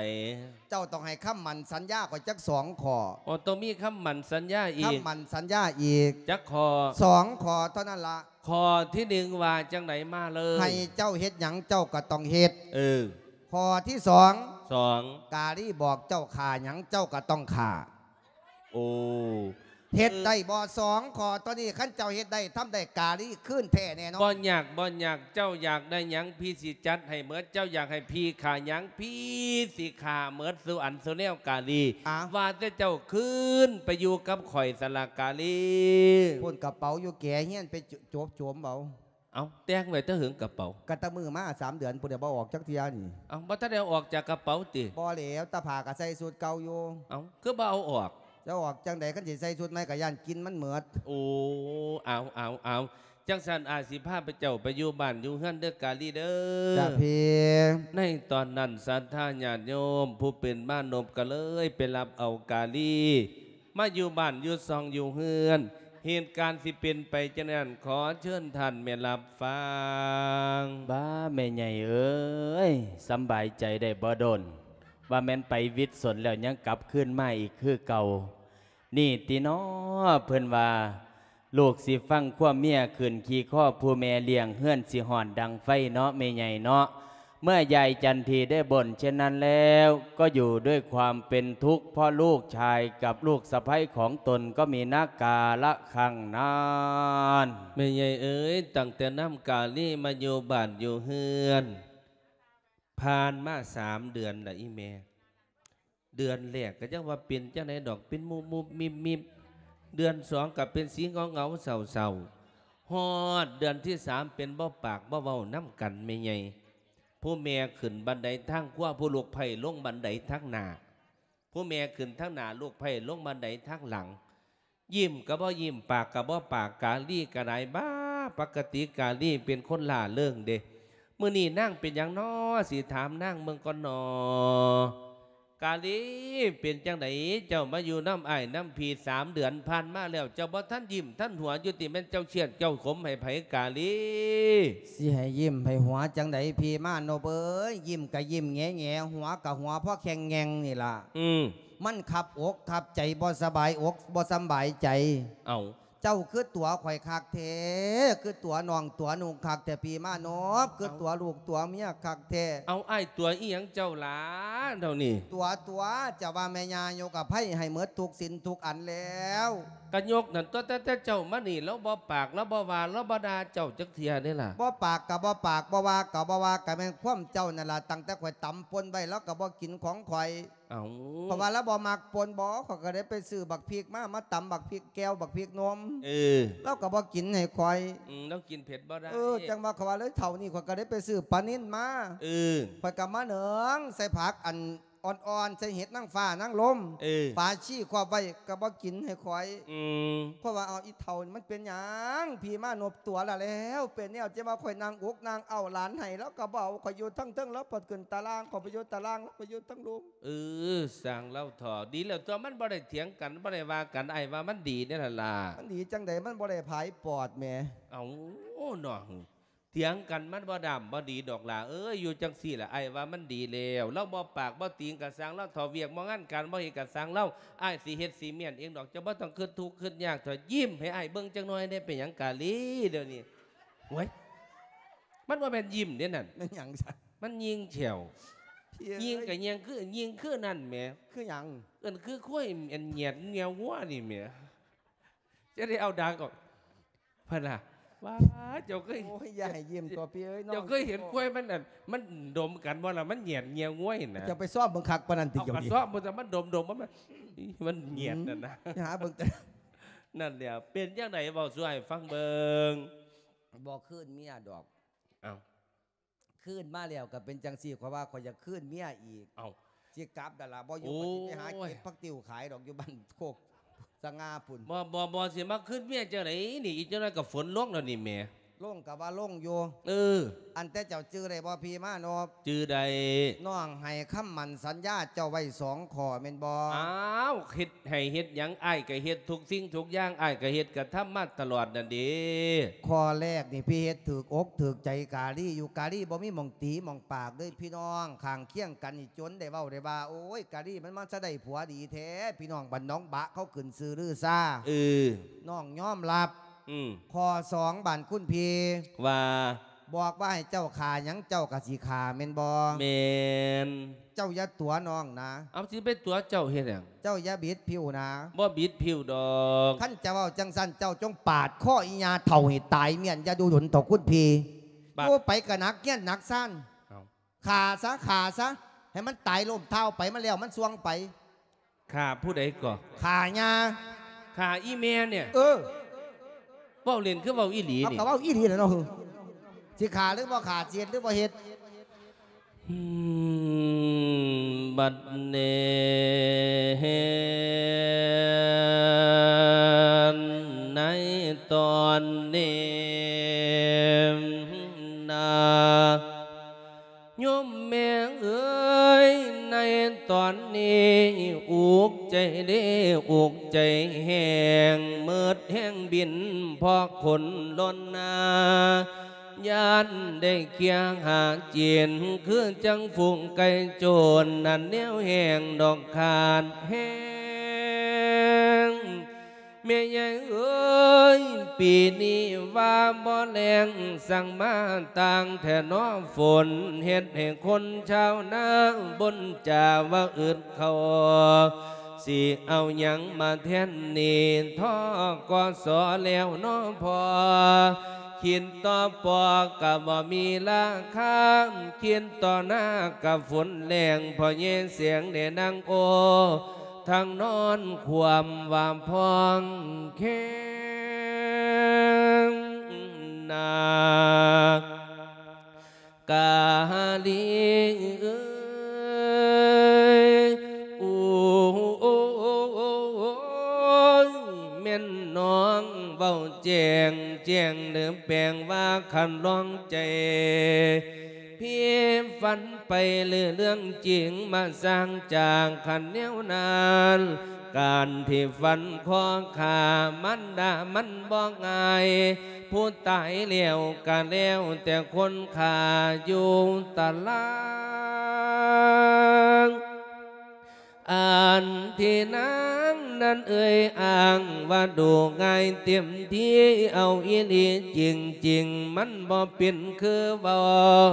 ເຈົ້າຕ້ອງໃຫ້ຄຳໝັ້ນສັນຍາຂ້ອຍຈັກສອງຂໍ້. ອໍ ຕ້ອງມີຄຳໝັ້ນສັນຍາອີກ. ຄຳໝັ້ນສັນຍາອີກ. ຈັກຂໍ້? ສອງຂໍ້ເທົ່ານັ້ນລະ. ຂໍ້ທີໜຶ່ງວ່າຈັ່ງໃດ? ມາເລີຍ. ໃຫ້ເຈົ້າເຮັດຫຍັງເຈົ້າກໍຕ້ອງເຮັດ. ເອີ. ຂໍ້ທີສອງ ສອງ ກາລີບອກເຈົ້າຂ້າຫຍັງເຈົ້າກໍຕ້ອງຂ້າ. ໂອ້ ເຮັດໄດ້ບໍ່? ເອີ ສອງຂໍ້ຕົວນີ້ ຄັນເຈົ້າເຮັດໄດ້ ທຳໄດ້ ກາລີຄືນແທ້ແນ່ນອນ. ບໍ່ຍາກ ບໍ່ຍາກ ເຈົ້າຢາກໄດ້ຫຍັງ ພີ່ຊິຈັດໃຫ້ໝົດ. ເຈົ້າຢາກໃຫ້ພີ່ຂ້າຫຍັງ ພີ່ຊິຂ້າໝົດສູ່ອັນສູ່ແນວ ກາລີ. ອາ ວ່າແຕ່ເຈົ້າຄືນໄປຢູ່ກັບຂ້ອຍຊັ້ນລະ ກາລີ. ພຸ້ນ ກະເປົາຢູ່ແກຮຽນ ໄປໂຈມ ໂຈມເອົາ. ເອົ້າ ແຕ່ງໄວ້ແຕ່ເຫິງກະເປົາ? ກະແຕ່ມື້ມາສາມເດືອນພຸ້ນແຫຼະ ບໍ່ອອກຈັກເທື່ອນີ້. ເອົ້າ ບໍ່ທັນໄດ້ເອົາອອກຈາກກະເປົາຕິ? ບໍ່ແຫຼ້ວ ຕາຜ້າກະໃສ່ຊຸດເກົ່າຢູ່. ເອົ້າ ຄືບໍ່ເອົາອອກ? ຈະອອກຈັ່ງໃດ ຄັນຊິໃສ່ຊຸດໃໝ່ກະຢ້ານກິ່ນມັນໝົດ. ໂອ້ ເອົາ ເອົາ ເອົາ ຈັ່ງຊັ້ນ ອ້າຍຊິພາພະເຈົ້າໄປຢູ່ບ້ານຢູ່ເຮືອນເດີ ກາລີເດີ. ຈ້າພີ່. ໃນຕອນນັ້ນ ສັດທາຍາດໂຍມຜູ້ເປັນມານົບກະເລີຍໄປຮັບເອົາກາລີ ມາຢູ່ບ້ານຢູ່ຊ່ອງຢູ່ເຮືອນ. ເຫດການຊິເປັນໄປຈັ່ງນັ້ນ ຂໍເຊີນທ່ານແມ່ຮັບຟັງ. ບ້າ ແມ່ໃຫຍ່ເອີຍ ສຳບາຍໃຈໄດ້ບໍ່ດົນ ວ່າແມ່ນໄປວິດສົນແລ້ວ ຍັງກັບຄືນມາອີກຄືເກົ່າ. ນີ້ຕິນໍ ເພິ່ນວ່າ ລູກຊິຟັງຄວາມເມຍ ຂຶ້ນຂີ່ຄໍຜູ້ແມ່ລ້ຽງ ເຮືອນຊິຮ້ອນດັ່ງໄຟເນາະ ແມ່ໃຫຍ່ເນາະ. ເມື່อยາຍຈັນທີได้บ่นเช่นนั้นแล้ว ก็อยู่ด้วยความเป็นทุกข์ เพราะลูกชายกับลูกสะใภ้ของตนก็มีนักกาละครั้งนั้น. ແມ່ໃຫຍ່ເອີຍ ຕັ້ງແຕ່ນຳກາລີມາຢູ່ບ້ານຢູ່ເຮືອນ ຜ່ານມາສາມເດືອນລະອີ່ແມ່. ເດືອນແລກກໍຍັງວ່າເປັນຈັ່ງໃດດອກ ເປັນມຸບໆມິບໆ, ເດືອນສອງກໍເປັນສີເຫງົາໆເສົ້າໆ, ຮອດເດືອນທີສາມເປັນບໍ່ປາກບໍ່ເວົ້ານຳກັນແມ່ໃຫຍ່. ຜູ້ແມ່ຂຶ້ນບັນໄດທາງຂວາ ຜູ້ລູກໃພ້ລົງບັນໄດທາງໜ້າ, ຜູ້ແມ່ຂຶ້ນທາງໜ້າ ລູກໃພ້ລົງບັນໄດທາງຫຼັງ. ຍິ້ມກໍບໍ່ຍິ້ມ ປາກກໍບໍ່ປາກ. ກາລີກໍໄດ້ ບ້າ ປົກກະຕິກາລີເປັນຄົນລ່າເລີງເດ້. ມື້ນີ້ນາງເປັນຫຍັງນໍ ຊິຖາມນາງເບິ່ງກ່ອນນໍ. ກາລີ ເປັນຈັ່ງໃດ ເຈົ້າມາຢູ່ນຳອ້າຍນຳພີ່ສາມເດືອນຜ່ານມາແລ້ວ ເຈົ້າບໍ່ທັນຍິ້ມທັນຫົວຢູ່ຕິ? ແມ່ນເຈົ້າຄຽດເຈົ້າຂົມໃຫ້ໃຜ ກາລີ? ຊິໃຫ້ຍິ້ມໃຫ້ຫົວຈັ່ງໃດ ພີ່ມານົບເອີຍ? ຍິ້ມກໍຍິ້ມແຫງໆ ຫົວກໍຫົວພໍແຂ້ງແງງນີ້ລະ. ອືມ ມັນຄັບອົກຄັບໃຈ ບໍ່ສະບາຍອົກບໍ່ສະບາຍໃຈ. ເອົ້າ ເຈົ້າຄືຕົວຂ້ອຍຄັກແທ້ ຄືຕົວນ້ອງຕົວນຸ່ງຄັກແທ້ ພີ່ມານົບ ຄືຕົວລູກຕົວເມຍຄັກແທ້. ເອົ້າ ອ້າຍຕົວອີ່ຫຍັງເຈົ້າຫຼ້າດຽວນີ້? ຕົວ ຕົວ ຈະວ່າແມ່ຍ່າຍົກອະໄພໃຫ້ໝົດທຸກສິ່ງທຸກອັນແລ້ວ. ກະຍົກນັ້ນຕົວະ ແຕ່ ແຕ່ເຈົ້າມານີ້ ລາວບໍ່ປາກ ລາວບໍ່ວ່າ ລາວບໍ່ດ່າເຈົ້າຈັກເທື່ອເດ້ລະ. ບໍ່ປາກກະບໍ່ປາກ ບໍ່ວ່າກະບໍ່ວ່າ ກະແມ່ນຄວາມເຈົ້ານັ້ນລະ. ຕັ້ງແຕ່ຂ້ອຍຕຳປົ່ນໄວ້ ລາວກະບໍ່ກິນຂອງຂ້ອຍ. ເອົ້າ ເພາະວ່າລາວບໍ່ມັກປົ່ນບໍ ຂ້ອຍກໍໄດ້ໄປຊື້ບັກພິກມາ ມາຕຳບັກພິກແກ່ວ ບັກພິກໜົມ. ເອີ ລາວກໍບໍ່ກິນໃຫ້ຂ້ອຍ. ອືມ ລາວກິນເຜັດບໍ່ໄດ້. ເອີ ຈັ່ງວ່າຂ້ອຍວ່າເລີຍ ເທົ່ານີ້ຂ້ອຍກໍໄດ້ໄປຊື້ປານິນມາ. ເອີ ຂ້ອຍກໍມາເໜິງໃສ່ຜັກອັນອ່ອນໆ ໃສ່ເຫັດນາງຟ້ານາງລົມ. ເອີ ປາຊີຄອບໄວ້ກໍບໍ່ກິນໃຫ້ຂ້ອຍ. ອືມ ຂ້ອຍວ່າ ເອົາ ອີ່ເຖົ້ານີ້ມັນເປັນຫຍັງ? ພີ່ມານົບ ຕົວະລະແລ້ວ ເປັນແນວ ຈະວ່າຂ້ອຍນັ່ງອົກນັ່ງເອົ້າຫຼານໃຫ້ ລາວກໍບໍ່ເອົາ. ຂ້ອຍຢູ່ທາງເທິງ ລາວເພິ່ນຂຶ້ນຕາລ່າງ ຂ້ອຍໄປຢູ່ຕາລ່າງ ລາວໄປຢູ່ທາງລຸ່ມ. ເອີ ຊ່າງລາວເຖາະ ດີແລ້ວຕົວະ ມັນບໍ່ໄດ້ຖຽງກັນ ບໍ່ໄດ້ວ່າກັນ ອ້າຍວ່າມັນດີເດ້ຫັ້ນລະ. ມັນດີຈັ່ງໃດ? ມັນບໍ່ໄດ້ຜາຍປອດແໝ. ເອົ້າ ເນາະ ຖຽງກັນມັນບໍ່ດຳ ບໍ່ດີດອກຫຼ້າເອີຍ. ຢູ່ຈັ່ງຊີ້ລະ ອ້າຍວ່າມັນດີແລ້ວ. ລາວບໍ່ປາກບໍ່ຕີງກະຊ່າງລາວເຖາະ ວຽກບໍ່ງານການບໍ່ເຮັດກະຊ່າງລາວ. ອ້າຍຊິເຮັດຊິມ້ຽນເອງດອກ ເຈົ້າບໍ່ຕ້ອງຄຶດທຸກຄຶດຍາກເຖາະ. ຍິ້ມໃຫ້ອ້າຍເບິ່ງຈັກໜ້ອຍແດ່ ເປັນຫຍັງກາລີດຽວນີ້? ໂອ້ຍ ມັນບໍ່ແມ່ນຍິ້ມເດ້ນັ້ນ. ແມ່ນຫຍັງຊະ? ມັນຍິງແຂ້ວ. ຍິງກະຍິງຄື ຍິງຄືນັ້ນແໝ. ຄືຫຍັງ? ເອີ້ນຄືຄວາຍ ອັນຫຍຽດງຽວງົວນີ້ແໝ. ຈະໄດ້ເອົາດາກອອກ ເພິ່ນລະ ວ້າ ເຈົ້າເຄີຍ ໂອ້ຍ ຢ່າໃຫ້ຍິ້ມຕົວະພີ່ເອີຍ. ເຈົ້າເຄີຍເຫັນຄວາຍມັນ ອັນ ມັນດົມກັນບໍ່ລະ ມັນຫຍຽດງຽວງົວຫັ້ນນະ. ເຈົ້າໄປຊອມເບິ່ງຄັກປານນັ້ນຕິ? ເອົາ ເຈົ້າ ກະຊອມເບິ່ງ ແຕ່ມັນດົມໆ ມັນ ມັນຫຍຽດນັ້ນນະ. ອືມ ໄປຫາເບິ່ງແຕ່ ນັ້ນແຫຼະ ເປັນຈັ່ງໃດ ເວົ້າສູ່ອ້າຍຟັງເບິ່ງ. ບໍ່ຄືນເມຍດອກ. ເອົ້າ ຄືນມາແລ້ວກໍເປັນຈັ່ງຊີ້ ຂ້ອຍວ່າຂ້ອຍຢາກຄືນເມຍອີກ. ເອົ້າ ຊິກັບແລ້ວລະ ບໍ່ຢູ່ ໂອ້ຍ ຂ້ອຍຊິໄປຫາເກັບຜັກຕິ້ວຂາຍດອກ ຢູ່ບ້ານໂຄກສະຫງ່າພຸ້ນ. ບໍ່ ບໍ່ ບໍ່ ຊິມາຄືນເມຍຈັ່ງໃດນີ້? ອີກຈັກໜ້ອຍກໍຝົນລົງແລ້ວນີ້ແໝ. ລົງກໍວ່າລົງຢູ່. ເອີ ອັນແຕ່ເຈົ້າຈື່ໄດ້ບໍ່ ພີ່ມານົບ? ຈື່ໄດ້. ນ້ອງໃຫ້ຄຳໝັ້ນສັນຍາເຈົ້າໄວ້ສອງຂໍ້ແມ່ນບໍ່? ອ້າວ ເຮັດໃຫ້ເຮັດຫຍັງ ອ້າຍກໍເຮັດທຸກສິ່ງທຸກຢ່າງ ອ້າຍກໍເຮັດກະທຳມາຕະຫຼອດນັ້ນເດ. ຂໍ້ແລກນີ້ ພີ່ເຮັດຖືກອົກຖືກໃຈກາລີຢູ່. ກາລີບໍ່ມີໝ່ອງຕີໝ່ອງປາກເລີຍ ພີ່ນ້ອງຂ້າງຄຽງກັນນີ້ ຈົນໄດ້ເວົ້າໄດ້ວ່າ ໂອ້ຍ ກາລີມັນມາສະໄດ້ຜົວດີແທ້ ພີ່ນ້ອງບ້ານໜອງບະເຂົາຂຶ້ນຊື່ລືຊາ. ເອີ ນ້ອງຍອມຮັບ. ອືມ ຂໍ້ສອງ ບ້ານຄຸນພີ່ ວ່າ ບອກວ່າໃຫ້ເຈົ້າຂ້າຫຍັງ ເຈົ້າກໍຊິຂ້າແມ່ນບໍ່? ແມ່ນ. ເຈົ້າຢ່າຕົວະນ້ອງນະ. ເອົາ ຊິໄປຕົວະເຈົ້າເຮັດຫຍັງ? ເຈົ້າຢ່າບິດຜິວນະ. ບໍ່ບິດຜິວດອກ. ຄັນຈະເວົ້າຈັ່ງຊັ້ນ ເຈົ້າຈົ່ງປາດຄໍອີ່ຍ່າເຖົ້າໃຫ້ຕາຍມ້ຽນ ຢ່າດູດົນເຖົ້າຄຸນພີ່. ບາດ ໂອ້ ໄປກໍໜັກເຮຍນໜັກຊານ. ເອົ້າ ຂ້າຊະ ຂ້າຊະ ໃຫ້ມັນຕາຍລົ້ມເທົ້າໄປ ມັນແລ້ວມັນສ່ວງໄປ. ຂ້າຜູ້ໃດກໍ? ຂ້າຍ່າ. ຂ້າອີ່ແມ່ນີ້? ເອີ ເວົ້າເລ່ນຄືເວົ້າອີ່ຫຼີນີ້? ເອົາ ກໍເວົ້າອີ່ຫຼີແຫຼະເນາະ. ຊິຂ້າຫຼືບໍ່ຂ້າ ຊິເຮັດຫຼືບໍ່ເຮັດ? ອືມ ບັດນີ້ ໃນຕອນນີ້ນາ ໂຍມແມ່ເອີຍ ໃນຕອນນີ້ອຸກໃຈເດ້ ອຸກໃຈແຮງ ໝົດແຮງບິນເພາະຄົນລ້ນນາ ຢ້ານໄດ້ເຄຍຫາກິນ ຄືຈັ່ງຝູງໄກ່ໂຈນ ນັ້ນແນວແຮງດອກຂາດແຮງ. ແມ່ໃຫຍ່ເອີຍ ປີນີ້ວ່າບໍ່ແລ້ງ ສັ່ງມາຕ່າງແທ້ເນາະຝົນ ເຮັດໃຫ້ຄົນຊາວນາບົ່ນຈາວ່າອຶດເຂົ້າ ຊິເອົາຫຍັງມາແທນໜີ້ ທ.ກ.ສ. ແລ້ວເນາະພໍ່ ຄິດຕໍ່ປໍກໍບໍ່ມີລາຄາ ຄິດຕໍ່ນາກໍຝົນແລ້ງ ພໍ່ໃຫຍ່ແສງໄດ້ນັ່ງໂອ້ ທັງນອນຄວາມວ່າພອງແຂງນາ ກາລີເອີຍ ໂອ້ຍ ແມ່ນນ້ອງເວົ້າແຈ້ງ ແຈ້ງເດີແປງວ່າຄັນລອງໃຈ ພີ່ຝັນໄປເລື່ອງຈິງມາສ້າງຈາກຄັນແນວນັ້ນ ການທີ່ຝັນຂໍຂ້າມານດາມັນບໍ່ງ່າຍ ຜູ້ຕາຍແລ້ວກະແລ້ວແຕ່ຄົນຂ້າຢູ່ຕາລາງ ອັນທີ່ນາງນັ້ນເອີຍອ້າງວ່າດູງ່າຍເຕັມທີ່ ເອົາອີ່ຫຼີຈິງໆ ມັນບໍ່ເປັນຄືເວົ້າ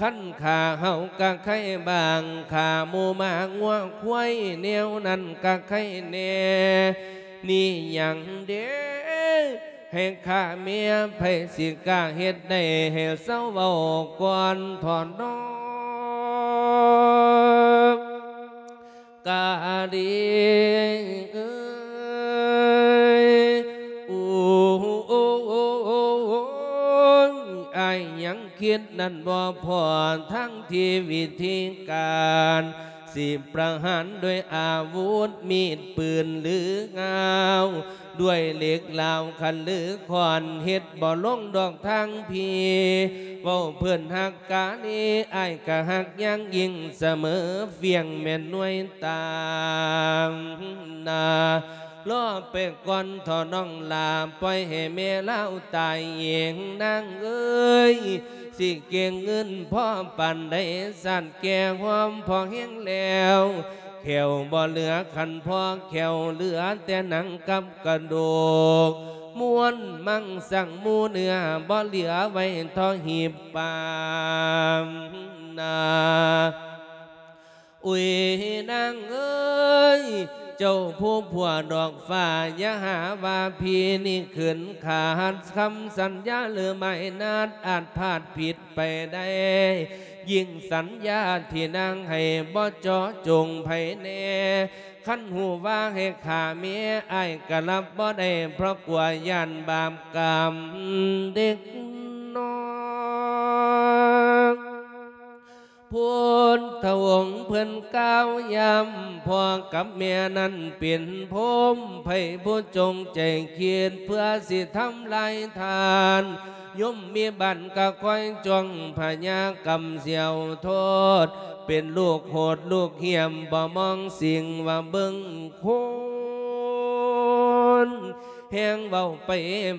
ຄັນຂ້າເຮົາກະໄຄບ້າງ ຂ້າໝູໝາງົວຄວາຍ ແນວນັ້ນກະໄຄແດ່ ນີ້ຫຍັງເດ ໃຫ້ຂ້າເມຍ ໃຜຊິກ້າເຮັດໄດ້ ໃຫ້ເຊົາເວົ້າກ່ອນເຖາະນ້ອງ ກາລີເອີຍ ໂອ້ຍ ອ້າຍຍັງຄິດນັ້ນບໍ່ພໍ ທັງທີ່ວິທີການ ຊິປະຫານດ້ວຍອາວຸດມີດປືນຫຼືງາວ ດ້ວຍເຫຼັກຫຼາວຄັນຫຼືຄ້ອນ ເຮັດບໍ່ລົງດອກທາງພີ້ ເວົ້າເພິ່ນຮັກການີ ອ້າຍກະຮັກຢ່າງຍິ່ງສະເໝີ ຟຽງແມ່ນໜ່ວຍຕາມໜ້າ ລໍໄປກ່ອນເຖາະນ້ອງຫຼ້າ ປ່ອຍໃຫ້ແມ່ລາວຕາຍເອງນາງເອີຍ ຊິເກັງເງິນພໍປານໃດ ຊາດແກ່ຫອມພໍແຮງແລ້ວ ແຂ້ວບໍ່ເຫຼືອຄັນພໍແຂ້ວ ເຫຼືອແຕ່ໜັງກັບກະດູກ ມ້ວນມັງສັງໝູເນື້ອ ບໍ່ເຫຼືອໄວ້ເທາະຫີບປາມໜ້າ. ອຸຍ ນາງເອີຍ ເຈົ້າຜູ້ຜົວດອກຟ້າ ຢ່າຫາວ່າພີ່ນີ້ຂືນຂາດຄຳສັນຍາ ຫຼືໝາຍນັດອາດພາດຜິດໄປໄດ້ ຍິ່ງສັນຍາທີ່ນາງໃຫ້ບໍ່ເຈາະຈົງໃຜແນ່ ຄັນຮູ້ວ່າໃຫ້ຂ້າເມຍ ອ້າຍກະຮັບບໍ່ໄດ້ ເພາະກົວຢ້ານບາບກຳເດັກ ນ້ອງ ພຸດທະອົງເພິ່ນກ່າວຢ້ຳ ພໍ່ກັບແມ່ນັ້ນເປັນພົມ ໃຜຜູ້ຈົງໃຈຄິດເພື່ອຊິທຳລາຍທ່ານ ຍົມວິບັດກໍຄອຍຈ້ອງ ພະຍາກຳສຽວໂທດ ເປັນລູກໂຫດລູກຫ້ຽມ ບໍ່ມອງສິ່ງວ່າເບິ່ງຄົນ ແຮງເວົ້າໄປ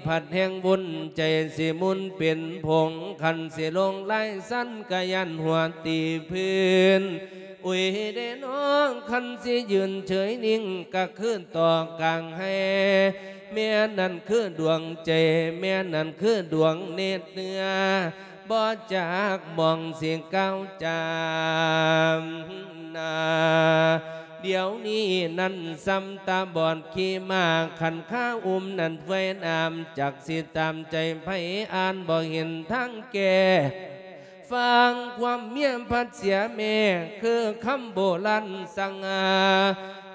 ພັດແຮງວຸ່ນ ໃຈຊິໝຸນເປັນຜົງ ຄັນຊິລົງລາຍສັນກະຢ້ານຫົວຕີພື້ນ ອຸຍເດ້ນ້ອງ ຄັນຊິຢືນເສີຍນິ່ງ ກະຄືຕໍ່ກາງໄຮ່ ແມ່ນັ້ນຄືດວງໃຈ ແມ່ນັ້ນຄືດວງເນດເນື້ອ ບໍ່ຈັກໝ່ອງຊິກ້າວຈາມນາ ດຽວນີ້ນັ້ນສ່ຳຕາບອດຂີ່ມ້າ ຄັນຄາອຸ້ມນັ້ນເປື່ອຍນ້ຳ ຈັກຊິຕາມໃຈໃຜ ອ່ານບໍ່ເຫັນທາງແກ້ ຟັງຄວາມເມຍພັດເສຍແມ່ ຄືຄຳໂບລານສັ່ງ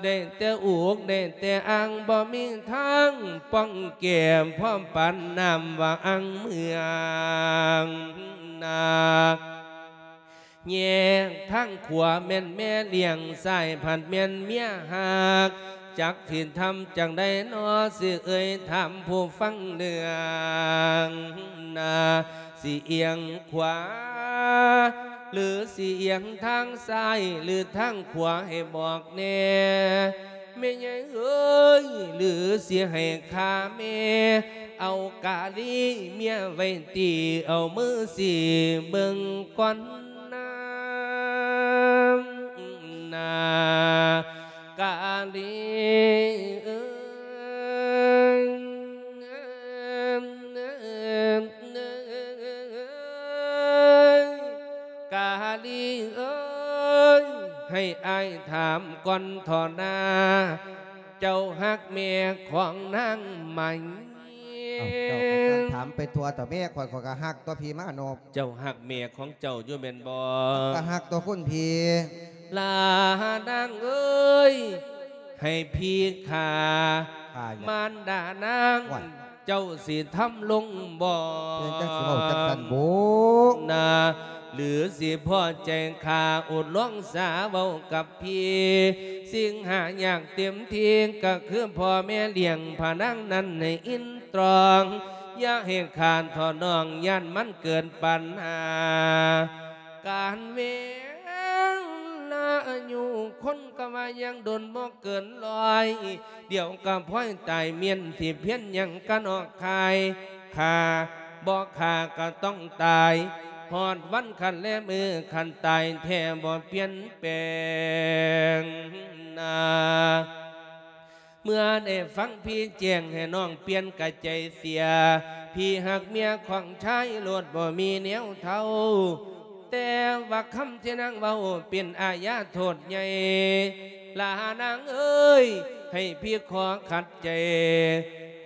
ໄດ້ແຕ່ອຸກໄດ້ແຕ່ອ້າງ ບໍ່ມີທາງປ້ອງແກ້ ພ້ອມປານນ້ຳວ່າອ່າງເມືອງນາ ແຍກທາງຂວາແມ່ນແມ່ລ້ຽງ ຊ້າຍພັດແມ່ນເມຍຮັກ ຈັກຊິທຳຈັ່ງໃດນໍ ຊິເອີ່ຍຖາມຜູ້ຟັງເລື່ອງນາ ຊິອຽງຂວາ ຫຼື ຊິອຽງທາງຊ້າຍ ຫຼື ທາງຂວາໃຫ້ບອກແດ່ ແມ່ໃຫຍ່ເອີຍ ຫຼື ຊິໃຫ້ຂ້າແມ່ ເອົາກາລີເມຍໄວ້ຕີ ເອົາມືຊີ້ເບິ່ງກ່ອນນາ ນາ ກາລີເອີຍ ກາລີເອີຍ ໃຫ້ອ້າຍຖາມກ່ອນເຖາະນາ ເຈົ້າຮັກແມ່ຂອງນາງໄໝ? ເອົ້າ ເຈົ້າກໍຊ່າງຖາມໄປທົ່ວເຖາະ ແມ່ຂ້ອຍ ຂ້ອຍກໍຮັກຕົວະພີ່ມານົບ. ເຈົ້າຮັກແມ່ຂອງເຈົ້າຢູ່ແມ່ນບໍ່? ກໍຮັກຕົວະຄຸນພີ່. ຫຼ້ານາງເອີຍ ໃຫ້ພີ່ຂ້າ ຂ້າຫຍັງ? ມານດານາງ ໂອ້ຍ ເຈົ້າຊິທຳລົງບໍ່? ເປັນຈັ່ງຊິເວົ້າຈັ່ງຊັ້ນບຸ? ນາ ຫຼືຊິພໍໃຈຂ້າອຸດລອງສາເວົ້າກັບ ພີ່ ສິ່ງຫາຍາກເຕັມທີ່ກໍຄືພໍ່ແມ່ລ້ຽງພະນາງນັ້ນໃຫ້ອິນຕຣອງ ຢ່າໃຫ້ຂາດເຖາະນ້ອງ ຢ້ານມັນເກີດປັນຫາ ການເວລາອາຍຸຄົນກໍວ່າຍັງດົນບໍ່ເກີນຮ້ອຍ ດຽວກໍພອຍຕາຍ ມ້ຽນຊິພຽນຫຍັງກະນອກຄາຍ ຂ້າບໍ່ຂ້າກໍຕ້ອງຕາຍ ຮອດວັນຄັນແລມື້ ຄັນຕາຍແທ້ບໍ່ປ່ຽນແປງນາ ເມື່ອໄດ້ຟັງພີ່ແຈ້ງໃຫ້ນ້ອງປ່ຽນກະໃຈເສຍ ພີ່ຮັກເມຍຂອງຊາຍໂລດບໍ່ມີແນວເທົ່າ ແຕ່ວ່າຄຳທີ່ນາງເວົ້າເປັນອາຍາໂທດໃຫຍ່ ຫຼ້ານາງເອີຍ ໃຫ້ພີ່ຂໍຂັດໃຈ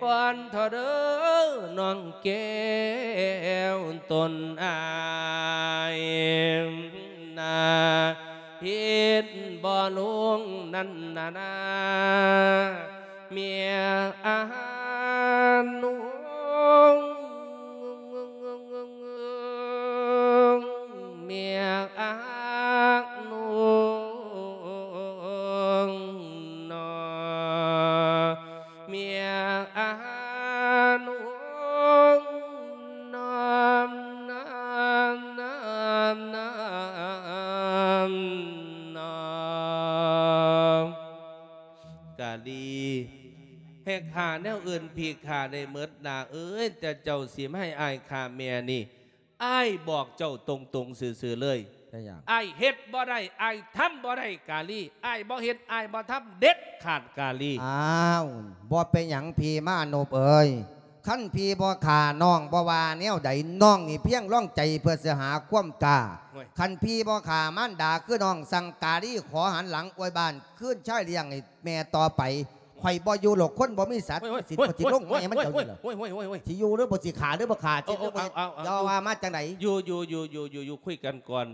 ກ່ອນເຖາະເດີ ນ້ອງແກ້ວຕົນອ້າຍນາ ຜິດບໍ່ລົງນັ້ນນານາ ເມຍອານຸ ເມຍອານຸ ເມຍອານຸ ກາລີ ແຮກຫາແນວອື່ນພີ່ຂ້າໄດ້ໝົດ ຫຼ້າເອີຍ ແຕ່ເຈົ້າຊິມາໃຫ້ອ້າຍຂ້າແມ່ນີ້ ອ້າຍບອກເຈົ້າຕົງໆຊື່ໆເລີຍ ເປັນຫຍັງ? ອ້າຍເຮັດບໍ່ໄດ້ ອ້າຍທຳບໍ່ໄດ້ ກາລີ ອ້າຍບໍ່ເຮັດ ອ້າຍບໍ່ທຳເດັດຂາດ ກາລີ. ອ້າວ ບໍ່ເປັນຫຍັງພີ່ມານົບເອີຍ ຄັນພີ່ບໍ່ຂ້ານ້ອງບໍ່ວ່າແນວໃດ ນ້ອງນີ້ພຽງລອງໃຈເພື່ອຊິຫາຄວາມກ້າ. ໂອ້ຍ ຄັນພີ່ບໍ່ຂ້າມານດາຄືນ້ອງ ສັ່ງກາລີຂໍຫັນຫຼັງອວຍບ້ານຄືນຊາຍລ້ຽງໃຫ້ແມ່ຕໍ່ໄປ ຂ້ອຍບໍ່ຢູ່ດອກ ຄົນບໍ່ມີສັດສິດ ໂອ້ຍ ໂອ້ຍ ກໍຊິລົງແມ່ມັນເຈົ້ານີ້ລະ ໂອ້ຍ ໂອ້ຍ ໂອ້ຍ ໂອ້ຍ ຊິຢູ່ຫຼືບໍ່ ຊິຂ້າຫຼືບໍ່ຂ້າ ໂອ້ ຊິຢູ່ຫຼືບໍ່ ເອົາ ເອົາ ເອົາ ຢ່າວ່າມາຈັ່ງໃດ ຢູ່ ຢູ່ ຢູ່ ຢູ່ ຢູ່ ຢູ່ ຄຸຍກັນກ່ອນ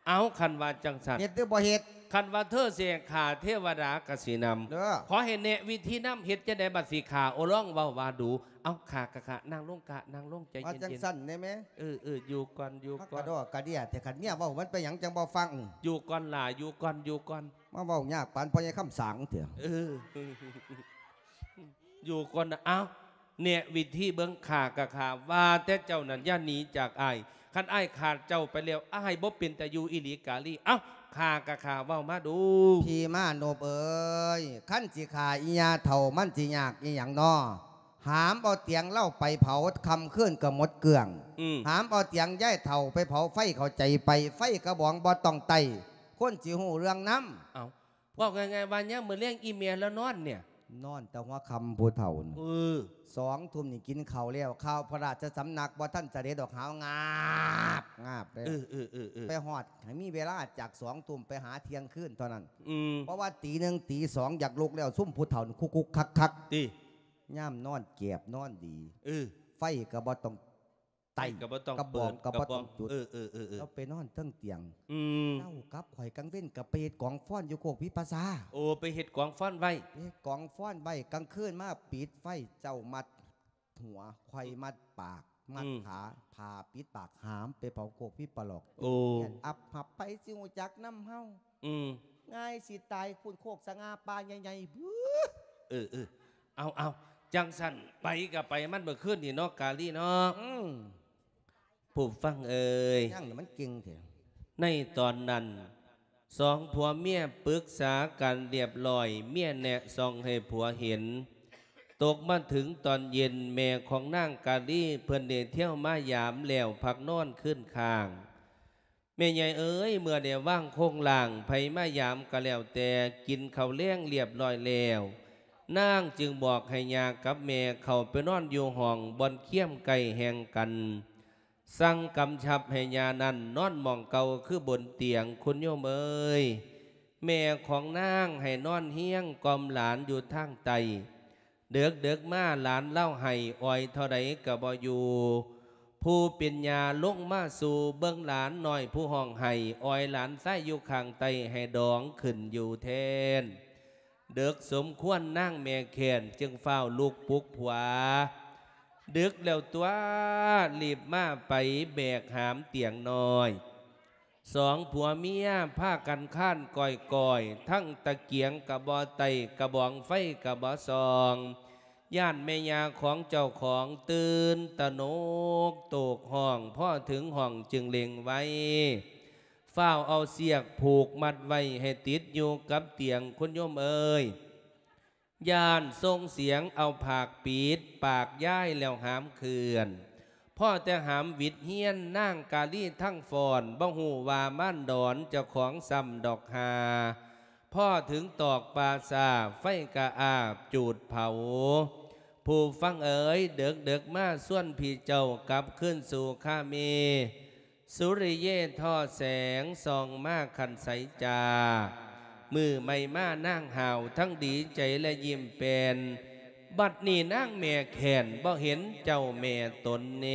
ເອົາ ຄັນວ່າຈັ່ງຊັ້ນ ເຮັດຫຼືບໍ່ເຮັດ? ຄັນວ່າເທີເສຂ້າເທວະດາກະຊິນຳ. ເດີ ຂໍໃຫ້ແນະວິທີນຳ ເຮັດຈັ່ງໃດບັດຊິຂ້າ? ໂອ ລອງເວົ້າວ່າດູ. ເອົາ ຂ້າກະຂ້າ ນັ່ງລົງກະນັ່ງລົງ ໃຈເຢັນໆ. ວ່າຈັ່ງຊັ້ນແດ່ແມ່. ເອີໆ ຢູ່ກ່ອນ ຢູ່ກ່ອນ. ມັນກະດໍກະເດຍແທ້ ຄັນເມຍເວົ້າມັນເປັນຫຍັງຈັ່ງບໍ່ຟັງ? ຢູ່ກ່ອນຫຼ້າ ຢູ່ກ່ອນ ຢູ່ກ່ອນ. ມາເວົ້າຍາກປານພໍ່ໃຫຍ່ຄຳສາງເທື່ອ. ເອີ ຢູ່ກ່ອນນະ. ເອົ້າ ແນະວິທີເບິ່ງ ຂ້າກະຂ້າ ວ່າແຕ່ເຈົ້ານັ້ນຢ່າໜີຈາກອ້າຍ. ຄັນອ້າຍຂາດເຈົ້າໄປແລ້ວ ອ້າຍບໍ່ເປັນຕາຢູ່ອີ່ຫຼີກາລີ. ເອົ້າ ຂ້າກະຂ້າ ເວົ້າມາດູ. ພີ່ມານົບເອີຍ ຄັນຊິຂ້າອີ່ຍ່າເຖົ້າ ມັນຊິຍາກອີ່ຫຍັງນໍ? ຫາມເອົາຕຽງລາວໄປເຜົາ ຄ່ຳຄືນກະໝົດເກື້ອງ. ອືມ ຫາມເອົາຕຽງຍາຍເຖົ້າໄປເຜົາ ໄຟເຂົ້າໃຈໄປ ໄຟກະບອງບໍ່ຕ້ອງໄຕ້ ຄົນຊິຮູ້ເລື່ອງນຳ. ເອົ້າ ເວົ້າງ່າຍໆວ່າ ຍາມມື້ແລງອີ່ແມ່ລາວນອນເນຍ ນອນແຕ່ຫົວຄ່ຳຜູ້ເຖົ້ານະ. ເອີ ສອງທຸ່ມນີ້ກິນເຂົ້າແລ້ວ ຂ່າວພະລາຊະສຳນັກບໍ່ທັນສະເດັດອອກ ຫາວງາບງາບເລີຍ. ເອີໆໆໆ ໄປຮອດໃຫ້ມີເວລາຈາກສອງທຸ່ມໄປຫາທ່ຽງຄືນເທົ່ານັ້ນ. ອືມ ເພາະວ່າຕີໜຶ່ງຕີສອງຢາກລຸກແລ້ວ ຊຸມຜູ້ເຖົ້ານີ້ຄຸກໆຄັກໆ ຕິ ຍາມນອນແກບນອນດີ. ເອີ ໄຟກະບໍ່ຕ້ອງ ໄຕ້ ກະບໍ່ຕ້ອງ ກະບອງ ເປີດ ກະບໍ່ຕ້ອງ ກະບອງ ຈຸດ. ເອີໆໆໆ ລາວໄປນອນເທິງຕຽງ. ອືມ ເຈົ້າກັບຂ້ອຍກາງເວັນກະໄປເຮັດກອງຟອນຢູ່ໂຄກວິປະຊາ. ໂອ ໄປເຮັດກອງຟອນໄວ້. ເຮັດກອງຟອນໄວ້ ກາງຄືນມາປິດໄຟ ເຈົ້າມັດຫົວ ຂ້ອຍມັດປາກ ມັດ ອືມ ຂາ ຜ້າປິດປາກ ຫາມໄປເຜົາໂຄກວິປະລອກ. ໂອ ແມ່ນອັບຮັບ ໃຜຊິຮູ້ຈັກນຳເຮົາ. ອືມ ງ່າຍຊິຕາຍພຸ້ນ ໂຄກສະຫງ່າປ່າໃຫຍ່ໆ ບຶ. ເອີໆ ເອົາໆ ຈັ່ງຊັ້ນໄປກະໄປ ມັນເມື່ອຄືນນີ້ເນາະ ກາລີເນາະ. ອືມ ຜູ້ຟັງເອີຍ ຍັງມັນເກັ່ງແທ້. ໃນຕອນນັ້ນ ສອງຜົວເມຍປຶກສາກັນລຽບລ້ອຍ ເມຍແນະສ່ອງໃຫ້ຜົວເຫັນ. ຕົກມາເຖິງຕອນເຢັນ ແມ່ຂອງນາງກາລີເພິ່ນໄດ້ທຽວມາຢາມແລ້ວພັກນອນຄືນຄ້າງ. ແມ່ໃຫຍ່ເອີຍ ເມື່ອໄດ້ວາງໂຄງລ່າງ ໃຜມາຢາມກະແລ້ວແຕ່ ກິນເຂົ້າແລງລຽບລ້ອຍແລ້ວ ນາງຈຶ່ງບອກໃຫ້ຍ່າກັບແມ່ເຂົ້າໄປນອນຢູ່ຫ້ອງບ່ອນຄຽມໃກ້ແຫ່ງກັນ. ສັ່ງກຳຊັບໃຫ້ຍ່ານັ້ນນອນໝ່ອງເກົ່າຄືບົນຕຽງ ຄຸນໂຍມເອີຍ. ແມ່ຂອງນາງໃຫ້ນອນຮຽງກ່ອມຫຼານຢູ່ທາງໃຕ້. ເດິກໆມາຫຼານລາວໄຫ້ ອອຍເທົ່າໃດກະບໍ່ຢູ່. ຜູ້ເປັນຍ່າລົງມາສູ່ເບິ່ງຫຼານນ້ອຍຜູ້ຮ້ອງໄຫ້ ອອຍຫຼານຊາຍຢູ່ຂ້າງໃຕ້ໃຫ້ດອງຂຶ້ນຢູ່ແທນ. ເດິກສົມຄວນນາງແມ່ແຄ້ນຈຶ່ງຟ້າວລຸກປຸກຜົວ. ດຶກແລ້ວຕົວະ ລີບມາໄປແບກຫາມຕຽງນ້ອຍ. ສອງຜົວເມຍພາກັນຄານກ້ອຍໆ ທັງຕະກຽງກະບໍ່ໄຕ້ ກະບອງໄຟກະບໍ່ສ່ອງ. ຢ້ານແມ່ຍ່າຂອງເຈົ້າຂອງຕື່ນຕະໜົກໂຕກຮ້ອງ ພໍເຖິງຫ້ອງຈຶ່ງເລັ່ງໄວ ຟ້າວເອົາເຊືອກຜູກມັດໄວ້ໃຫ້ຕິດຢູ່ກັບຕຽງ ຄຸນໂຍມເອີຍ. ຢ້ານສົ່ງສຽງເອົາຜາກປິດປາກຍາຍແລ້ວຫາມເຄື່ອນ. ພໍແຕ່ຫາມຫວິດຮຽນ ນາງກາລີທັງຟ້ອນ ບໍ່ຮູ້ວ່າມານດອນເຈົ້າຂອງຊ້ຳດອກຫາ. ພໍເຖິງຕອກປ່າຊ້າ ໄຟກະອາບຈູດເຜົາ. ຜູ້ຟັງເອີຍ ເດິກໆມາຊວນພີ່ເຈົ້າກັບຄືນສູ່ຄາເມ. ສຸລິເຍທໍ່ແສງສ່ອງມາຄັນໃສຈ້າ ມື້ໃໝ່ມານາງຫ້າວ ທັງດີໃຈແລະຍິ້ມແປ້ນ. ບັດນີ້ນາງແມ່ແຄ້ນ ບໍ່ເຫັນເຈົ້າແມ່ຕົນເນ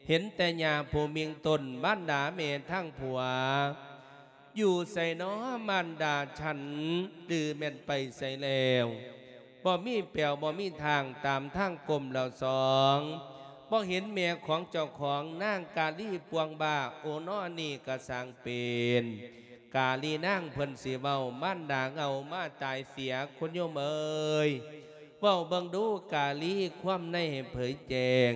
ເຫັນແຕ່ຍ່າຜູ້ມິ່ງຕົນ ມານດາແມ່ທາງຜົວ. ຢູ່ໃສນໍມານດາສັນ ຫຼືແມ່ນໄປໃສແລ້ວ? ບໍ່ມີແປວບໍ່ມີທາງ ຕາມທາງກົ້ມລະສອງ ບໍ່ເຫັນແມ່ຂອງເຈົ້າຂອງ ນາງກາລີປ່ວງບ້າ ໂອ ນໍ ອັນນີ້ກະຊ່າງເປັນ ກາລີນາງເພິ່ນຊິເວົ້າ ມານດາເຫງົາມາຕາຍເສຍ ຄຸນໂຍມເອີຍ. ເວົ້າເບິ່ງດູກາລີ ຄວາມໃນໃຫ້ເຜີຍແຈ້ງ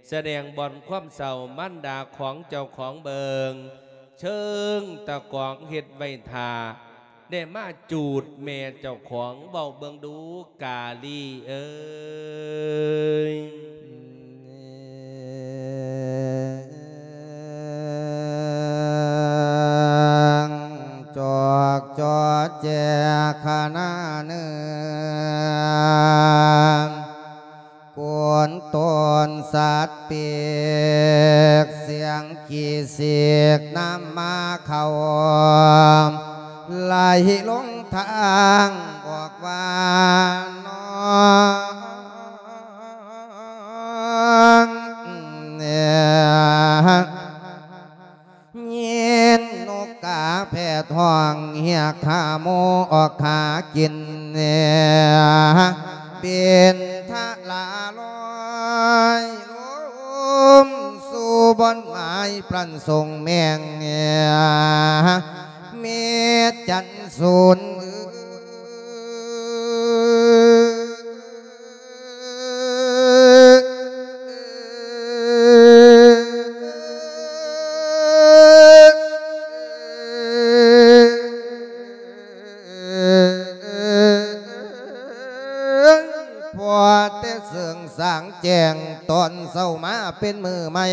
ສະແດງບ່ອນຄວາມເສົ້າ ມານດາຂອງເຈົ້າຂອງເບິ່ງ ເຊີງຕະກອງເຮັດໄວ້ຖ້າ ໄດ້ມາຈູດແມ່ເຈົ້າຂອງ ເວົ້າເບິ່ງດູກາລີເອີຍ. ຈອກຈອແຈຂະນະເໜືອ ໂກນໂຕນສັດປີກ ສຽງຂີ້ສີກນ້ຳມາເຂົ້າ ໄຫຼລົງທາງອອກວ່ານອງ ແນ່ ຍິນນົກກາແພດຮ້ອງຮຽກ ອກຫາກິນ ເປັນທະລາລອຍລົງສູ່ບ່ອນໝາຍ ປັນສົ່ງແມງ ເມັດຈັນສູນ ພໍແຕ່ເສິງສາງແຈ້ງຕອນເຊົ້າມາເປັນມື້ໃໝ່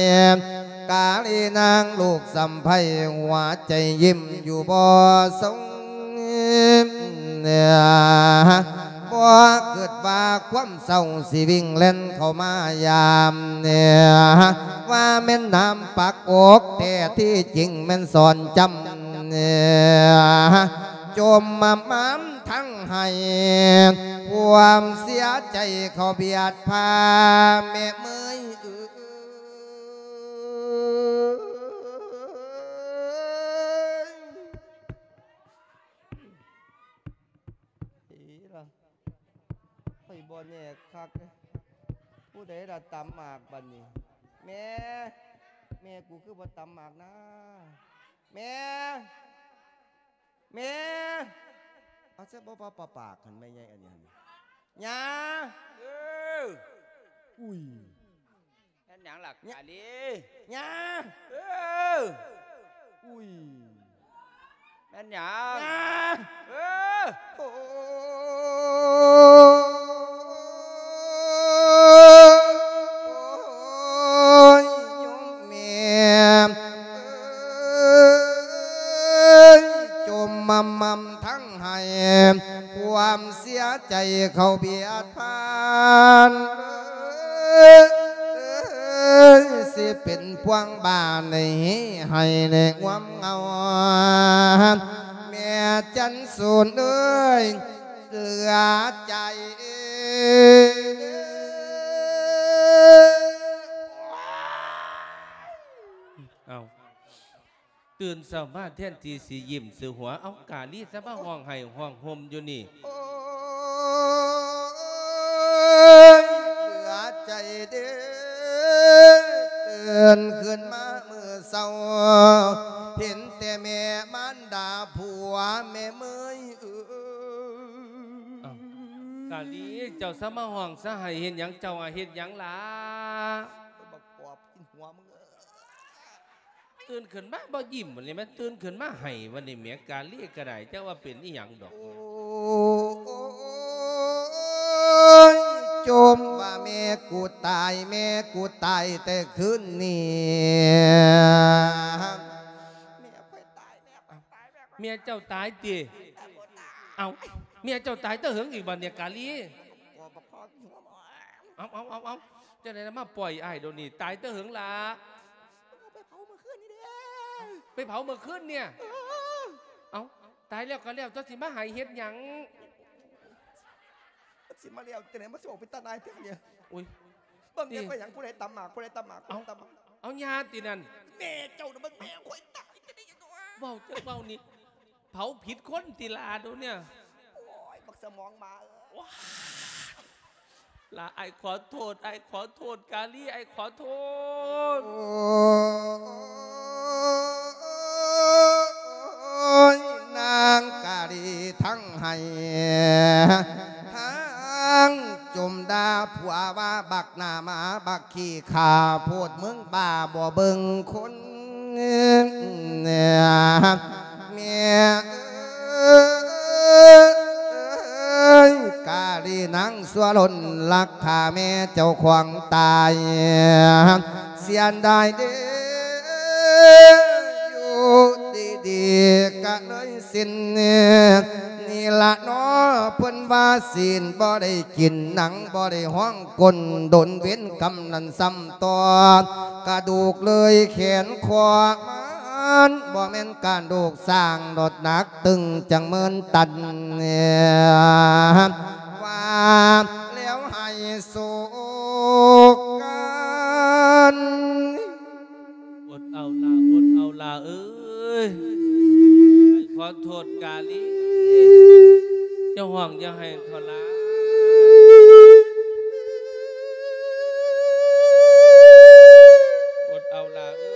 ກາລີນາງລູກສຳໃພ້ ຫົວໃຈຍິ້ມຢູ່ບໍ່ຊົງ ບໍ່ຄິດວ່າຄວາມເສົ້າຊິວິ່ງແລ່ນເຂົ້າມາຢາມ ວ່າແມ່ນນ້ຳປັກອົກ ແທ້ທີ່ຈິງແມ່ນສອນຈຳ ຈົມມາມາມທັງໄຫ້ ຄວາມເສຍໃຈເຂົ້າບຽດພາ ແມ່ເມີຍເອີຍ. ອີ່ລະ ຂ້ອຍບໍ່ແນ່ຄັກເດ້ ຜູ້ໃດລະຕຳໝາກບັດນີ້? ແມ່ ແມ່ກູຄືບໍ່ຕຳໝາກນາ? ແມ່ ແມ່ ເອົາຊະ ບໍ່ປາປາກຫັ້ນ ແມ່ໃຫຍ່ອັນນີ້ຫັ້ນ ຍ່າ ເອີ ອຸ້ຍ ແມ່ນຫຍັງລະ ຍະ ກາລີ? ຍ່າ ເອີ ອຸ້ຍ ແມ່ນຫຍັງ? ຍ່າ ເອີ ໂອ້ຍ ໂຍມແມ່ເອີຍ ຈົມມາມາມທັງ ໃຫ້ຄວາມເສຍໃຈເຂົ້າບຽດພານ ເອີຍ ຊິເປັນພວງບ້ານໃຫ້ໄຫ້ແນງວມເງົາ ແມ່ຈັນສູນເອີຍ ເຫຼືອໃຈ. ເອົ້າ ຕື່ນເຊົ້າມາແທນທີ່ຊິຍິ້ມຊິຫົວ ເອົ້າ ກາລີຊະມາຮ້ອງໄຫ້ຮ້ອງໂຮມຢູ່ນີ້. ໂອ້ຍ ເຫຼືອໃຈເດ້ ຕື່ນຂຶ້ນມາມື້ເຊົ້າ ເຫັນແຕ່ແມ່ມານດາຜົວແມ່ເມີຍເອີຍ. ເອົ້າ ກາລີ ເຈົ້າຊະມາຮ້ອງຊະໄຫ້ເຮັດຫຍັງ? ເຈົ້າອະເຮັດຫຍັງລະ? ບັກປອບກິນຫົວມຶງເອີຍ. ຕື່ນຂຶ້ນມາບໍ່ຍິ້ມບັດນີ້ແມ່ນ ຕື່ນຂຶ້ນມາໄຫ້ບັດນີ້ແໝ ກາລີກໍໄດ້ ຈັກວ່າເປັນອີ່ຫຍັງດອກ. ໂອ້ຍ ຈົ່ມວ່າແມ່ກູຕາຍ ແມ່ກູຕາຍແຕ່ຄືນນີ້ ແມ່ຂ້ອຍຕາຍ ແມ່ຂ້ອຍຕາຍ ແມ່ຂ້ອຍຕາຍ ແມ່ຂ້ອຍຕາຍ. ເມຍເຈົ້າຕາຍຕິ? ແມ່ກູຕາຍ ເອົ້າ ເມຍເຈົ້າຕາຍແຕ່ເຫິງອີກບັດນີ້ ກາລີ? ບໍ່ ບໍ່ພໍ ເອົາ ເອົາ ເອົາ ເອົາ ຈັ່ງໃດລະມາປ່ອຍອ້າຍດຽວນີ້ ຕາຍແຕ່ເຫິງລະ? ເອົາ ໄປເຜົາມື້ຄືນນີ້ເດ້. ໄປເຜົາມື້ຄືນນີ້? ເອີ ເອົ້າ ຕາຍແລ້ວກໍແລ້ວຕົວະ ຊິມາໄຫ້ເຮັດຫຍັງ? ມັນຊິມາແລ້ວຈັ່ງໃດ ມັນຊິອອກເປັນຕາໜ່າຍແທ້ນີ້. ໂອ້ຍ ເບິ່ງແດ່ ເອີ ໄປຫຍັງ ຜູ້ໃດຕຳໝາກ ຜູ້ໃດຕຳໝາກ ຜູ້ໃດຕຳໝາກ? ເອົາ ເອົາ ຍ່າຕິນັ້ນ. ແມ່ເຈົ້ານະ ເບິ່ງແມ່ຂ້ອຍຕາຍຈັ່ງໃດ. ເວົ້າ ເຈົ້າເວົ້ານີ້ ເຜົາຜິດຄົນຕິລະໂດນເນຍ. ໂອ້ຍ ບັກສະໝອງໝາເອີຍ. ລະ ອ້າຍຂໍໂທດ ອ້າຍຂໍໂທດ ກາລີ ອ້າຍຂໍໂທດ. ໂອ້ຍ ນາງກາລີທັງໄຫ້ ທັງຈົ່ມດ່າຜົວວ່າ ບັກໜ້າໝາ ບັກຂີ້ຂ້າໂພດ ມຶງບ້າບໍ່ເບິ່ງຄົນ. ແມ່ເອີຍ ກາລີນາງຊົ່ວລົ້ນລັກຂ້າແມ່ເຈົ້າຂອງຕາຍ ເສຍດາຍເດ້ ຢູ່ດີໆກະເລີຍສິ້ນ ນີ້ລະເນາະ ເພິ່ນວ່າຊີ້ນບໍ່ໄດ້ກິນ ໜັງບໍ່ໄດ້ຮ້ອງ ກົ້ນດົນເວນກຳນັ້ນຊ້ຳຕໍ່ ກະດູກເລີຍແຂນຂໍ້ມັນ ບໍ່ແມ່ນກະດູກຊ້າງ ນ້ຳໜັກຕຶງຈັ່ງໝື່ນຕັນ ວ່າແລ້ວໃຫ້ໂສກກັນ. ອົດເອົາລະ ອົດເອົາລະເອີຍ ຂໍໂທດກາລີ. ຢ່າຮ້ອງ ຢ່າໄຫ້ເຖົ້າຫຼ້າ. ອົດເອົາຫຼ້າເອີ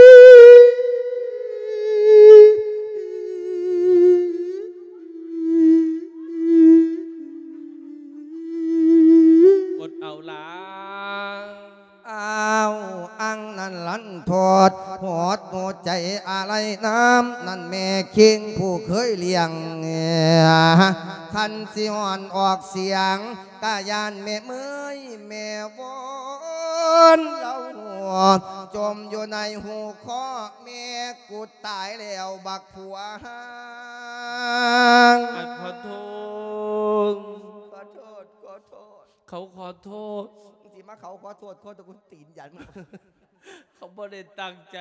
ຍ. ອົດເອົາຫຼ້າ. ອ້າວ ອັງນັ້ນລັນທອດ ຫອດຫົວໃຈອາໄລນ້ຳ ນັ້ນແມ່ຄິງຜູ້ເຄີຍລ້ຽງ ຄັນຊິຮ້ອນອອກສຽງ ກະຢ້ານແມ່ເມີຍແມ່ວອນລາວ ຈົມຢູ່ໃນຫູຄໍ ແມ່ກູຕາຍແລ້ວບັກຜົວຮ້າງ. ອັນ ຂໍໂທດ ຂໍໂທດ ຂໍໂທດ. ເຂົາຂໍໂທດ. ມຶງຊິມາເຂົາຂໍໂທດ ຂໍແຕ່ກູຕີນຢັນ. ເຂົາບໍ່ໄດ້ຕັ້ງໃຈ.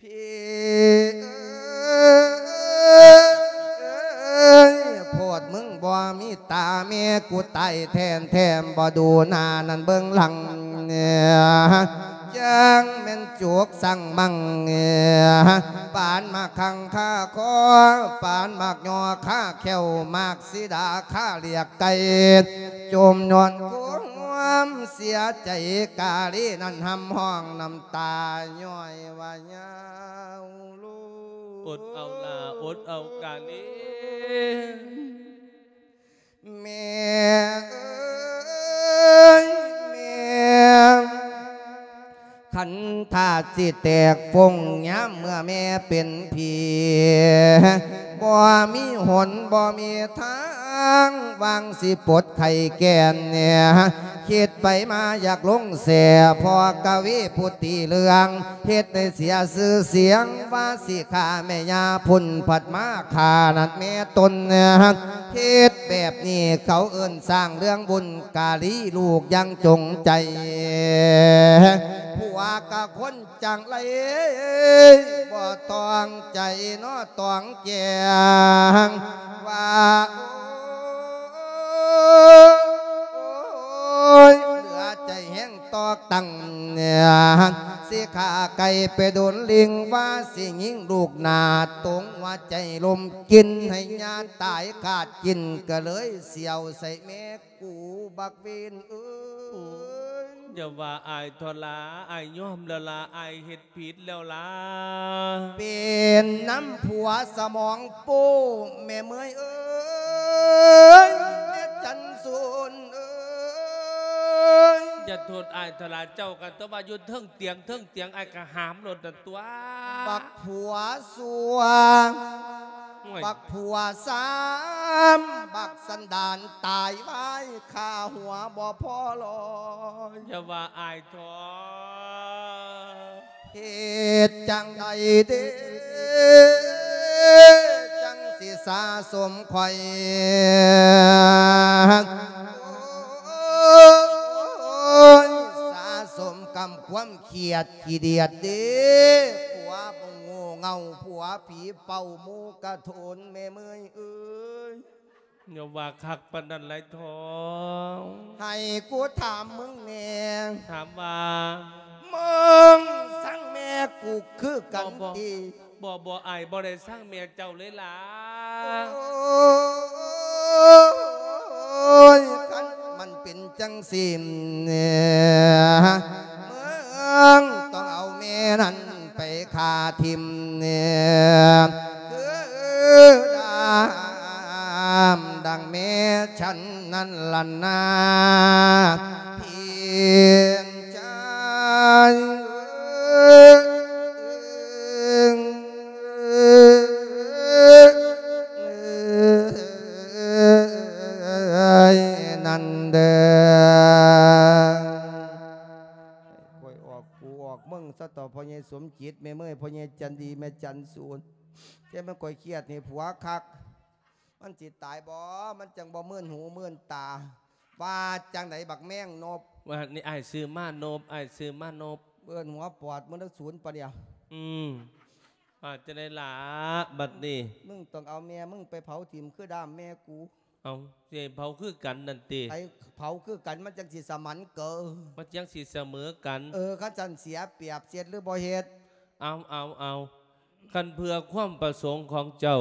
ພີ່ເອີຍ ໂພດມຶງບໍ່ມີຕາ ແມ່ກູຕາຍແທ້ໆ ບໍ່ດູໜ້ານັ້ນເບິ່ງຫຼັງ ຈັ່ງແມ່ນຈຸກສັງມັງ ປານໝາກຄັງຄາຄໍ ປານໝາກຍໍຄາແຂ້ວ ໝາກສີດາຄາລຽກໄກ່ ຈົ່ມຍ້ອນຄວາມເສຍໃຈ ກາລີນັ້ນຮ່ຳຮ້ອງນ້ຳຕາຍ້ອຍວ່າຍາວໂລດ. ອົດເອົາຫຼ້າ ອົດເອົາກາລີ. ແມ່ເອີຍແມ່ ຄັນທາດຊິແຕກຟົງຍາມເມື່ອແມ່ເປັນຜີ ບໍ່ມີຫົນບໍ່ມີທາງ ຫວັງຊິປົດໄຂ້ແກ່ນ ຄິດໄປມາຢາກລົງແຊ່ ພໍ່ກະວີຜູ້ຕີເລື່ອງ ເຮັດໃຫ້ເສຍຊື່ສຽງ ວ່າຊິຂ້າແມ່ຍ່າພຸ້ນ ພັດມາຂ້ານັ້ນແມ່ຕົນ ເຮັດແບບນີ້ເຂົາເອີ້ນສ້າງເລື່ອງບຸນ ກາລີລູກຍັງຈົງໃຈ ຜົວກະຄົນຈັ່ງໃດ ບໍ່ຕ້ອງໃຈເນາະ ຕ້ອງແຈ້ງວ່າ ໂອ້ຍ ເຫຼືອໃຈແຮງ ຕອກຕັ້ງ ຊິຂ້າໄກ່ໄປໂດນລິງ ວ່າຊິຍິງລູກໜ້າຕົງ ວ່າໃຈລົມກິນ ໃຫ້ຍາຕາຍຂາດກິນ ກະເລີຍສ່ຽວໃສ່ແມ່ກູບັກເວນເອີຍ. ຢ່າວ່າອ້າຍເຖາະຫຼ້າ ອ້າຍຍອມແລ້ວຫຼ້າ ອ້າຍເຮັດ ຜິດແລ້ວລະ ເປັນນຳຜົວສະໝອງໂປ້ ແມ່ເມີຍເອີຍ ແມ່ຈັນສູນເອີຍ. ຢ່າໂທດອ້າຍເຖາະຫຼ້າ ເຈົ້າກໍແຕ່ວ່າຢູ່ເທິງຕຽງ ເທິງຕຽງ ອ້າຍກໍຫາມໂລດນັ້ນຕົວະ ບັກຜົວຊົ່ວ ໂອ້ຍ ບັກຜົວຊາມ ບັກສັນດານຕາຍໄວ ຄ່າຫົວບໍ່ພໍຮ້ອຍ. ຢ່າວ່າອ້າຍ ເທາະ ເຮັດຈັ່ງໃດເດ ຈັ່ງຊິສາສົມຂ້ອຍ ໂອ້ຍ ສາສົມກຳຄວາມຄຽດຂີ້ດຽດເດ ຜົວບໍ່ໂງ່ເຫງົ້າ ຜົວຜີເປົ່າ ໝູກະໂທນ ແມ່ເມີຍເອີຍ. ຢ່າວ່າຄັກປານນັ້ນຫຼາຍ ເຖາະ ໃຫ້ກູຖາມມຶງແດ່ ຖາມວ່າ ມຶງຊັງແມ່ກູຄືກັນຕິ? ບໍ່ ບໍ່ ອ້າຍບໍ່ໄດ້ຊັງແມ່ເຈົ້າເລີຍຫຼ້າ. ໂອ້ຍ ຄັນມັນເປັນຈັ່ງຊີ້ ມຶງຕ້ອງເອົາແມ່ນັ້ນ ໄປຂ້າຖິ້ມ ຄືດຳດັ່ງແມ່ສັນນັ້ນລະນາ ພີ່ຊາຍ. ນັ້ນເດີ ຂ້ອຍອອກກູອອກມຶງຊະເຖາະ ພໍ່ໃຫຍ່ສົມຈິດ ແມ່ເມີຍ ພໍ່ໃຫຍ່ຈັນດີ ແມ່ຈັນສູນ. ແຕ່ມັນຂ້ອຍຄຽດໃຫ້ຜົວຄັກ ມັນຊິຕາຍບໍ່ ມັນຈັ່ງບໍ່ມື່ນຫູມື່ນຕາ. ວ່າຈັ່ງໃດບັກແມງນົບ? ວ່ານີ້ອ້າຍຊື້ມານົບ ອ້າຍຊື້ມານົບ. ເອີ້ນຫົວປອດມຶງເດີສູນປາດດຽວ. ອືມ ວ່າຈັ່ງໃດລະບັດນີ້? ມຶງຕ້ອງເອົາແມ່ມຶງໄປເຜົາຖິ້ມຄືດ້າມແມ່ກູ. ເອົ້າ ຊິໃຫ້ເຜົາຄືກັນນັ້ນຕິ? ໃຫ້ເຜົາຄືກັນມັນຈັ່ງຊິສະໝັນເກີ. ມັນຈັ່ງຊິສະເໝີກັນ. ເອີ ຄັນຊັ້ນເສຍປຽບ ຊິເຮັດຫຼືບໍ່ເຮັດ? ເອົາ ເອົາ ເອົາ ຄັນເພື່ອຄວາມປະສົງຂອງເຈົ້າ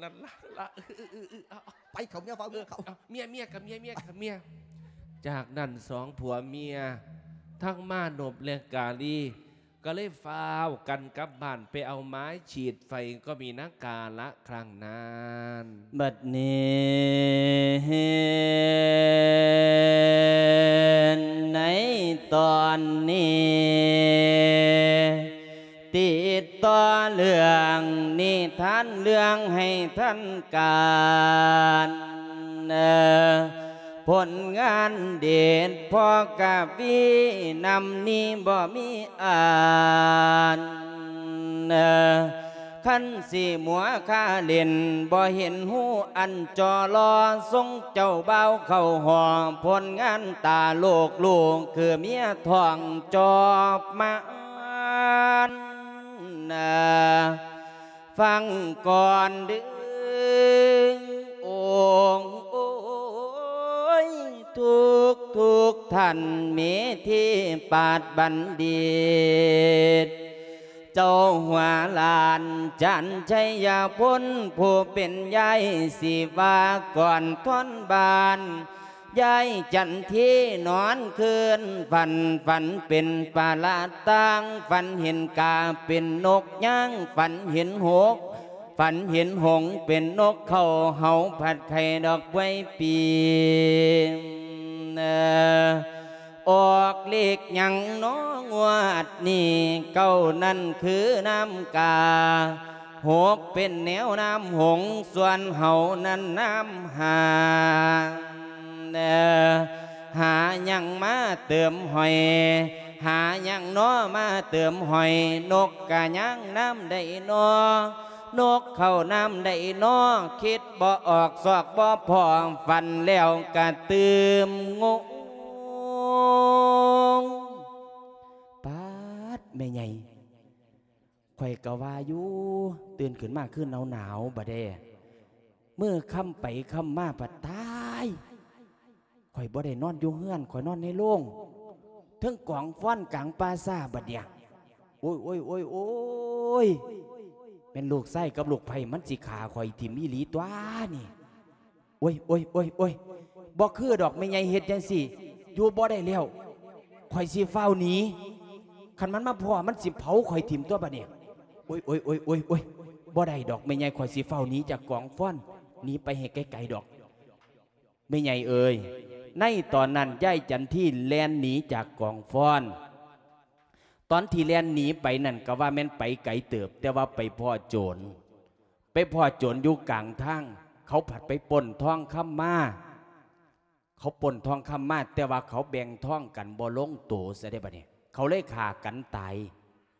ນັ້ນລະ ລະ ເອີ ເອີ ເອີ ເອີ ເອົາ ໄປເຂົ້າເມຍ ຟ້າວເມຍເຂົ້າ ເອີ ເອົາ ເມຍ ເມຍ ກະເມຍ ເມຍ ກະເມຍ. ຈາກນັ້ນສອງຜົວເມຍ ທັງມານົບ ແລະ ກາລີ ກໍເລີຍຟ້າວກັນກັບບ້ານໄປເອົາໄມ້ສີດໄຟ ກໍມີນາກາລະຄັ້ງນັ້ນ. ບັດນີ້ ໃນຕອນນີ້ ຕິດຕໍ່ເລື່ອງນິທານເລື່ອງໃຫ້ທັນການ ເອີ ຜົນງານເດດພໍ່ກະວີນຳນີ້ບໍ່ມີອານ ເອີ ຄັນຊິມົວຄາຫຼິ້ນ ບໍ່ເຫັນຮູ້ອັນຈໍລໍ ຊົງເຈົ້າບ່າວເຂົ້າຫໍ ຜົນງານຕາໂລກລູກ ຄືເມຍທ້ອງຈອບມານ ນາ ຟັງກ່ອນເດີ້ ໂອງ ໂອ້ຍ ທຸກໆທ່ານ ເມທີປາດບັນດິດ ເຈົ້າຫົວຫຼານຈັນໄຊຍະພົນ ຜູ້ເປັນຍາຍສີວາກອນທອນບ້ານ ຍາຍຈັນທີນອນຄືນຝັນ ຝັນເປັນປາລະຕ່າງ ຝັນເຫັນກາເປັນນົກຍາງ ຝັນເຫັນຫົກ ຝັນເຫັນຫົງເປັນນົກເຂົາ ເຮົາຜັດໄຂ່ດອກບວຍປີ ເອີ ອອກເລກຫຍັງນໍງວດນີ້ ເກົ້ານັ້ນຄືນ້ຳກາ ຫົກເປັນແນວນ້ຳຫົງ ສ່ວນເຮົານັ້ນນ້ຳຫ້າ ເອີ ຫາຫຍັງມາເຕີມຫອຍ ຫາຫຍັງນໍມາເຕີມຫອຍ ນົກກະຍ່າງນ້ຳໃດນໍ ນົກເຂົ້ານ້ຳໃດນໍ ຄິດບໍ່ອອກຊອກບໍ່ພໍ ຝັນແລ້ວກະຕື່ມງົງ. ປາດ ແມ່ໃຫຍ່ ຂ້ອຍກະວ່າຢູ່ ຕື່ນຂຶ້ນມາຄືໜາວໆ ບາດແດ່ ມື້ຄ່ຳໄປຄ່ຳມາ ປາດຕາຍ ຂ້ອຍບໍ່ໄດ້ນອນຢູ່ເຮືອນ ຂ້ອຍນອນໃນໂລງ ເທິງກອງຟອນກາງປ່າຊ້າ ບາດເດຍ ໂອ້ຍ ໂອ້ຍ ໂອ້ຍ ໂອ້ຍ. ແມ່ນລູກຊາຍກັບລູກໃພ້ມັນຊິຂ້າຂ້ອຍຖິ້ມອີ່ຫຼີຕົວະນີ້. ໂອ້ຍ ໂອ້ຍ ໂອ້ຍ ໂອ້ຍ ບໍ່ຄືດອກແມ່ໃຫຍ່ເຮັດຈັ່ງຊີ້ ຢູ່ບໍ່ໄດ້ແລ້ວ ຂ້ອຍຊິຟ້າວໜີ ຄັນມັນມາພໍ້ມັນຊິເຜົາຂ້ອຍຖິ້ມຕົວະບາດນີ້. ໂອ້ຍ ໂອ້ຍ ໂອ້ຍ ໂອ້ຍ ບໍ່ໄດ້ດອກແມ່ໃຫຍ່ ຂ້ອຍຊິຟ້າວໜີຈາກກອງຟອນ ໜີໄປໃຫ້ໄກໆດອກ. ແມ່ໃຫຍ່ເອີຍ ໃນຕອນນັ້ນຍາຍຈັນທີແລ່ນໜີຈາກກອງຟອນ. ຕອນທີ່ແລ່ນໜີໄປນັ້ນກໍວ່າແມ່ນໄປໄກເຕີບ ແຕ່ວ່າໄປພໍ້ໂຈນ ໄປພໍ້ໂຈນຢູ່ກາງທາງ ເຂົາພັດໄປປຸ້ນທອງຄຳມາ ເຂົາປຸ້ນທອງຄຳມາ ແຕ່ວ່າເຂົາແບ່ງທອງກັນບໍ່ລົງໂຕຊະເດ້ ບາດນີ້ເຂົາເລີຍຂ້າກັນຕາຍ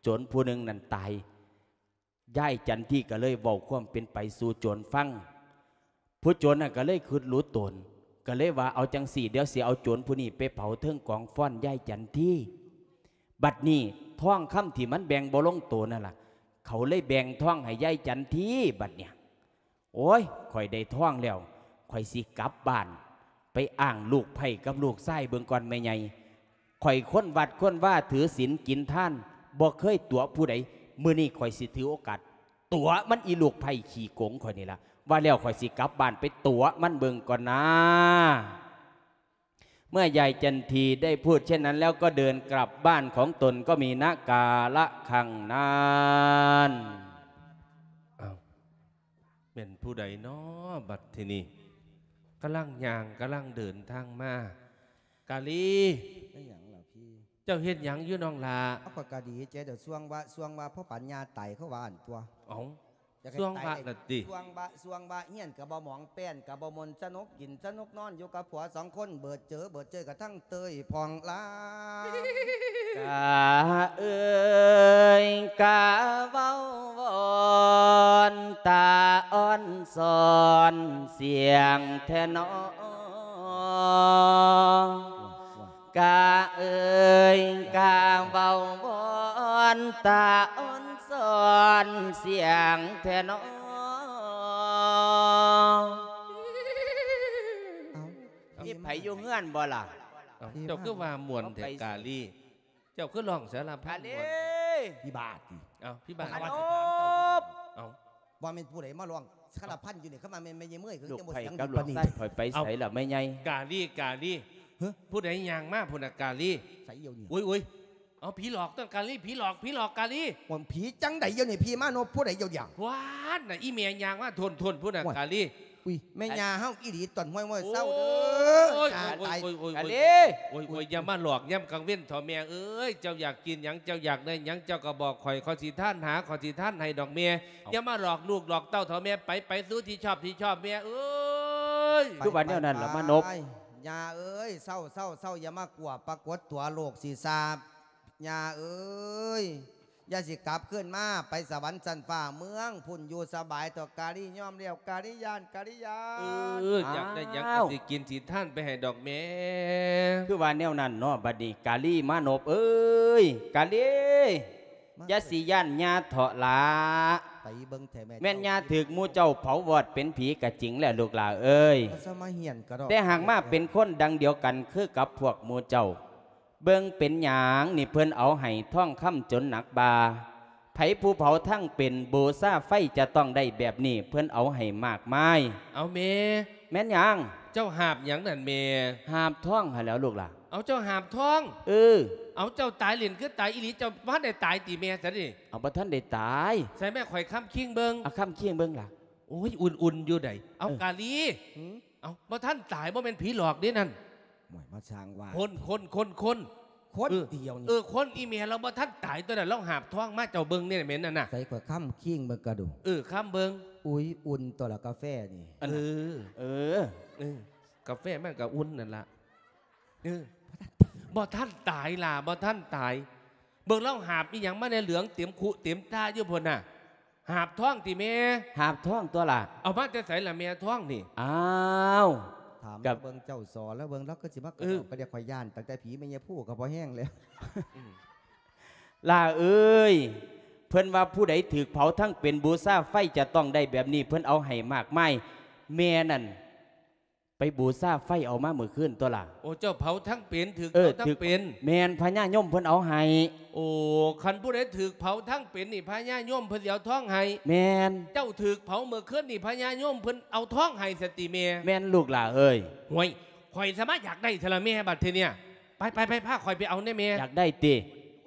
ໂຈນຜູ້ໜຶ່ງນັ້ນຕາຍ. ຍາຍຈັນທີກໍເລີຍເວົ້າຄວາມເປັນໄປສູ່ໂຈນຟັງ. ຜູ້ໂຈນນັ້ນກໍເລີຍຄິດຫຼຸດຕົນ ກໍເລີຍວ່າ ເອົາຈັ່ງຊີ້ ດຽວຊິເອົາໂຈນຜູ້ນີ້ໄປເຜົາເທິງກອງຟອນຍາຍຈັນທີ. ບັດນີ້ທອງຄຳທີ່ມັນແບ່ງບໍ່ລົງໂຕນັ້ນລະ ເຂົາເລີຍແບ່ງທອງໃຫ້ຍາຍຈັນທີ. ບັດເນີ້ຍ ໂອ້ຍ ຂ້ອຍໄດ້ທອງແລ້ວ ຂ້ອຍຊິກັບບ້ານໄປອ້າງລູກໃພ້ກັບລູກຊາຍເບິ່ງກ່ອນແມ່ໃຫຍ່. ຂ້ອຍຄົນວັດຄົນວາ ຖືສິນກິນທານ ບໍ່ເຄີຍຕົວະຜູ້ໃດ ມື້ນີ້ຂ້ອຍຊິຖືໂອກາດຕົວະມັນ ອີລູກໃພ້ຂີ້ໂກງຂ້ອຍນີ້ລະ. ວ່າແລ້ວຂ້ອຍຊິກັບບ້ານໄປຕົວະມັນເບິ່ງກ່ອນນາ. ເມື່ອຍາຍຈັນທີໄດ້ພູດເຊັ່ນນັ້ນແລ້ວ ກໍເດີນກັບບ້ານຂອງຕົນ ກໍມີນະກາລະຄັ້ງນັ້ນ. ອ້າວ ແມ່ນຜູ້ໃດນໍ ບັດທີນີ້ ກຳລັງຍ່າງກຳລັງເດີນທາງມາ. ກາລີ ແມ່ນຫຍັງລະພີ່? ເຈົ້າເຮັດຫຍັງຢູ່ນ້ອງຫຼ້າ? ເອົາ ຂ້ອຍກະດີໃຈດອກ ຊ່ວງວະ ຊ່ວງວະ ພໍປານຍ່າຕາຍ ເຂົາວ່າຫັ້ນຕົວະ. ເອົ້າ ຢາກໃຫ້ຕາຍ ຊ່ວງວະລະຕິ? ຊ່ວງວະ ຊ່ວງວະ ຮຽນກະບໍ່ໝອງແປ້ນກະບໍ່ມ່ວນ ສະໜຸກກິນສະໜຸກນອນ ຢູ່ກັບຜົວສອງຄົນ ເບີດເຈີ ເບີດເຈີກະທັງເຕີຍຜ່ອງລາ. ກາເອີຍ ກາເວົ້າວອນ ຕາອ່ອນສອນສຽງແທ້ນໍ. ກາເອີຍ ກາເວົ້າວອນ ຕາອ່ອນສອນສຽງແທ້ນໍ. ເອົ້າ ມີໃຜຢູ່ເຮືອນບໍ່ລະ? ເອົ້າ ເຈົ້າຄືວ່າມ່ວນແທ້ ກາລີ? ເຈົ້າຄືຮ້ອງສາລະພັນມ່ວນແທ້? ກາລີ ພິບາດຕິ? ເອົ້າ ພິບາດ ມານບ. ເອົ້າ ວ່າແມ່ນຜູ້ໃດມາຮ້ອງສາລະພັນຢູ່ນີ້? ຄັນວ່າແມ່ນແມ່ໃຫຍ່ເມີ້ຍ ຄື ລູກ ຍັງບໍ່ ໄຜ ສຽງ ກັບລູກຊາຍຂ້ອຍໄປໃສລະແມ່ໃຫຍ່? ກາລີ ກາລີ ຮະ? ຜູ້ໃດຍ່າງມາພຸ້ນນະ ກາລີ? ໃສດຽວນີ້? ໂອ້ຍ ໂອ້ຍ ເອົາ ຜີຫຼອກຕົວະ ກາລີ ຜີຫຼອກ ຜີຫຼອກ ກາລີ. ໂອ້ຍ ຜີຈັ່ງໃດດຽວນີ້? ຜີມານົບຜູ້ໃດດຽວນີ້? ຫວານນະ ອີແມ່ຍ່າງມາທົນໆ ພຸ້ນນະ ກາລີ. ອຸ້ຍ ແມ່ຍ່າເຮົາອີ່ຫຼີ ຕອນຫ້ວຍມວຍເຊົາເດີ. ໂອ້ຍ ຕາຍ ໂອ້ຍ ໂອ້ຍ ກາລີ ໂອ້ຍ ໂອ້ຍ ຢ່າມາຫຼອກຍາມກາງເວັນເຖົ້າແມ່ເອີຍ. ເຈົ້າຢາກກິນຫຍັງ ເຈົ້າຢາກໄດ້ຫຍັງ ເຈົ້າກໍບອກຂ້ອຍ ຂ້ອຍຊິທານຫາ ຂ້ອຍຊິທານໃຫ້ດອກແມ່. ຢ່າມາຫຼອກລູກຫຼອກເຕົ້າເຖົ້າແມ່. ໄປ ໄປສູ່ທີ່ຊອບ ທີ່ຊອບແມ່ເອີຍ. ຄືວ່າແນວນັ້ນລະມານົບ. ຍ່າເອີຍ ເຊົາ ເຊົາ ເຊົາ ຢ່າມາກົວ ປາກົດຕົວໂລກຊິສາບ. ຍ່າເອີຍ ຢ່າຊິກັບຄືນມາ ໄປສະຫວັນຊັ້ນຟ້າເມືອງພຸ້ນ ຢູ່ສະບາຍເຖາະ ກາລີ. ຍອມແລ້ວ ກາລີ ຢ້ານ ກາລີ ຢ້ານ. ເອີ ຢາກໄດ້ຫຍັງກໍຊິກິນຊິທານໄປໃຫ້ດອກແມ່. ຄືວ່າແນວນັ້ນເນາະ. ບັດນີ້ກາລີມານົບເອີຍ ກາລີ ຢ່າຊິຢ້ານຍ່າເຖາະຫຼ້າ. ໄປເບິ່ງແທ້ແມ່ ແມ່ນຍ່າຖືກໝູ່ເຈົ້າເຜົາວອດເປັນຜີກະຈິງແຫຼະລູກຫຼ້າເອີຍ, ແຕ່ຫາກມາເປັນຄົນດັ່ງດຽວກັນຄືກັບພວກໝູ່ເຈົ້າ. ເບິ່ງເປັນຫຍັງນີ້ ເພິ່ນເອົາໃຫ້ທອງຄຳຈົນໜັກບ່າ. ໃຜຜູ້ເຜົາທັງເປັນ ບູຊາໄຟຈະຕ້ອງໄດ້ແບບນີ້ ເພິ່ນເອົາໃຫ້ມາກມາຍ. ເອົາແມ່ ແມ່ນຫຍັງ? ເຈົ້າຫາບຫຍັງນັ້ນແມ່? ຫາບທອງຫັ້ນແຫຼ້ວລູກຫຼ້າ. ເອົາ ເຈົ້າຫາບທອງ? ເອີ. ເອົາ ເຈົ້າຕາຍເຫຼັ້ນຄືຕາຍອີ່ຫຼີ? ເຈົ້າບໍ່ທັນໄດ້ຕາຍຕິແມ່? ຊັ້ນນີ້ ເອົາ ບໍ່ທັນໄດ້ຕາຍ. ໃສ່ແມ່ ຂ້ອຍຄ້ຳຄີງເບິ່ງ. ເອົາ ຄ້ຳຄີງເບິ່ງລະ. ໂອ້ຍ ອຸ່ນໆຢູ່ໃດ໋. ເອົາ ເອີ ກາລີ. ຫື? ເອົາ ບໍ່ທັນຕາຍ ບໍ່ແມ່ນຜີຫຼອກເດ້ນັ້ນ. ໂອ້ຍ ມາສ້າງວ່າ ຄົນ ຄົນ ຄົນ ຄົນ ຄົນ ເອີ ດຽວນີ້ ເອີ ຄົນ. ອີແມ່ລາວບໍ່ທັນຕາຍຕົວະນັ້ນ ລາວຫາບທອງມາ ເຈົ້າເບິ່ງແນ່ແມ່ນນັ້ນນະ. ໃສ່ ຂ້ອຍຄ້ຳຄີງເບິ່ງກະດູ. ເອີ ຄ້ຳເບິ່ງ. ອຸ້ຍ ອຸ່ນຕົວລະກາແຟນີ້. ອັນ ເອີ ເອີ ເອີ ກາແຟມັນກະອຸ່ນນັ້ນລະ. ເອີ ບໍ່ທັນຕາຍຫຼ້າ ບໍ່ທັນຕາຍ. ເບິ່ງລາວຫາບອີ່ຫຍັງມາແນ່ ເຫຼືອງເຕັມຄຸເຕັມຕາຢູ່ພຸ້ນນະ. ຫາບທອງຕິແມ່? ຫາບທອງຕົວະຫຼ້າ. ເອົາມາແຕ່ໃສລະແມ່ທອງນີ້? ອ້າວ ຖາມເບິ່ງເຈົ້າສໍລະເບິ່ງ ລາວຄືຊິມາກະດອກກະເດຍ. ຂ້ອຍຢ້ານຕັ້ງແຕ່ຜີແມ່ຍາພູກໍພໍແຮງແລ້ວ. ຫຼ້າເອີຍ ເພິ່ນວ່າຜູ້ໃດຖືກເຜົາທັງເປັນ ບູຊາໄຟຈະຕ້ອງໄດ້ແບບນີ້ ເພິ່ນເອົາໃຫ້ມາກມາຍ. ແມ່ນັ້ນ ໄປບູຊາໄຟເອົາມາມື້ຄືນຕົວລະ. ໂອ້ ເຈົ້າເຜົາທັງເປັນ ຖືກເຜົາທັງເປັນ. ແມ່ນ ພະຍາຍົມເພິ່ນເອົາໃຫ້. ໂອ້ ຄັນຜູ້ໃດຖືກເຜົາທັງເປັນນີ້ ພະຍາຍົມເພິ່ນຊິເອົາທອງໃຫ້. ແມ່ນ. ເຈົ້າຖືກເຜົາມື້ຄືນນີ້ ພະຍາຍົມເພິ່ນເອົາທອງໃຫ້ຊັ້ນຕິແມ່? ແມ່ນລູກຫຼ້າເອີຍ. ຫ້ວຍ ຂ້ອຍສະມາຢາກໄດ້ແທ້ລະແມ່ ບັດທີເນີ້ຍ. ໄປ ໄປ ໄປ ພາຂ້ອຍໄປເອົາແດ່ແມ່. ຢາກໄດ້ຕິ?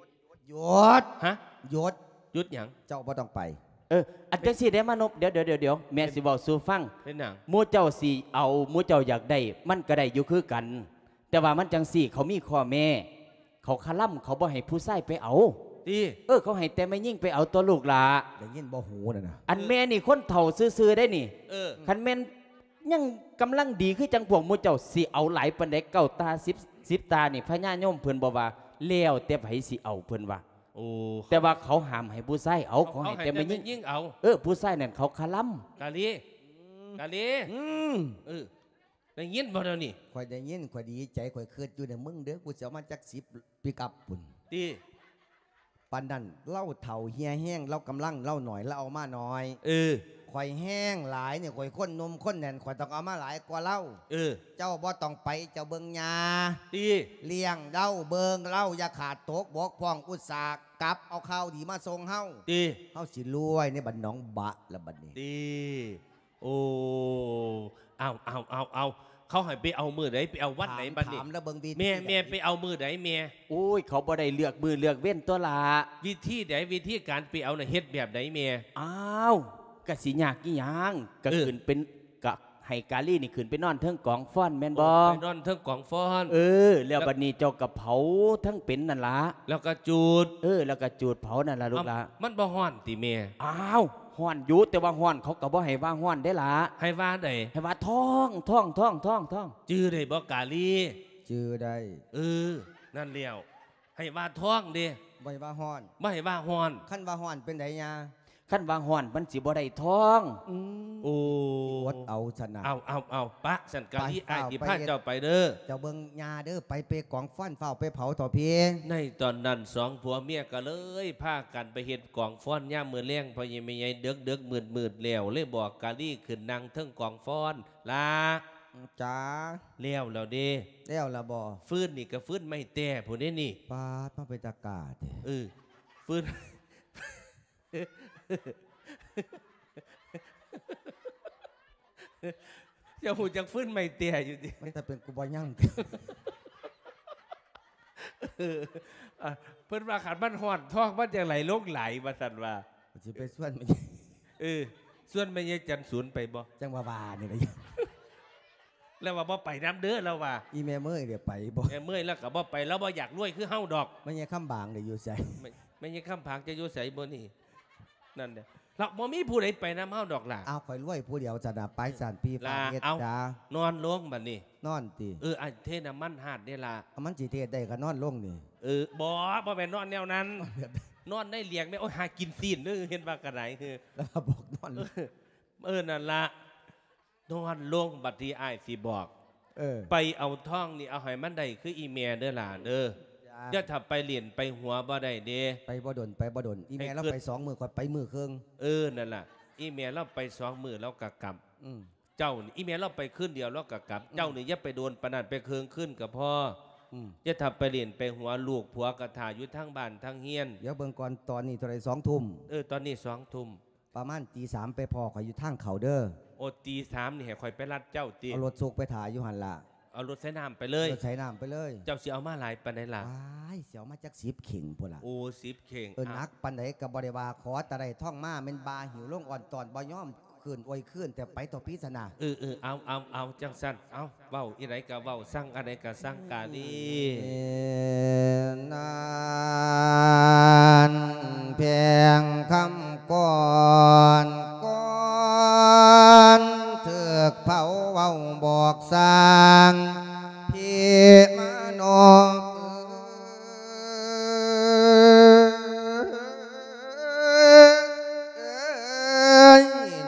ຢຸດ. ຮະ? ຢຸດ. ຢຸດຫຍັງ? ເຈົ້າບໍ່ຕ້ອງໄປ. ເອີ ອັນຈັ່ງຊີ້ເດ້ມານົບ ດຽວ ດຽວ ດຽວ ດຽວ ແມ່ຊິເວົ້າສູ່ຟັງ. ເປັນຫຍັງ? ໝູ່ເຈົ້າຊິເອົາ ໝູ່ເຈົ້າຢາກໄດ້ ມັນກະໄດ້ຢູ່ຄືກັນ ແຕ່ວ່າມັນຈັ່ງຊີ້ ເຂົາມີຂໍ້ແມ້ ເຂົາຄະລຳ ເຂົາບໍ່ໃຫ້ຜູ້ຊາຍໄປເອົາ. ຕິ? ເອີ ເຂົາໃຫ້ແຕ່ແມ່ຍິງໄປເອົາຕົວະລູກຫຼ້າ. ໄດ້ຍິນບໍ່ຫູນັ້ນນະ? ອັນແມ່ນີ້ຄົນເຖົ້າຊື່ໆເດ້ນີ້. ເອີ ຄັນແມ່ນ ຍັງກຳລັງດີ ຄືຈັ່ງພວກໝູ່ເຈົ້າຊິເອົາຫຼາຍປານໃດ ເກົ້າຕາ ສິບ ສິບຕານີ້ ພະຍາຍົມເພິ່ນບໍ່ວ່າ ແລ້ວແຕ່ໃຜຊິເອົາ ເພິ່ນວ່າ. ໂອ້ ແຕ່ວ່າເຂົາຫ້າມໃຫ້ຜູ້ຊາຍເອົາ ເຂົາໃຫ້ແຕ່ແມ່ຍິງເອົາ. ເອີ ຜູ້ຊາຍນັ້ນເຂົາຄະລຳ. ກາລີ ອືມ ກາລີ ອືມ ເອີ ໄດ້ຍິນບໍ່ດຽວນີ້? ຂ້ອຍໄດ້ຍິນ ຂ້ອຍດີໃຈ ຂ້ອຍຄິດຢູ່ໃນມຶງເດີ ກູຊິເອົາມາຈັກສິບປິກອັບພຸ້ນ. ຕິ? ປານນັ້ນ ລາວເຖົ້າເຫ່ຍແຮງ ລາວກຳລັງລາວໜ້ອຍ ລາວເອົາມາໜ້ອຍ. ເອີ ຂ້ອຍແຮງຫຼາຍນີ້ ຂ້ອຍຄົນໜຸ່ມຄົນແໜ້ນ ຂ້ອຍຕ້ອງເອົາມາຫຼາຍກວ່າລາວ. ເອີ ເຈົ້າບໍ່ຕ້ອງໄປ ເຈົ້າເບິ່ງຍ່າ. ຕິ? ລ້ຽງລາວ ເບິ່ງລາວ ຢ່າຂາດຕົກບົກຜ່ອງ ອຸດສາຫະກັບເອົາຂ່າວດີມາສົ່ງເຮົາ. ຕິ? ເຮົາຊິລວຍໃນບ້ານໜອງບະລະບັດນີ້. ຕິ? ໂອ້ ເອົາ ເອົາ ເອົາ ເອົາ ເຂົາໃຫ້ໄປເອົາມື້ໃດ ໄປເອົາວັນໃດບັດນີ້? ຖາມລະເບິ່ງວິທີ ແມ່ ແມ່ໄປເອົາມື້ໃດແມ່? ໂອ້ຍ ເຂົາບໍ່ໄດ້ເລືອກມື້ເລືອກເວັນຕົວະລະ. ວິທີໃດ ວິທີການໄປເອົານະ ເຮັດແບບໃດແມ່? ອ້າວ ກະຊິຍາກອີ່ຫຍັງ ກະ ເອີ ຂຶ້ນເປັນ ກະໃຫ້ກາລີນີ້ຂຶ້ນໄປນອນເທິງກອງຟອນແມ່ນບໍ່? ໂອ້ ໄປນອນເທິງກອງຟອນ. ເອີ ແລ້ວ ແລ້ວບັດນີ້ເຈົ້າກະເຜົາທັງເປັນນັ້ນລະ ແລ້ວກະຈູດ. ເອີ ແລ້ວກະຈູດເຜົານັ້ນລະລູກຫຼ້າ. ເອົ້າ ມັນບໍ່ຮ້ອນຕິແມ່? ອ້າວ ຮ້ອນຢູ່ ແຕ່ວ່າຮ້ອນເຂົາກໍບໍ່ໃຫ້ວ່າຮ້ອນເດ້ລະ. ໃຫ້ວ່າໃດ? ໃຫ້ວ່າທ້ອງ ທ້ອງ ທ້ອງ ທ້ອງ ທ້ອງ. ຈື່ໄດ້ບໍ່ກາລີ? ຈື່ໄດ້. ເອີ ນັ້ນແລ້ວ ໃຫ້ວ່າທ້ອງເດ້ ບໍ່ໃຫ້ວ່າຮ້ອນ. ບໍ່ໃຫ້ວ່າຮ້ອນ. ຄັນວ່າຮ້ອນເປັນໃດຍາ? ຄັນວ່າຮ້ອນມັນຊິບໍ່ໄດ້ທ້ອງ. ອືມ ໂອ້ ອົດເອົາຊັ້ນນະ. ເອົາ ເອົາ ເອົາ ປະຊັ້ນກາລີ ໄປ ອ້າຍຊິພາເຈົ້າໄປເດີ. ເຈົ້າເບິ່ງຍາເດີ ໄປ ໄປກອງຟອນ ຟ້າວໄປເຜົາເຖາະພີ. ໃນຕອນນັ້ນສອງຜົວເມຍກໍເລີຍພາກັນໄປເຮັດກອງຟອນຍາມມື້ແລງ ພໍ່ໃຫຍ່ແມ່ໃຫຍ່ ເດິກໆ ມືດໆ ແລ້ວ ເລີຍບອກກາລີຂຶ້ນນັ່ງເທິງກອງຟອນ. ລາ ອືມ ຈ້າ ແລ້ວແລ້ວເດ້. ແລ້ວລະບໍ່? ຟືນນີ້ກໍຟືນໄມ້ແຕ້ພຸ້ນເດ້ນີ້. ປາດ ມາເປັນຕາກ້າແທ້. ເອີ ຟືນ ເຈົ້າຮູ້ຈັກຟືນໄມ້ແຕ້ຢູ່ຕິ? ມັນຈະເປັນກູບໍ່ຍັງ. ເອີ ເພິ່ນວ່າຄັນມັນຮ້ອນທ້ອງມັນຈັ່ງໄຫຼລົງໄຫຼວ່າຊັ້ນວ່າ. ຊິໄປຊວນແມ່ ເອີ ຊວນແມ່ໃຫຍ່ຈັນສູນໄປບໍ່? ຈັ່ງວ່າວ່ານີ້ລະ. ລາວວ່າບໍ່ໄປນຳເດີ ລາວວ່າ. ອີແມ່ເມີ້ຍເດໄປບໍ່? ແມ່ເມີ້ຍລາວກໍບໍ່ໄປ ລາວບໍ່ຢາກລວຍຄືເຮົາດອກ. ແມ່ໃຫຍ່ຄຳບາງເດຢູ່ໃສ? ແມ່ ແມ່ໃຫຍ່ຄຳບາງຈະຢູ່ໃສມື້ນີ້? ນັ້ນແຫຼະ ລາວບໍ່ມີຜູ້ໃດໄປນຳເຮົາດອກລະ. ອ້າວ ຂ້ອຍລວຍຜູ້ດຽວຊັ້ນນະ ໄປຊັ້ນ ພີ່ຟ້າວເຮັດ. ລາ ເອົາ ຈ້າ ນອນລົງບັດນີ້. ນອນຕິ? ເອີ ອ້າຍເທນ້ຳມັນຮາດເດ້ລະ. ເອົາ ມັນຊິເທໄດ້ກໍນອນລົງນີ້. ເອີ ບໍ່ ບໍ່ແມ່ນນອນແນວນັ້ນ. ນອນແບບໃດ? ນອນໃນຫຼຽງແມ່. ໂອ້ຍ ຫາກິນຊີ້ນເດີ ເຫັນວ່າກະໄດ. ແລ້ວບອກນອນ. ເອີ ເອີ ນັ້ນລະ ນອນລົງ ບັດທີ່ອ້າຍຊິບອກ. ເອີ ໄປເອົາທອງນີ້ ເອົາໃຫ້ມັນໄດ້ຄືອີແມ່ເດີຫຼ້າເດີ. ຈ້າ ຢ່າຖ້າໄປຫຼິ້ນໄປຫົວບໍ່ໄດ້ເດ້. ໄປບໍ່ດົນ ໄປບໍ່ດົນ. ອີແມ່ລາວໄປສອງມື້ ຂ້ອຍໄປມື້ເຄິ່ງ. ເອີ ນັ້ນລະ ອີແມ່ລາວໄປສອງມື້ລາວກະກັບ. ອືມ ເຈົ້ານີ້ ອີແມ່ລາວໄປຄືນດຽວລາວກະກັບ. ອືມ ເຈົ້ານີ້ຢ່າໄປດົນປານນັ້ນ ໄປເຄິ່ງຄືນກະພໍ. ອືມ ຢ່າຖ້າໄປຫຼິ້ນໄປຫົວ ລູກຜົວກະຖ້າຢູ່ທາງບ້ານທາງເຮືອນ. ດຽວເບິ່ງກ່ອນ ຕອນນີ້ເທົ່າໃດ? ສອງທຸ່ມ. ເອີ ຕອນນີ້ສອງທຸ່ມ. ປະມານຕີສາມໄປພໍ້ຂ້ອຍຢູ່ທາງເຂົ້າເດີ. ໂອ ຕີສາມນີ້ໃຫ້ຂ້ອຍໄປລັດເຈົ້າຕິ? ເອົາລົດສຸກໄປຖ້າຢູ່ຫັ້ນລະ. ເອົາລົດໃສ່ນ້ຳໄປເລີຍ? ລົດໃສ່ນ້ຳໄປເລີຍ. ເຈົ້າຊິເອົາມາຫຼາຍປານໃດລະ? ວ້າຍ ຊິເອົາມາຈັກສິບເຂ່ງພຸ້ນລະ. ໂອ ສິບເຂ່ງ. ເອີ ອ່ະ ໜັກປານໃດກໍບໍ່ໄດ້ວ່າ ຂໍແຕ່ໄດ້ທອງມາ ແມ່ນບ່າຫິ້ວລົງອອນຕອນ ບໍ່ຍອມ ຄືນອວຍຄືນແຕ່ໄປຕໍ່ພິສະນາ. ເອີ ເອີ ເອົາ ເອົາ ເອົາ ຈັ່ງຊັ້ນ ເອົາ ເວົ້າອີໃດກະເວົ້າ ສັ່ງອັນໃດກະສັ່ງກາລີ. ເອີ ນັ້ນແພງຄຳກ່ອນ ກ່ອນຖືກເຜົາເວົ້າບອກສ້າງ ພີ່ມານອກ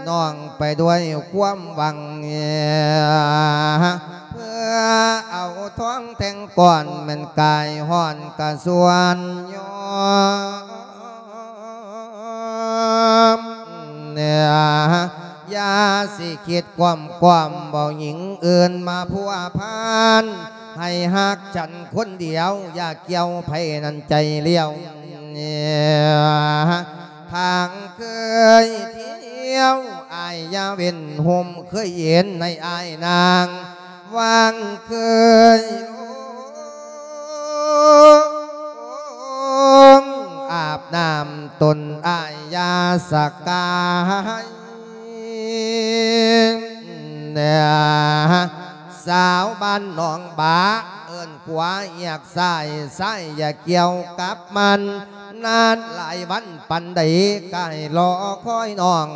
ນ້ອງໄປດ້ວຍຄວາມຫວັງ ເພື່ອເອົາທອງແທ່ງກ້ອນ ແມ່ນກາຍຮ້ອນກະຊວນຍອມ ຢ່າ ຊິຄິດກວມໆ ເວົ້າຍິງອື່ນມາພົວພັນ ໃຫ້ຮັກສັນຄົນດຽວ ຢ່າກ່ຽວໃຜນັ້ນໃຈລ້ຽວ ທາງເຄີຍທ່ຽວ ອາຍຢ່າເວັ້ນ ໂຮມເຄີຍເຫັນໃນອາຍນາງ ຫວ່າງເຄີຍ ອາບນ້ຳຕົນອາຍຢ່າສະກາຍ ສາວບ້ານໜອງບາ ເອີ້ນຂວາຮຽກຊ້າຍ ຊ້າຍຢ່າກ່ຽວກັບມັນ ນານຫຼາຍວັນປານໃດ ກະໃຫ້ລໍຄອຍນ້ອງ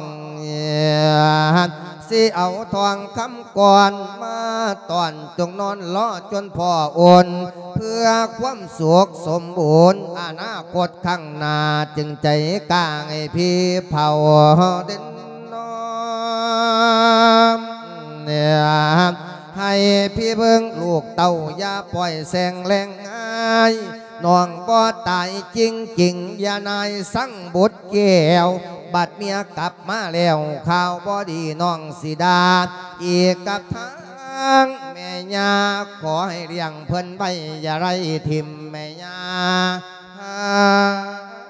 ຊິເອົາທອງຄຳກ່ອນມາຕ້ອນ ຈົ່ງນອນລໍຈົນພໍ່ອຸ່ນ ເພື່ອຄວາມສຸກສົມບູນ ອະນາຄົດຂ້າງໜ້າ ຈຶ່ງໃຈກ້າໃຫ້ພີ່ເຝົ້າເດັ່ນນອນ ໃຫ້ພີ່ເບິ່ງລູກເຕົ້າ ຢ່າປ່ອຍແສງແລງງ່າຍ ນ້ອງບໍ່ຕາຍຈິງໆ ຢ່ານາຍສັງບຸດແກ້ວ ບັດເມຍກັບມາແລ້ວ ຂ່າວບໍ່ດີນ້ອງຊິດ່າ ອີກກັບທາງແມ່ຍ່າ ຂໍໃຫ້ລ້ຽງເພິ່ນໄວ້ ຢ່າໄດ້ຖິ້ມແມ່ຍ່າ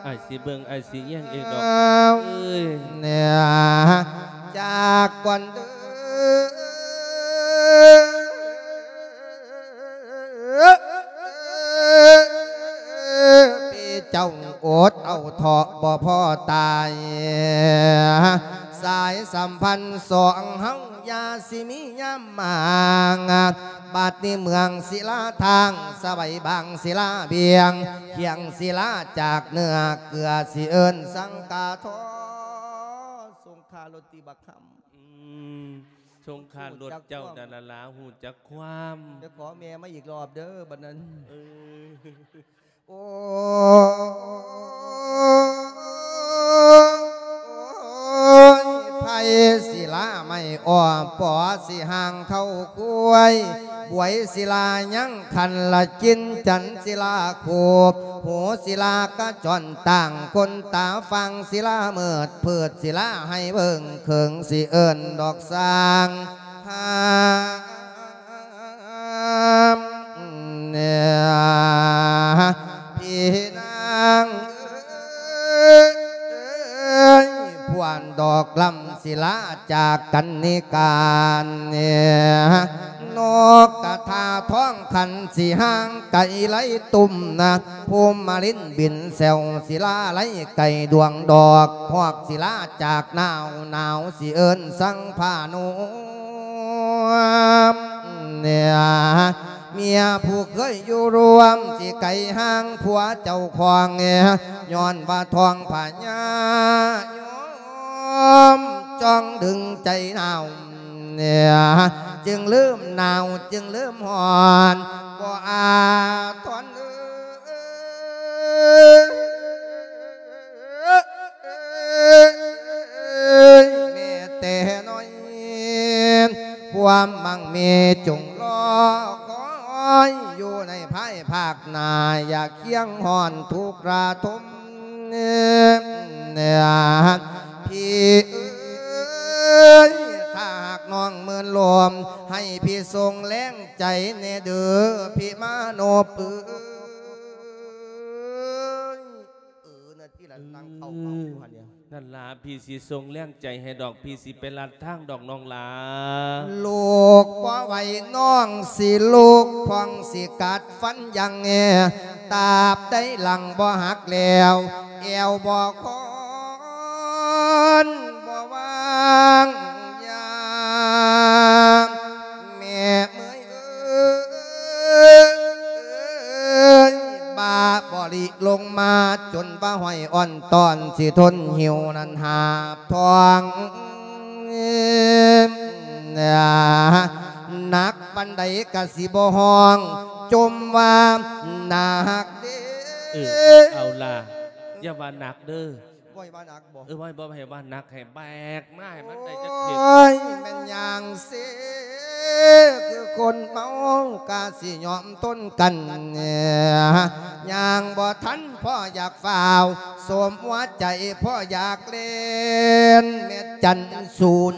ອ້າຍຊິເບິ່ງ ອ້າຍຊິແຍງເອງດອກ ເອີຍ ຈາກກ່ອນເດີ ພີ່ເຈົ້າອົດເອົາເທາະບໍ່ພໍຕາຍ ສາຍສຳພັນສອງເຮົາຢ່າຊິມີຍາມມາງ ບັດນີ້ເມືອງສິລາທາງ ສະໄບບາງສິລາບຽງ ຄຽງສິລາຈາກເໜືອ ເກືອຊິເອີ້ນສັງກາທອ ສົງຄາລົດຕິບັກຄຳ ອືມ ສົງຄາລົດເຈົ້ານັ້ນລະລາ ຮູ້ຈັກຄວາມ ໄປຂໍແມ່ມາອີກລອບເດີ ບັດນັ້ນ ເອີ ໂອ້ຍ ໄພສິລາໄມ້ອ້ອມ ປໍສີຫາງເຂົ້າຄວາຍ ບວຍສິລາຍັງຂັນລະຈິນ ຈັນສິລາຄູບ ຫູສິລາກະຈອນຕ່າງ ຄົນຕາຟາງສິລາມືດ ພືດສິລາໃຫ້ເບິ່ງເຄິ່ງ ຊິເອີ້ນດອກສ້າງ ຫ້າມ ພີ່ນາງເອີຍ ພວນດອກລຳສິລາຈາກກັນນິກາ ນົກກະທາທອງຂັນສີຫາງໄກ່ໄລ່ຕຸ່ມນະ ພູມມະລິນບິນແຊວ ສິລາໄລ່ໄກ່ດວງດອກ ຮອກສິລາຈາກໜາວ ໜາວຊິເອີ້ນສັງພານຸ ເມຍຜູ້ເຄີຍຢູ່ຮ່ວມ ຊິໄກຫ່າງຜົວເຈົ້າຂອງ ຍ້ອນວ່າທ້ອງພະຍາຍອມ ຈ້ອງດຶງໃຈໜາວ ຈຶ່ງລືມໜາວ ຈຶ່ງລືມຮ້ອນ ບໍ່ອາທອນເອີຍ ແມ້ແຕ່ນ້ອຍ ຄວາມໝັ້ງມີຈົ່ງລໍຄອຍ ຢູ່ໃນພາຍພາກໜ້າ ຢ່າຄຽງຮ້ອນທຸກລະທົມ ພີ່ເອີຍ ຖ້າຫາກນ້ອງມື່ນລົມ ໃຫ້ພີ່ສົ່ງແຮງໃຈແດ່ເດີ ພີ່ມາໂນບເອີຍ. ເອີ ນັ້ນຕິລະ ນັ່ງເຂົ້າເຂົ້າຢູ່ຫັ້ນເດ. ນັ້ນລະ ພີ່ຊິສົ່ງແຮງໃຈໃຫ້ດອກ ພີ່ຊິໄປລັດທາງດອກນ້ອງຫຼາ. ລູກບໍ່ໄຫວນ້ອງຊິລຸກ ພ້ອງຊິກັດຟັນຍັງ ຕາບໃດຫຼັງບໍ່ຫັກແລ້ວ ແອວບໍ່ຄອນບໍ່ວາງຢາ ແມ່ເມື່ອຍເອີຍ ບາບໍລິລົງມາ ຈົນວ່າຫ້ອຍອ່ອນຕອນ ຊິທົນຫິວນັ້ນຫາບທ້ອງ ໜັກປານໃດກະຊິບໍ່ຮ້ອງ ຈົ່ມວ່າໜັກເດ້. ເອີ ເອົາລະ ຢ່າວ່າໜັກເດີ. ບໍ່ໃຫ້ວ່າໜັກບໍ່? ເອີ ບໍ່ ບໍ່ໃຫ້ວ່າໜັກ ໃຫ້ແບກມາໃຫ້ມັນໄດ້ຈັກເຂດ. ໂອ້ຍ ແມ່ນຫຍັງເຊ ຄືຄົນເມົາກະຊິຍອມທົນກັນ ຍ່າງບໍ່ທັນພໍຢາກຟ້າວ ສົມຫົວໃຈພໍຢາກເລ່ນ ແມ່ນຈັນສູນ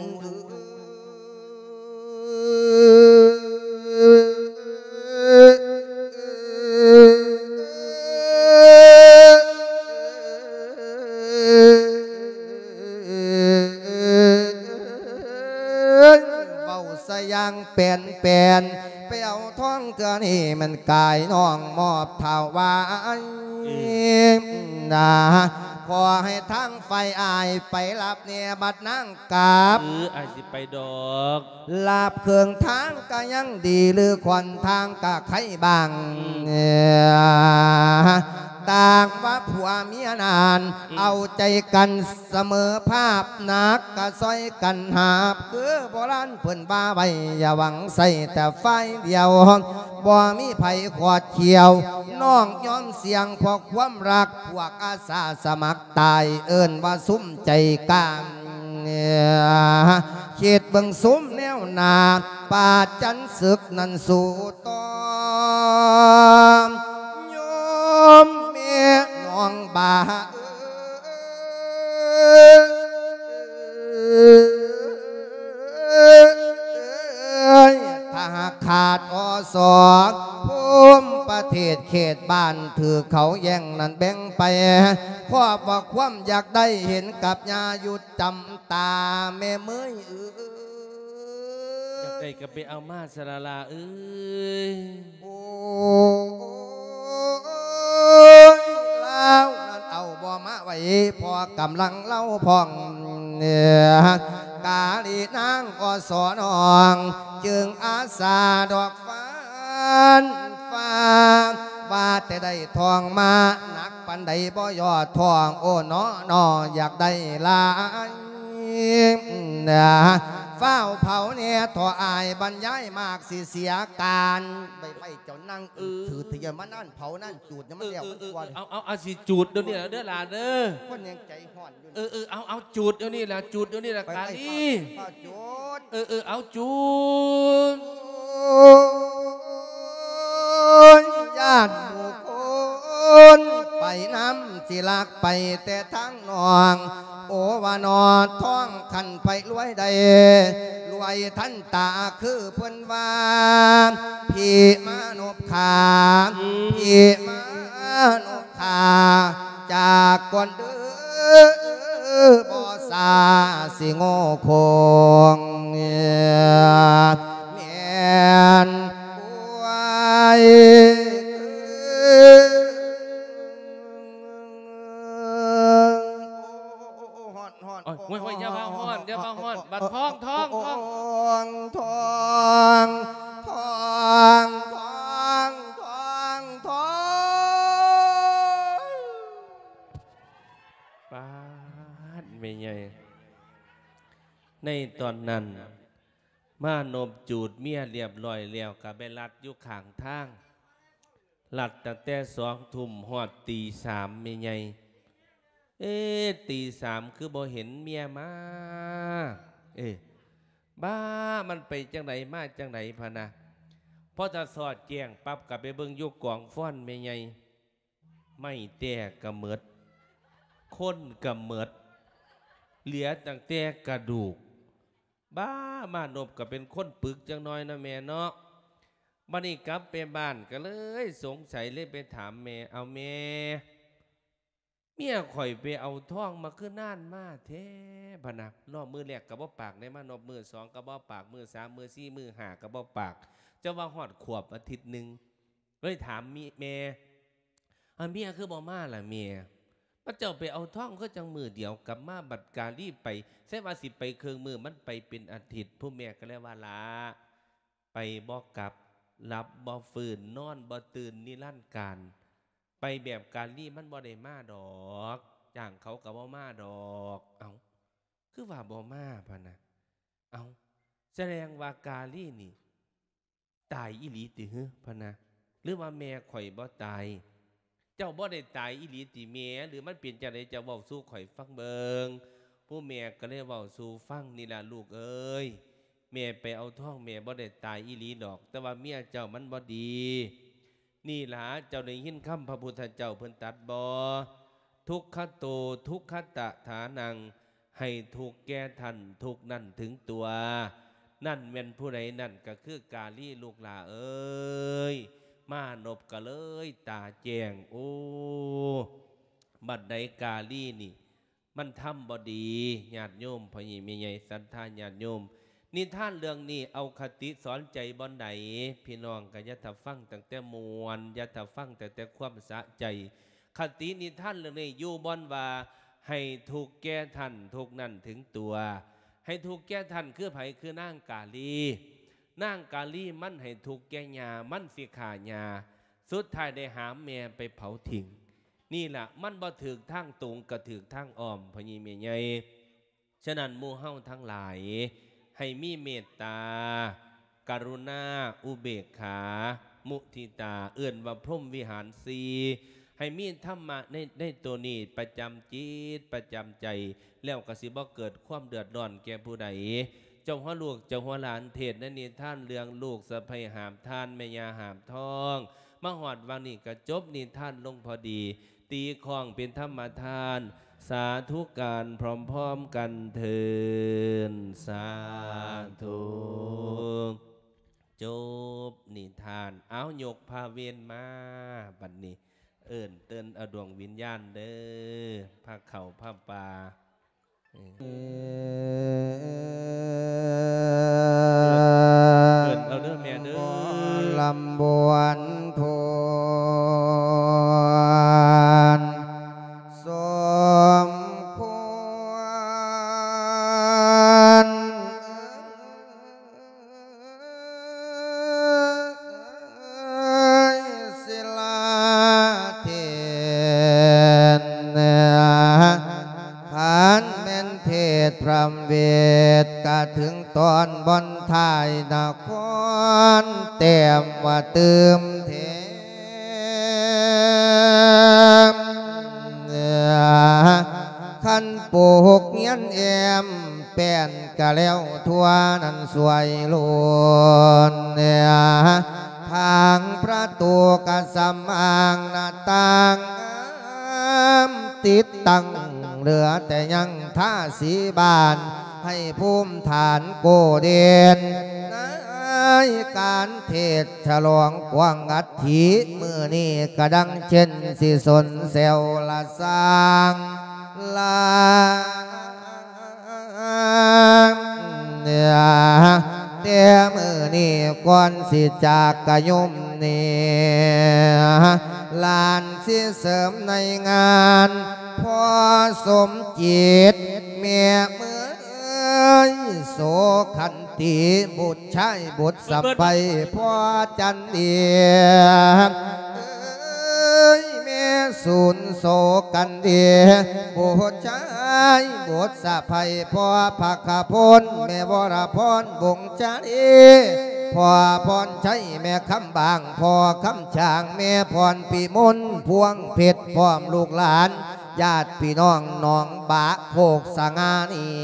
ເວົ້າຊະຢ່າງແປນໆ ໄປເອົາທອງເທື່ອນີ້ ມັນກາຍນ້ອງມອບຖວາຍນາ ຂໍໃຫ້ທາງຝ່າຍອ້າຍໄປຮັບແດ່ບັດນາງກັບ ເອີ ອ້າຍຊິໄປດອກ ລາບເຄິ່ງທາງກະຍັງດີ ຫຼືຂ້ອນທາງກະໄຄບາງ ອືມ ຕ່າງວ່າຜົວເມຍນັ້ນ ອືມ ເອົາໃຈກັນສະເໝີພາບ ໜັກກະຊ່ອຍກັນຫາບ ຄືໂບລານເພິ່ນວ່າໄວ້ ຢ່າຫວັງໃສ່ແຕ່ຝ່າຍດຽວ ບໍ່ມີໃຜຂອດຂຽວ ນ້ອງຍອມສ່ຽງເພາະຄວາມຮັກ ພວກອາສາສະໝັກຕາຍ ເອີ້ນວ່າສຸມໃຈກາງ ຄິດເບິ່ງສຸມແນວໜ້າ ປາດຈັນສຶກນັ້ນສູ້ຕໍ່ ໂຍມແມ່ນ້ອງບາເອີຍ ຖ້າຫາກຂາດ ອສ ພູມປະເທດເຂດບ້ານ ຖືກເຂົາແຍ່ງນັ້ນແບ່ງໄປ ຄອບວ່າຄວາມຢາກໄດ້ ເຫັນກັບຍາຢູ່ ຈຳຕາແມ່ເມີຍເອີຍ ຢາກໄດ້ກໍໄປເອົາມາຊະລະລາເອີຍ ໂອ້ຍ ລາວນັ້ນເອົາບໍ່ມາໄວ້ ພໍກຳລັງລາວພ້ອງ ກາລີນາງ ອສ ນ້ອງ ຈຶ່ງອາສາດອກຟານຟ້າ ວ່າແຕ່ໄດ້ທອງມາ ໜັກປານໃດບໍ່ຍໍທອງ ໂອ້ ເນາະ ເນາະ ຢາກໄດ້ຫຼາຍ ຟ້າວເຜົາແດ່ ທໍ່ອ້າຍບັນຍາຍມາກ ຊິເສຍການ ໄປໄປເຈົ້ານາງ ເອີ ຖືທະຍານມານັ້ນເຜົານັ້ນ ຈູດຍັງມັນແລ້ວມັນກວ່າ ເອີ ເອີ ເອົາ ເອົາ ເອົາ ຊິຈູດດຽວນີ້ລະເດີຫຼານເດີ ຄົນຍັງໃຈຮ້ອນຢູ່ ເອີ ເອີ ເອົາ ເອົາ ຈູດດຽວນີ້ລະ ຈູດດຽວນີ້ລະ ກາລີ ຟ້າວຈູດ ເອີ ເອີ ເອົາ ຈູດ ໂອ້ຍ ຢ້ານໝູ່ຄົນໄປນຳ ຊິລັກໄປແຕ່ທາງນ້ອງ ໂອ ວ່າໜໍທອງ ຄັນໃຜລວຍໄດ້ ລວຍທັນຕາ ຄືເພິ່ນວ່າ ພີ່ມານົບຂາ ພີ່ມານົບຂາ ຈາກກ່ອນເດີ ບໍ່ສາຊິໂງ່ຄົງ ແມ່ນ ໂອ້ຍ ຮ້ອນ ຮ້ອນ ໂອ້ຍ ໂອ້ຍ ໂອ້ຍ ຢ່າວ່າຮ້ອນ ຢ່າວ່າຮ້ອນ ບັດທ້ອງ ທ້ອງ ທ້ອງ ທ້ອງ ປາດ ແມ່ໃຫຍ່ ໃນຕອນນັ້ນ ມານົບຈູດເມຍລຽບລ້ອຍແລ້ວ ກໍໄປລັດຢູ່ຂ້າງທາງ ລັດຕັ້ງແຕ່ສອງທຸ່ມຮອດຕີສາມ ແມ່ໃຫຍ່ ເອ ຕີສາມຄືບໍ່ເຫັນເມຍມາ ເອ ບ້າ ມັນໄປຈັ່ງໃດມາຈັ່ງໃດ ພະນະ ພໍຕາສອດແຈ້ງປັບ ກໍໄປເບິ່ງຢູ່ກອງຟອນ ແມ່ໃຫຍ່ ໄມ້ແຕ້ກໍໝົດ ຄົນກໍໝົດ ເຫຼືອຕັ້ງແຕ່ກະດູກ ບ້າ ມານົບກໍເປັນຄົນປຶກຈັກໜ້ອຍເນາະແມ່ເນາະ ບັດນີ້ກັບໄປບ້ານກໍເລີຍສົງໄສ ເລີຍໄປຖາມແມ່ ເອົາແມ່ ເມຍຂ້ອຍໄປເອົາທອງມາຄືນານມາແທ້ ພະນະ ເນາະ ມື້ແລກກໍບໍ່ປາກເດ້ ມານົບ ມື້ສອງກໍບໍ່ປາກ ມື້ສາມ ມື້ສີ່ ມື້ຫ້າກໍບໍ່ປາກ ເຈົ້າວ່າຮອດຂວບອາທິດໜຶ່ງ ເລີຍຖາມມີ ແມ່ ອາ ເມຍຄືບໍ່ມາລະແມ່ ບັດເຈົ້າໄປເອົາທອງຄືຈັ່ງມື້ດຽວກັບມາ ບັດກາລີໄປ ໃສ່ວ່າຊິໄປເຄິ່ງມື້ ມັນໄປເປັນອາທິດ ຜູ້ແມ່ກໍເລີຍວ່າ ຫຼ້າ ໄປບໍ່ກັບ ຫຼັບບໍ່ຟື້ນ ນອນບໍ່ຕື່ນ ນິລັນການ ໄປແບບກາລີມັນບໍ່ໄດ້ມາດອກ ຈ້າງເຂົາກໍບໍ່ມາດອກ ເອົ້າ ຄືວ່າບໍ່ມາ ພະນະ ເອົ້າ ສະແດງວ່າກາລີນີ້ ຕາຍອີ່ຫຼີຕິຫື ພະນະ ຫຼືວ່າແມ່ຂ້ອຍບໍ່ຕາຍ ເຈົ້າບໍ່ໄດ້ຕາຍອີ່ຫຼີຕິແມ່ ຫຼືມັນເປັນຈັ່ງໃດ ເຈົ້າເວົ້າສູ່ຂ້ອຍຟັງເບິ່ງ ຜູ້ແມ່ກໍເລີຍເວົ້າສູ່ຟັງ ນີ້ລະລູກເອີຍ ແມ່ໄປເອົາທອງ ແມ່ບໍ່ໄດ້ຕາຍອີ່ຫຼີດອກ ແຕ່ວ່າເມຍເຈົ້າມັນບໍ່ດີ. ນີ້ລະ ເຈົ້າໄດ້ຍິນຄຳພະພຸດທະເຈົ້າເພິ່ນຕັດບໍ່? ທຸກຂະໂຕ ທຸກຂະຕະຖານັງ ໃຫ້ທຸກແກ່ທ່ານ ທຸກນັ້ນເຖິງຕົວ. ນັ້ນແມ່ນຜູ້ໃດ? ນັ້ນກໍຄືກາລີລູກຫຼ້າເອີຍ ມານົບກໍເລີຍຕາແຈ້ງ. ໂອ້ ບັດໃດກາລີນີ້ ມັນທຳບໍ່ດີ ຍາດໂຍມ ພໍ່ໃຫຍ່ແມ່ໃຫຍ່ ສັດທາຍາດໂຍມ. ນິທານເລື່ອງນີ້ເອົາຄະຕິສອນໃຈບ່ອນໃດ? ພີ່ນ້ອງກໍຢ່າຖ້າຟັງຕັ້ງແຕ່ມ່ວນ ຢ່າຖ້າຟັງຕັ້ງແຕ່ຄວາມສະໃຈ. ຄະຕິນິທານເລື່ອງນີ້ຢູ່ບ່ອນວ່າ ໃຫ້ທຸກແກ່ທ່ານ ທຸກນັ້ນເຖິງຕົວ. ໃຫ້ທຸກແກ່ທ່ານຄືໃຜ? ຄືນາງກາລີ. ນາງກາລີມັນໃຫ້ທຸກແກ່ຍ່າ ມັນຊິຂ້າຍ່າ ສຸດທ້າຍໄດ້ຫາມແມ່ໄປເຜົາຖິ້ມ. ນີ້ລະ ມັນບໍ່ຖືກທາງຕົງ ກໍຖືກທາງອ້ອມ ພໍ່ໃຫຍ່ແມ່ໃຫຍ່. ສະນັ້ນ ໝູ່ເຮົາທັງຫຼາຍ ໃຫ້ມີເມດຕາ ກະລຸນາ ອຸເບກຂາ ມຸທິຕາ ເອີ້ນວ່າພົມວິຫານສີ່. ໃຫ້ມີທຳມະໃນ ໃນໂຕນີ້ປະຈຳຈິດ ປະຈຳໃຈ ແລ້ວກໍຊິບໍ່ເກີດຄວາມເດືອດຮ້ອນແກ່ຜູ້ໃດ. ເຈົ້າຫົວລູກເຈົ້າຫົວຫຼານ ເທດໃນນິທານເລື່ອງລູກສະໃພ້ຫາບທ່ານ ແມ່ຍ່າຫາບທອງ ມາຮອດຫວ່າງນີ້ກໍຈົບນິທານລົງພໍດີ ຕີຄ້ອງເປັນທຳມະທານ ສາທຸການພ້ອມໆກັນເທີ້ນ ສາທຸ. ຈົບນິທານ. ເອົາ ຍົກພາເວນມາ ບັດນີ້ ເອີ້ນເຕີນເອົາດວງວິນຍານເດີ ພາເຂົ້າພາປ່າ. ເອີ ເອີ້ນເອົາເດີແມ່ເດີ ລຳບວນພູນສົມຄວນ ເອີຍ ສິລາເທນ ຄັນແມ່ນເທດພຣຳເວດ ກະເຖິງຕອນບ່ອນທ້າຍນະຄອນ ແຕ້ມວ່າຕື່ມເທ ຄັນປູກຮຽນແອ້ມແປ້ນກະແລ້ວທົ່ວນັ້ນສວຍໂລນ ທາງປະຕູກະສຳອາງໜ້າຕ່າງງາມຕິດຕັ້ງ ເຫຼືອແຕ່ຍັງທາສີບານ ໃຫ້ພູມຖານໂກເດນ ໃນການເທດສະຫຼອງກວາງອັດຖິມື້ນີ້ກະດັ່ງເຊັ່ນຊິສົນແຊວລະສ້າງລາ ແຕ່ມື້ນີ້ກ່ອນຊິຈາກກະຍົມນີ້ ຫຼານຊິເສີມໃນງານ ພໍ່ສົມຈິດ ແມ່ເມີຍໂສຄັນ ຕິບຸດຊາຍບຸດສະໃພ ພໍ່ຈັນດີ ເອີຍ ແມ່ສູນໂສກັນດີ ບຸດຊາຍບຸດສະໃພ ພໍ່ພັກຂະພົນ ແມ່ວໍລະພອນ ວົງຈາລີ ພໍ່ພອນໄຊ ແມ່ຄຳບາງ ພໍ່ຄຳຊ້າງ ແມ່ພອນພິມົນ ພວງເພັດ ພ້ອມລູກຫຼານ ຍາດພີ່ນ້ອງໜອງບາໂຄກສະຫງ່ານີ້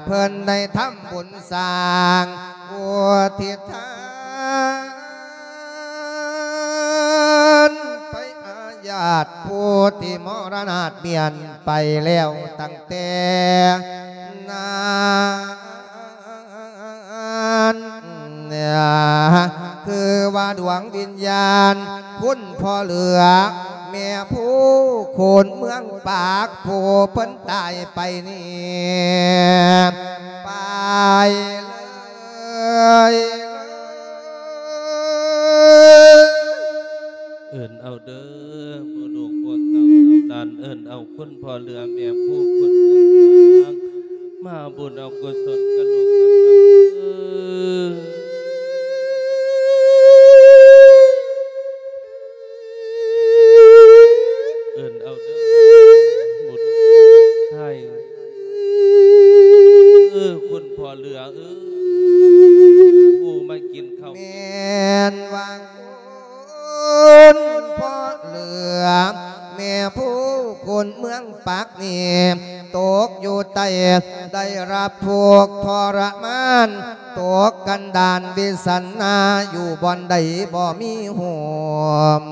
ເພິ່ນໄດ້ທຳບຸນສ້າງອຸທິດທານ ໄປຫາຍາດຜູ້ທີ່ມໍລະນາດປ່ຽນໄປແລ້ວຕັ້ງແຕ່ນານ ຄືວ່າດວງວິນຍານ ຄຸນພໍ່ເຫຼືອ ແມ່ພູໂຄນເມືອງປາກ ຜູ້ເພິ່ນຕາຍໄປນີ້ ໄປເລີຍ. ເອີ້ນເອົາເດີ ໝູ່ລູກພວກເຕົ້າເອົາຫຼານ ເອີ້ນເອົາຄຸນພໍ່ເຫຼືອແມ່ພູຄົນຕ່າງໆ ມາບຸນເອົາກຸສົນກັນລູກກັນເຕົ້າເອີ ເອີ້ນເອົາເດີ ໝູ່ລູກຊາຍ ເອີ ຄຸນພໍ່ເຫຼືອເອີ ຜູ້ມາກິນເຂົ້າ ແມ່ນວ່າ ຄຸນພໍ່ເຫຼືອ ແມ່ພູໂຄ ຄົນເມືອງປາກນີ້ຕົກຢູ່ໃຕ້ ໄດ້ຮັບທຸກທໍລະມານ ຕົກກັນດານວິສັນນາ ຢູ່ບ່ອນໃດບໍ່ມີໂຮມ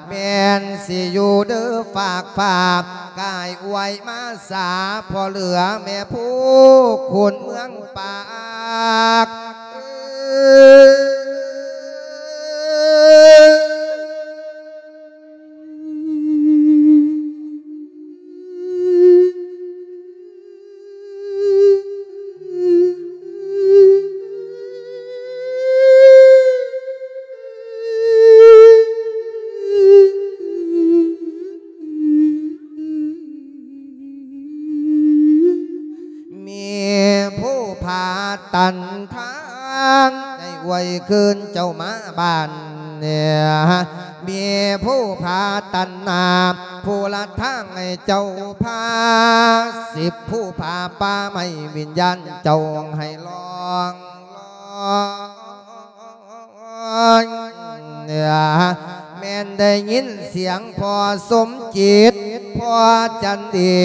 ແມ່ນຊິຢູ່ເດີຝາກຟ້າ ກາຍອວຍມາສາ ພໍ່ເຫຼືອແມ່ຜູ້ຄົນເມືອງປາກ ມີຜູ້ພາຕັນທາງ ໃຫ້ອວຍຄືນເຈົ້າມາບ້ານ ມີຜູ້ພາຕັນນາ ຜູ້ລະທາງໃຫ້ເຈົ້າພາ ສິບຜູ້ພາປ່າໄມ້ວິນຍານເຈົ້າໃຫ້ລ່ອງລອຍ ແມ່ນໄດ້ຍິນສຽງພໍ່ສົມຈິດ ພໍ່ຈັນດີ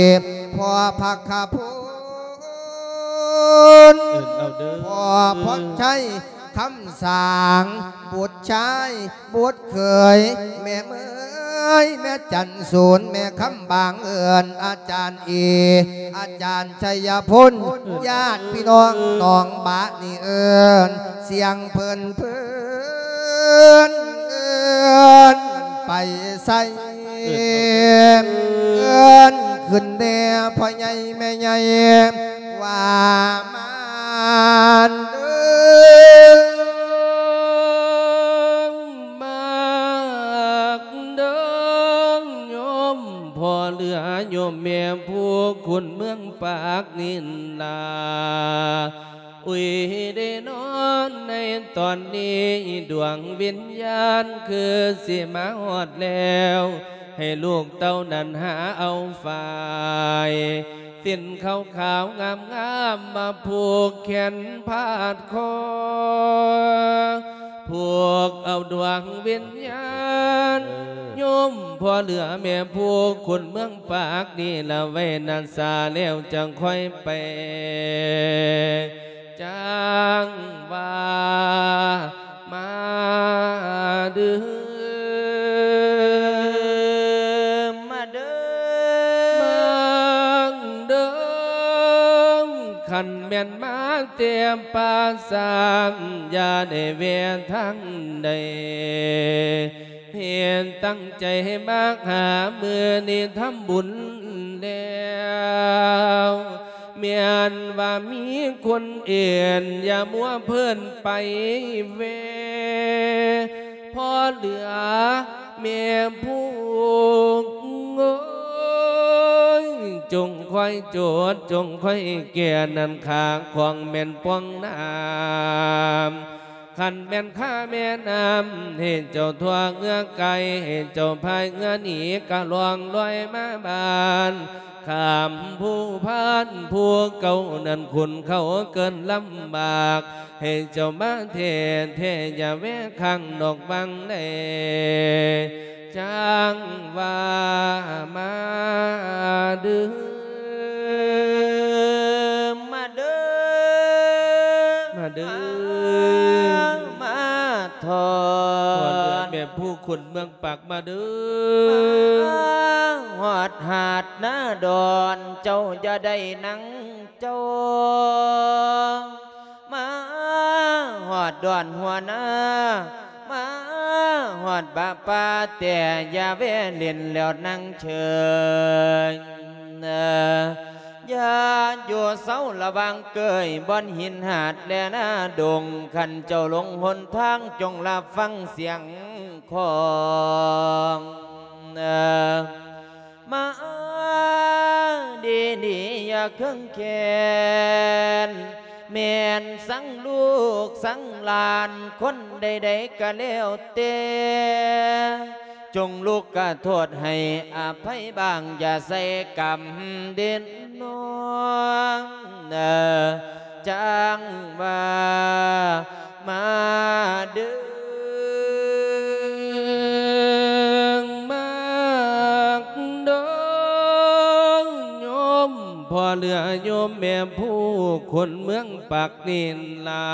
ພໍ່ພັກຂະພົນ ເອີ້ນເອົາເດີ ພໍ່ພອນໄຊ ຄຳສາງ ບຸດຊາຍ ບຸດເຂີຍ ແມ່ເໝີຍ ແມ່ຈັນສູນ ແມ່ຄຳບາງ ເອີ້ນອາຈານເອ ອາຈານໄຊຍະພົນ ຍາດພີ່ນ້ອງໜອງບານີ້ເອີ້ນ ສຽງເພິ່ນເພິ່ນ ເອີ້ນໄປໃສ ເອີ້ນຂຶ້ນແດ່ພໍ່ໃຫຍ່ແມ່ໃຫຍ່ ວ່າມາເດີ ມາເດີໂຍມພໍ່ເຫຼືອໂຍມແມ່ຜູ້ຄົນເມືອງປາກນີ້ລະ ອຸຍ ໄດ້ນອນໃນຕອນນີ້ ດວງວິນຍານຄືຊິມາຮອດແລ້ວ ໃຫ້ລູກເຕົ້ານັ້ນຫາເອົາຝ້າຍ ສິ້ນຂາວໆງາມໆ ມາຜູກແຂນພາດຄໍ ຜູກເອົາດວງວິນຍານ ເອີ ໂຍມພໍ່ເຫຼືອແມ່ຜູ້ຄົນເມືອງປາກນີ້ລະໄວ້ນາສາ ແລ້ວຈັ່ງຄ່ອຍໄປ ຈັ່ງວ່າ ມາເດີ ມາເດີ ມາເດີ ຄັນແມ່ນມາແຕ່ປ່າຊ້າ ຢ່າໄດ້ແວ່ທາງໃດ ເຮັດຕັ້ງໃຈໃຫ້ມາຫາ ມື້ນີ້ທຳບຸນແລ້ວ ແມ່ນວ່າມີຄົນເອີ້ນ ຢ່າມົວເພີນໄປແວ່ ພໍ່ເຫຼືອແມ່ຜູ້ ໂອ້ຍ ຈົ່ງຄອຍໂຈດ ຈົ່ງຄອຍແກ່ ນັ້ນຂ້າຂອງແມ່ນປ່ອງນ້ຳ ຄັນແມ່ນຂ້າແມ່ນ້ຳ ໃຫ້ເຈົ້າທົ່ວເຫື່ອໄກ ໃຫ້ເຈົ້າພາຍເຫື່ອໜີ ກະລ່ອງລອຍມາບ້ານ ຂ້າມພູພານ ຜູ້ເກົ່ານັ້ນຂຸ້ນເຂົ້າເກີນລຳບາກ ໃຫ້ເຈົ້າມາແທ້ໆ ຢ່າແວ່ຂ້າງນອກວັງໃດ ຈັ່ງວ່າມາເດີ ມາເດີ ມາເດີ ມາທອດ ພໍ່ເຫຼືອແມ່ຜູ້ຄົນເມືອງປາກມາເດີ ມາຮອດຫາດນາດອນ ເຈົ້າຢ່າໄດ້ນັ່ງເຈົ້າ ມາຮອດດອນຫົວນາ ມາຮອດບາປ່າ ແຕ່ຢ່າແວ່ຫຼິ້ນແລ້ວນັ່ງເຊີຍ ຢ່າຢູ່ເຊົາລະຫວ່າງເກີຍ ບ່ອນຫີນຫາດແລນາດົງ ຄັນເຈົ້າຫຼົງຫົນທາງ ຈົ່ງລະຟັງສຽງຂອງ ມາດີໆ ຢ່າເຄືອງແຄ້ນ ແມ່ນສັງລູກສັງຫຼານ ຄົນໃດໆກະແລ້ວແຕ່ ຈົ່ງລຸກກະໂທດໃຫ້ອະໄພບ້າງ ຢ່າໃສ່ກຳເດັດນ້ອງ ຈັ່ງວ່າ ມາເດີ ມາ ພໍ່ເຫຼືອໂຍມແມ່ຜູ້ຄົນເມືອງປາກນີ້ລາ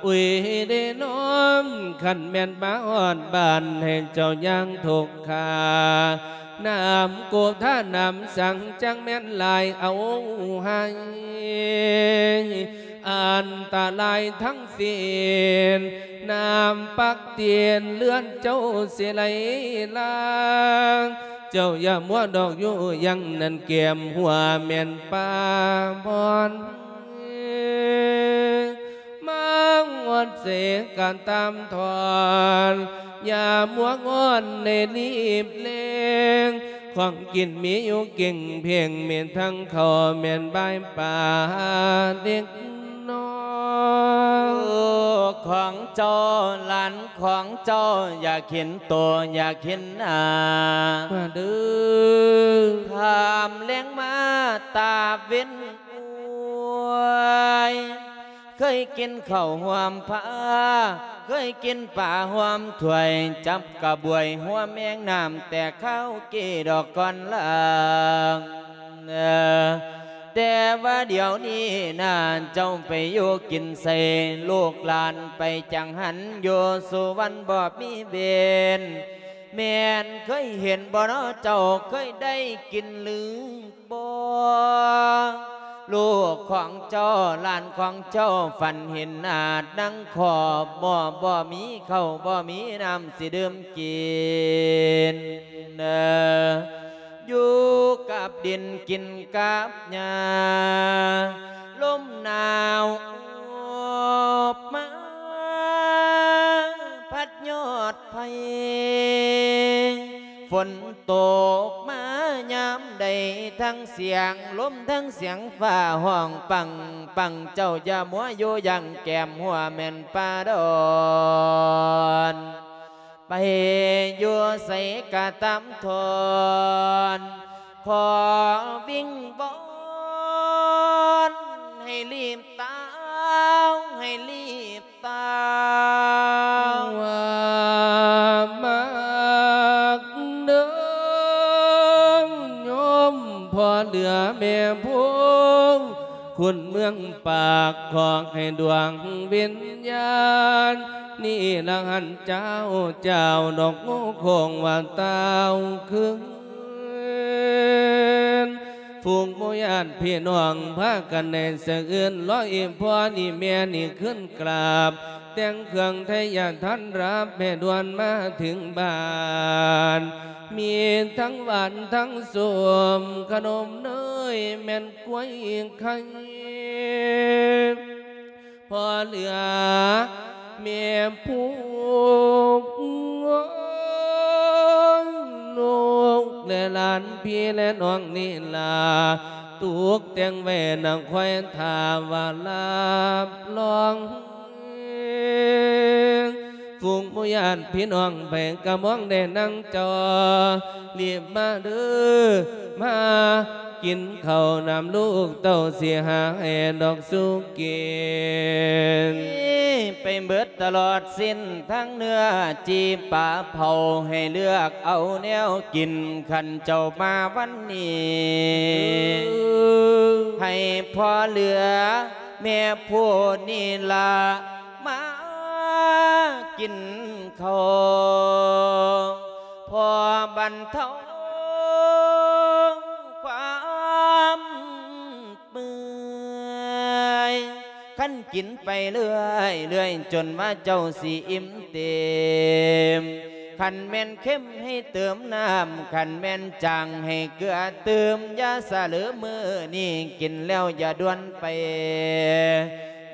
ອຸຍເດນ້ອມ ຄັນແມ່ນມາຮອດບ້ານໃຫ້ເຈົ້າຢ່າງທຸກຂ້າ ນ້ຳໂກທານ້ຳສັງ ຈັ່ງແມ່ນຫຼາຍເອົາໃຫ້ ອັນຕະລາຍທັງສິ້ນ ນ້ຳປັກຕີນເຮືອນເຈົ້າຊິໄຫຼຫຼາງ ເຈົ້າຢ່າມົວດອກຢູ່ຍັງນັ້ນ ແກ້ມຫົວແມ່ນປາບ່ອນ ມາຮອດເສກະຕາມທ່ອນ ຢ່າມົວງ່ອນໃນລີບເລັ່ງ ຂອງກິນມີຢູ່ເກັ່ງເພງ ມີທັງເຂົ້າແມ່ນບາຍປາເດັກນ້ອຍ ຂອງເຈົ້າ ຫຼານຂອງເຈົ້າ ຢາກເຫັນໂຕ ຢາກເຫັນໜ້າ ມາເດີ ຂ້າມແລງມາຕາເວັນ ໂອ້ຍ ເຄີຍກິນເຂົ້າຮ່ວມພາ ເຄີຍກິນປາຮ່ວມຖ້ວຍ ຈັບກະບວຍຮ່ວມແມງນ້ຳ ແຕ່ຄາວກີ້ດອກກ່ອນລາງ ແຕ່ວ່າດຽວນີ້ນາ ເຈົ້າໄປຢູ່ກິນໃສ ລູກຫຼານໄປຈັງຫັນ ຢູ່ສຸວັນບໍ່ມີເວນ ແມ່ນເຄີຍເຫັນບໍ່ນໍ ເຈົ້າເຄີຍໄດ້ກິນຫຼື ບໍ່ ລູກຂອງເຈົ້າ ຫຼານຂອງເຈົ້າ ຝັນເຫັນອາດນັງຂອບໝໍ້ ບໍ່ມີເຂົ້າ ບໍ່ມີນ້ຳຊິດື່ມກິນ ຢູ່ກັບດິນກິນກັບຫຍ້າ ລົມໜາວອອກມາ ພັດຍອດໄຜ່ ຝົນຕົກມາຍາມໃດ ທັງສຽງລົມ ທັງສຽງຟ້າຮ້ອງປັງປັງ ເຈົ້າຢ່າມົວຢູ່ຢ່າງ ແກ້ມຫົວແມ່ນປ່າດອນ ໄປຢູ່ໃສກະຕາມທ່ອນ ຂໍວິງວອນໃຫ້ລີບຕາວ ໃຫ້ລີບ ຕາວ່າມັກເດີໂຍມພໍ່ເຫຼືອແມ່ພວງ ຄຸນເມືອງປາກ ຂໍໃຫ້ດວງວິນຍານ ນິລະຫັນເຈົ້າ ເຈົ້າດອກງູໂຄ້ງວ່າຕາວຄືນ ຝູງໝູ່ຍາດພີ່ນ້ອງພາກັນໄດ້ສະເອື້ອນ ລໍອີ່ພໍ່ນີ້ແມ່ນີ້ຂຶ້ນກາບ ແຕ່ງເຄື່ອງໄທຢາທັນຮັບ ແມ່ດ່ວນມາເຖິງບ້ານ ມີທັງຫວານທັງສົ້ມ ຂະໜົມເນີຍແມ່ນກ້ວຍໄຂ່ ພໍ່ເຫຼືອແມ່ຜູ້ ລູກແລະຫຼານພີ່ແລະນ້ອງນີ້ລາ ຕຸກແຕ່ງໄວ້ນະ ຄອຍຖ້າວ່າຮັບຮອງ ຝູງໝູ່ຍາດພີ່ນ້ອງໃຜກະມອງແດ່ນາງເຈົ້າ ລີບມາເດີ ມາກິນເຂົ້ານຳລູກເຕົ້າ ຊິຫາໃຫ້ດອກສູ່ກິນ ໄປເບິດຕະຫຼອດ ສິ້ນທັງເນື້ອຈີ່ປາເຜົາ ໃຫ້ເລືອກເອົາແນວກິນ ຄັນເຈົ້າມາວັນນີ້ ໃຫ້ພໍ່ເຫຼືອແມ່ຜູ້ນີ້ລະ ມາກິນເຂົ້າ ພໍບັນເທົາຄວາມ ເມື່ອຍ ຄັນກິນໄປເລື້ອຍໆ ຈົນວ່າເຈົ້າຊິອີ່ມເຕັມ ຄັນແມ່ນເຄັມໃຫ້ເຕີມນ້ຳ ຄັນແມ່ນຈາງໃຫ້ເກືອຕື່ມ ຢ່າສະເຫຼີມື້ນີ້ກິນແລ້ວຢ່າດ່ວນໄປ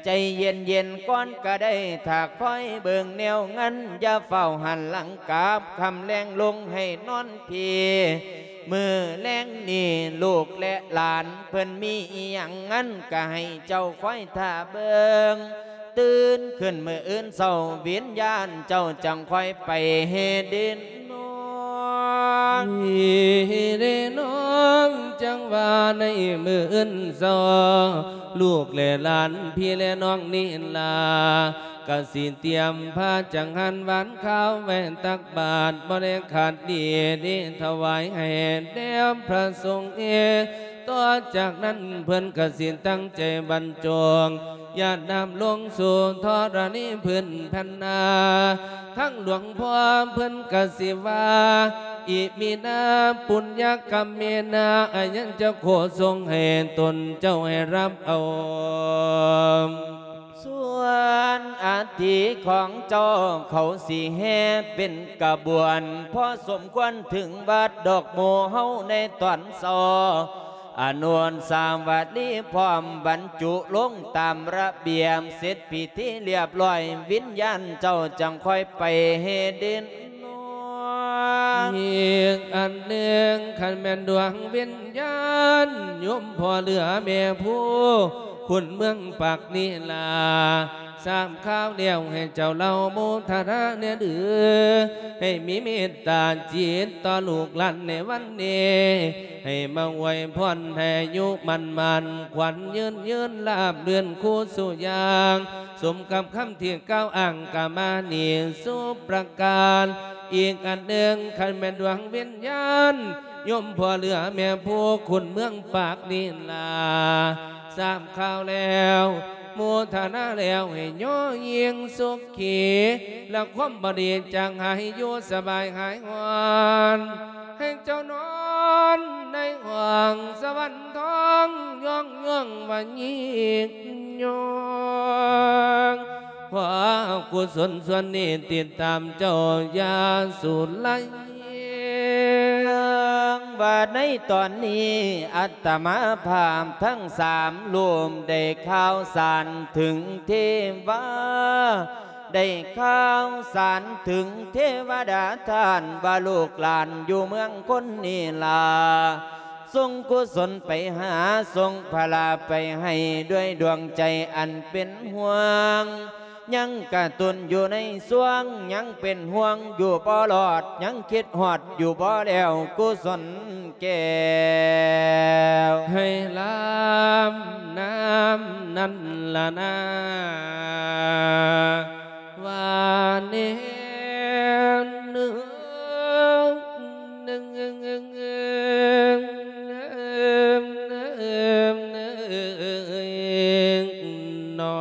ໃຈເຢັນໆກ່ອນກະໄດ້ ຖ້າຄອຍເບິ່ງແນວງານ ຢ່າຟ້າວຫັນຫຼັງກັບ ຄ່ຳແລງລົງໃຫ້ນອນພີ້ ມື້ແລງນີ້ລູກແລະຫຼານເພິ່ນມີອີ່ຫຍັງນັ້ນ ກະໃຫ້ເຈົ້າຄອຍຖ້າເບິ່ງ ຕື່ນຂຶ້ນມື້ອື່ນເຊົ້າ ວິນຍານເຈົ້າຈັ່ງຄ່ອຍໄປເຮັດດິນນອນ ເດນ້ອງ ຈັ່ງວ່າໃນມື້ອື່ນເຊົ້າ ລູກແລະຫຼານພີ່ແລະນ້ອງນີ້ລາ ກະຊິຕຽມພາຈັງຫັນຫວານຄາວໄວ້ຕັກບາດ ບໍ່ໄດ້ຂາດດີນີ້ ຖວາຍໃຫ້ແດ່ພະສົງເອ ຕໍ່ຈາກນັ້ນເພິ່ນກະຊິຕັ້ງໃຈບັນຈົງ ຢາດນ້ຳລົງສູ່ທໍລະນີພື້ນແຜ່ນນາ ທັງຫຼວງພໍ່ເພິ່ນກະຊິວ່າ ອິມິນາ ປຸນຍະກຳເມນາ ອາຍັນຈະໂຄ ສົ່ງໃຫ້ຕົນເຈົ້າໃຫ້ຮັບເອົາ. ສ່ວນອັດຖິຂອງເຈົ້າ ເຂົາຊິແຫ່ເປັນຂະບວນ ພໍສົມຄວນເຖິງວັດດອກໝູ່ເຮົາໃນຕອນເຊົ້າ ອານຸສາວະລີພ້ອມບັນຈຸລົງຕາມລະບຽບ ເສັດພິທີລຽບລ້ອຍ ວິນຍານເຈົ້າຈັ່ງຄ່ອຍໄປເຮັດເດີນ ອີກອັນໜຶ່ງ ຄັນແມ່ນດວງວິນຍານ ໂຍມພໍ່ເຫຼືອແມ່ພູ ຄຸນເມືອງປາກນີ້ລາ ຊາບຂ່າວແລ້ວໃຫ້ເຈົ້າເລົ່າໂມທະນາແດ່ເດີ ໃຫ້ມີເມດຕາຈິດຕໍ່ລູກຫຼານໃນວັນນີ້ ໃຫ້ມາອວຍພອນໃຫ້ອາຍຸໝັ້ນໝານ ຂວັນຍືນຍືນ ລາບລື່ນຄູ່ສູ່ຢ່າງ ສົມກັບຄຳທີ່ກ່າວອ້າງກະມານີ້ສູ່ປະການ. ອີກອັນໜຶ່ງ ຄັນແມ່ນດວງວິນຍານ ໂຍມພໍ່ເຫຼືອແມ່ພູ ຄຸນເມືອງປາກນີ້ລາ ຊາບຂ່າວແລ້ວ ໂມທະນາແລ້ວ ໃຫ້ຍໍຍິ່ງສຸຂ ຂີ ແລະ ຄວາມບໍ່ດີຈາງຫາຍ ຢູ່ສະບາຍຫາຍຮ້ອນ ໃຫ້ເຈົ້ານອນໃນຫ້ອງສະຫວັນທອງ ຍ້ອງໆວ່າຍິ່ງຍອງ ເພາະກຸສົນສ່ວນນີ້ຕິດຕາມເຈົ້າຢ່າສູນໄລ. ເລື່ອງວ່າໃນຕອນນີ້ ອາດຕະມາພາບທັງສາມຮູບ ໄດ້ຂ່າວສານເຖິງເທວາ ໄດ້ຂ່າວສານເຖິງເທວະດາທ່ານ ວ່າລູກຫຼານຢູ່ເມືອງຄົນນີ້ລາ ສົ່ງກຸສົນໄປຫາ ສົ່ງພະລາໄປໃຫ້ ດ້ວຍດວງໃຈອັນເປັນຫ່ວງ ຍັງກະຕຸນຢູ່ໃນຊ່ວງ ຍັງເປັນຫ່ວງຢູ່ບໍ່ລອດ ຍັງຄິດຮອດຢູ່ບໍ່ແລ້ວ ກຸສົນແກ້ວ ໃຫ້ລາມນາມນັ້ນລະນາ ວ່າແນວໜຶ່ງ ນອ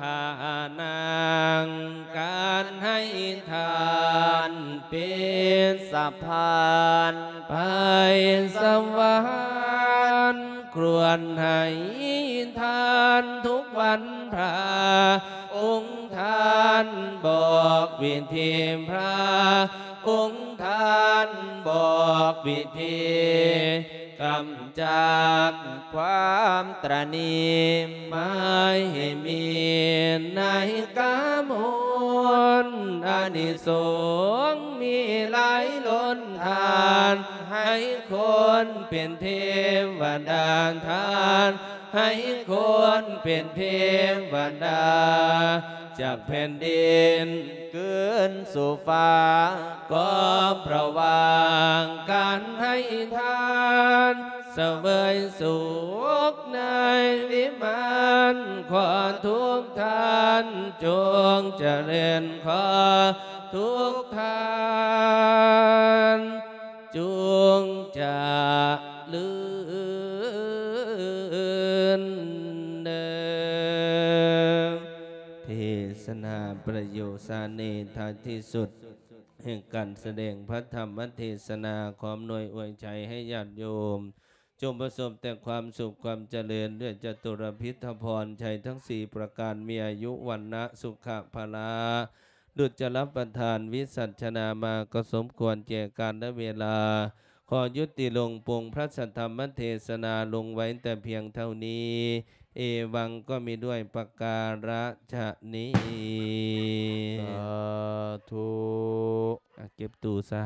ຖ້ານັ່ງການໃຫ້ທານເປັນສະພານໄປສະຫວັນ ຄວນໃຫ້ທານທຸກວັນພະ ອົງທ່ານບອກວິທີ ພະອົງທ່ານບອກວິທີ ກຳຈັດຄວາມຕະໜີ ໝາຍໃຫ້ມີໃນກາມົນ ອານິສົງມີຫຼາຍລົ້ນທານ ໃຫ້ຄົນເປັນເທວະດາທ່ານ ໃຫ້ຄົນເປັນເທວະດາ ຈາກແຜ່ນດິນຄືນສູ່ຟ້າ ກໍເພາະວ່າການໃຫ້ທານ ສະເຫວີຍສຸກໃນວິມານ ຂໍທຸກທ່ານຈົ່ງຈະເລີນ ຂໍທຸກທ່ານ ຈົ່ງຈະເລີນເດີ. ເທສະນາປະໂຫຍດສາເນທາທີ່ສຸດ ແຫ່ງການສະແດງພະທຳມະເທສະນາ ຂໍອຳນວຍອວຍໄຊໃຫ້ຍາດໂຍມ ຈົ່ງປະສົບແຕ່ຄວາມສຸກຄວາມຈະເລີນ ດ້ວຍຈະຕຸລະພິດທະພອນໄຊທັງສີ່ປະການ ມີອາຍຸ ວັນນະ ສຸຂະ ພະລາ ດຸດຈະລະປະທານ ວິສັດຊະນາມາ ກໍສົມຄວນແກ່ການແລະເວລາ ຂໍຍຸຕິລົງປົງພະສັດທຳມະເທສະນາລົງໄວ້ແຕ່ພຽງເທົ່ານີ້ ເອວັງ ກໍມີດ້ວຍປະກາລະຊະນີ້ ສາທຸ. ອ່ະ ເກັບຕູ້ຊະ.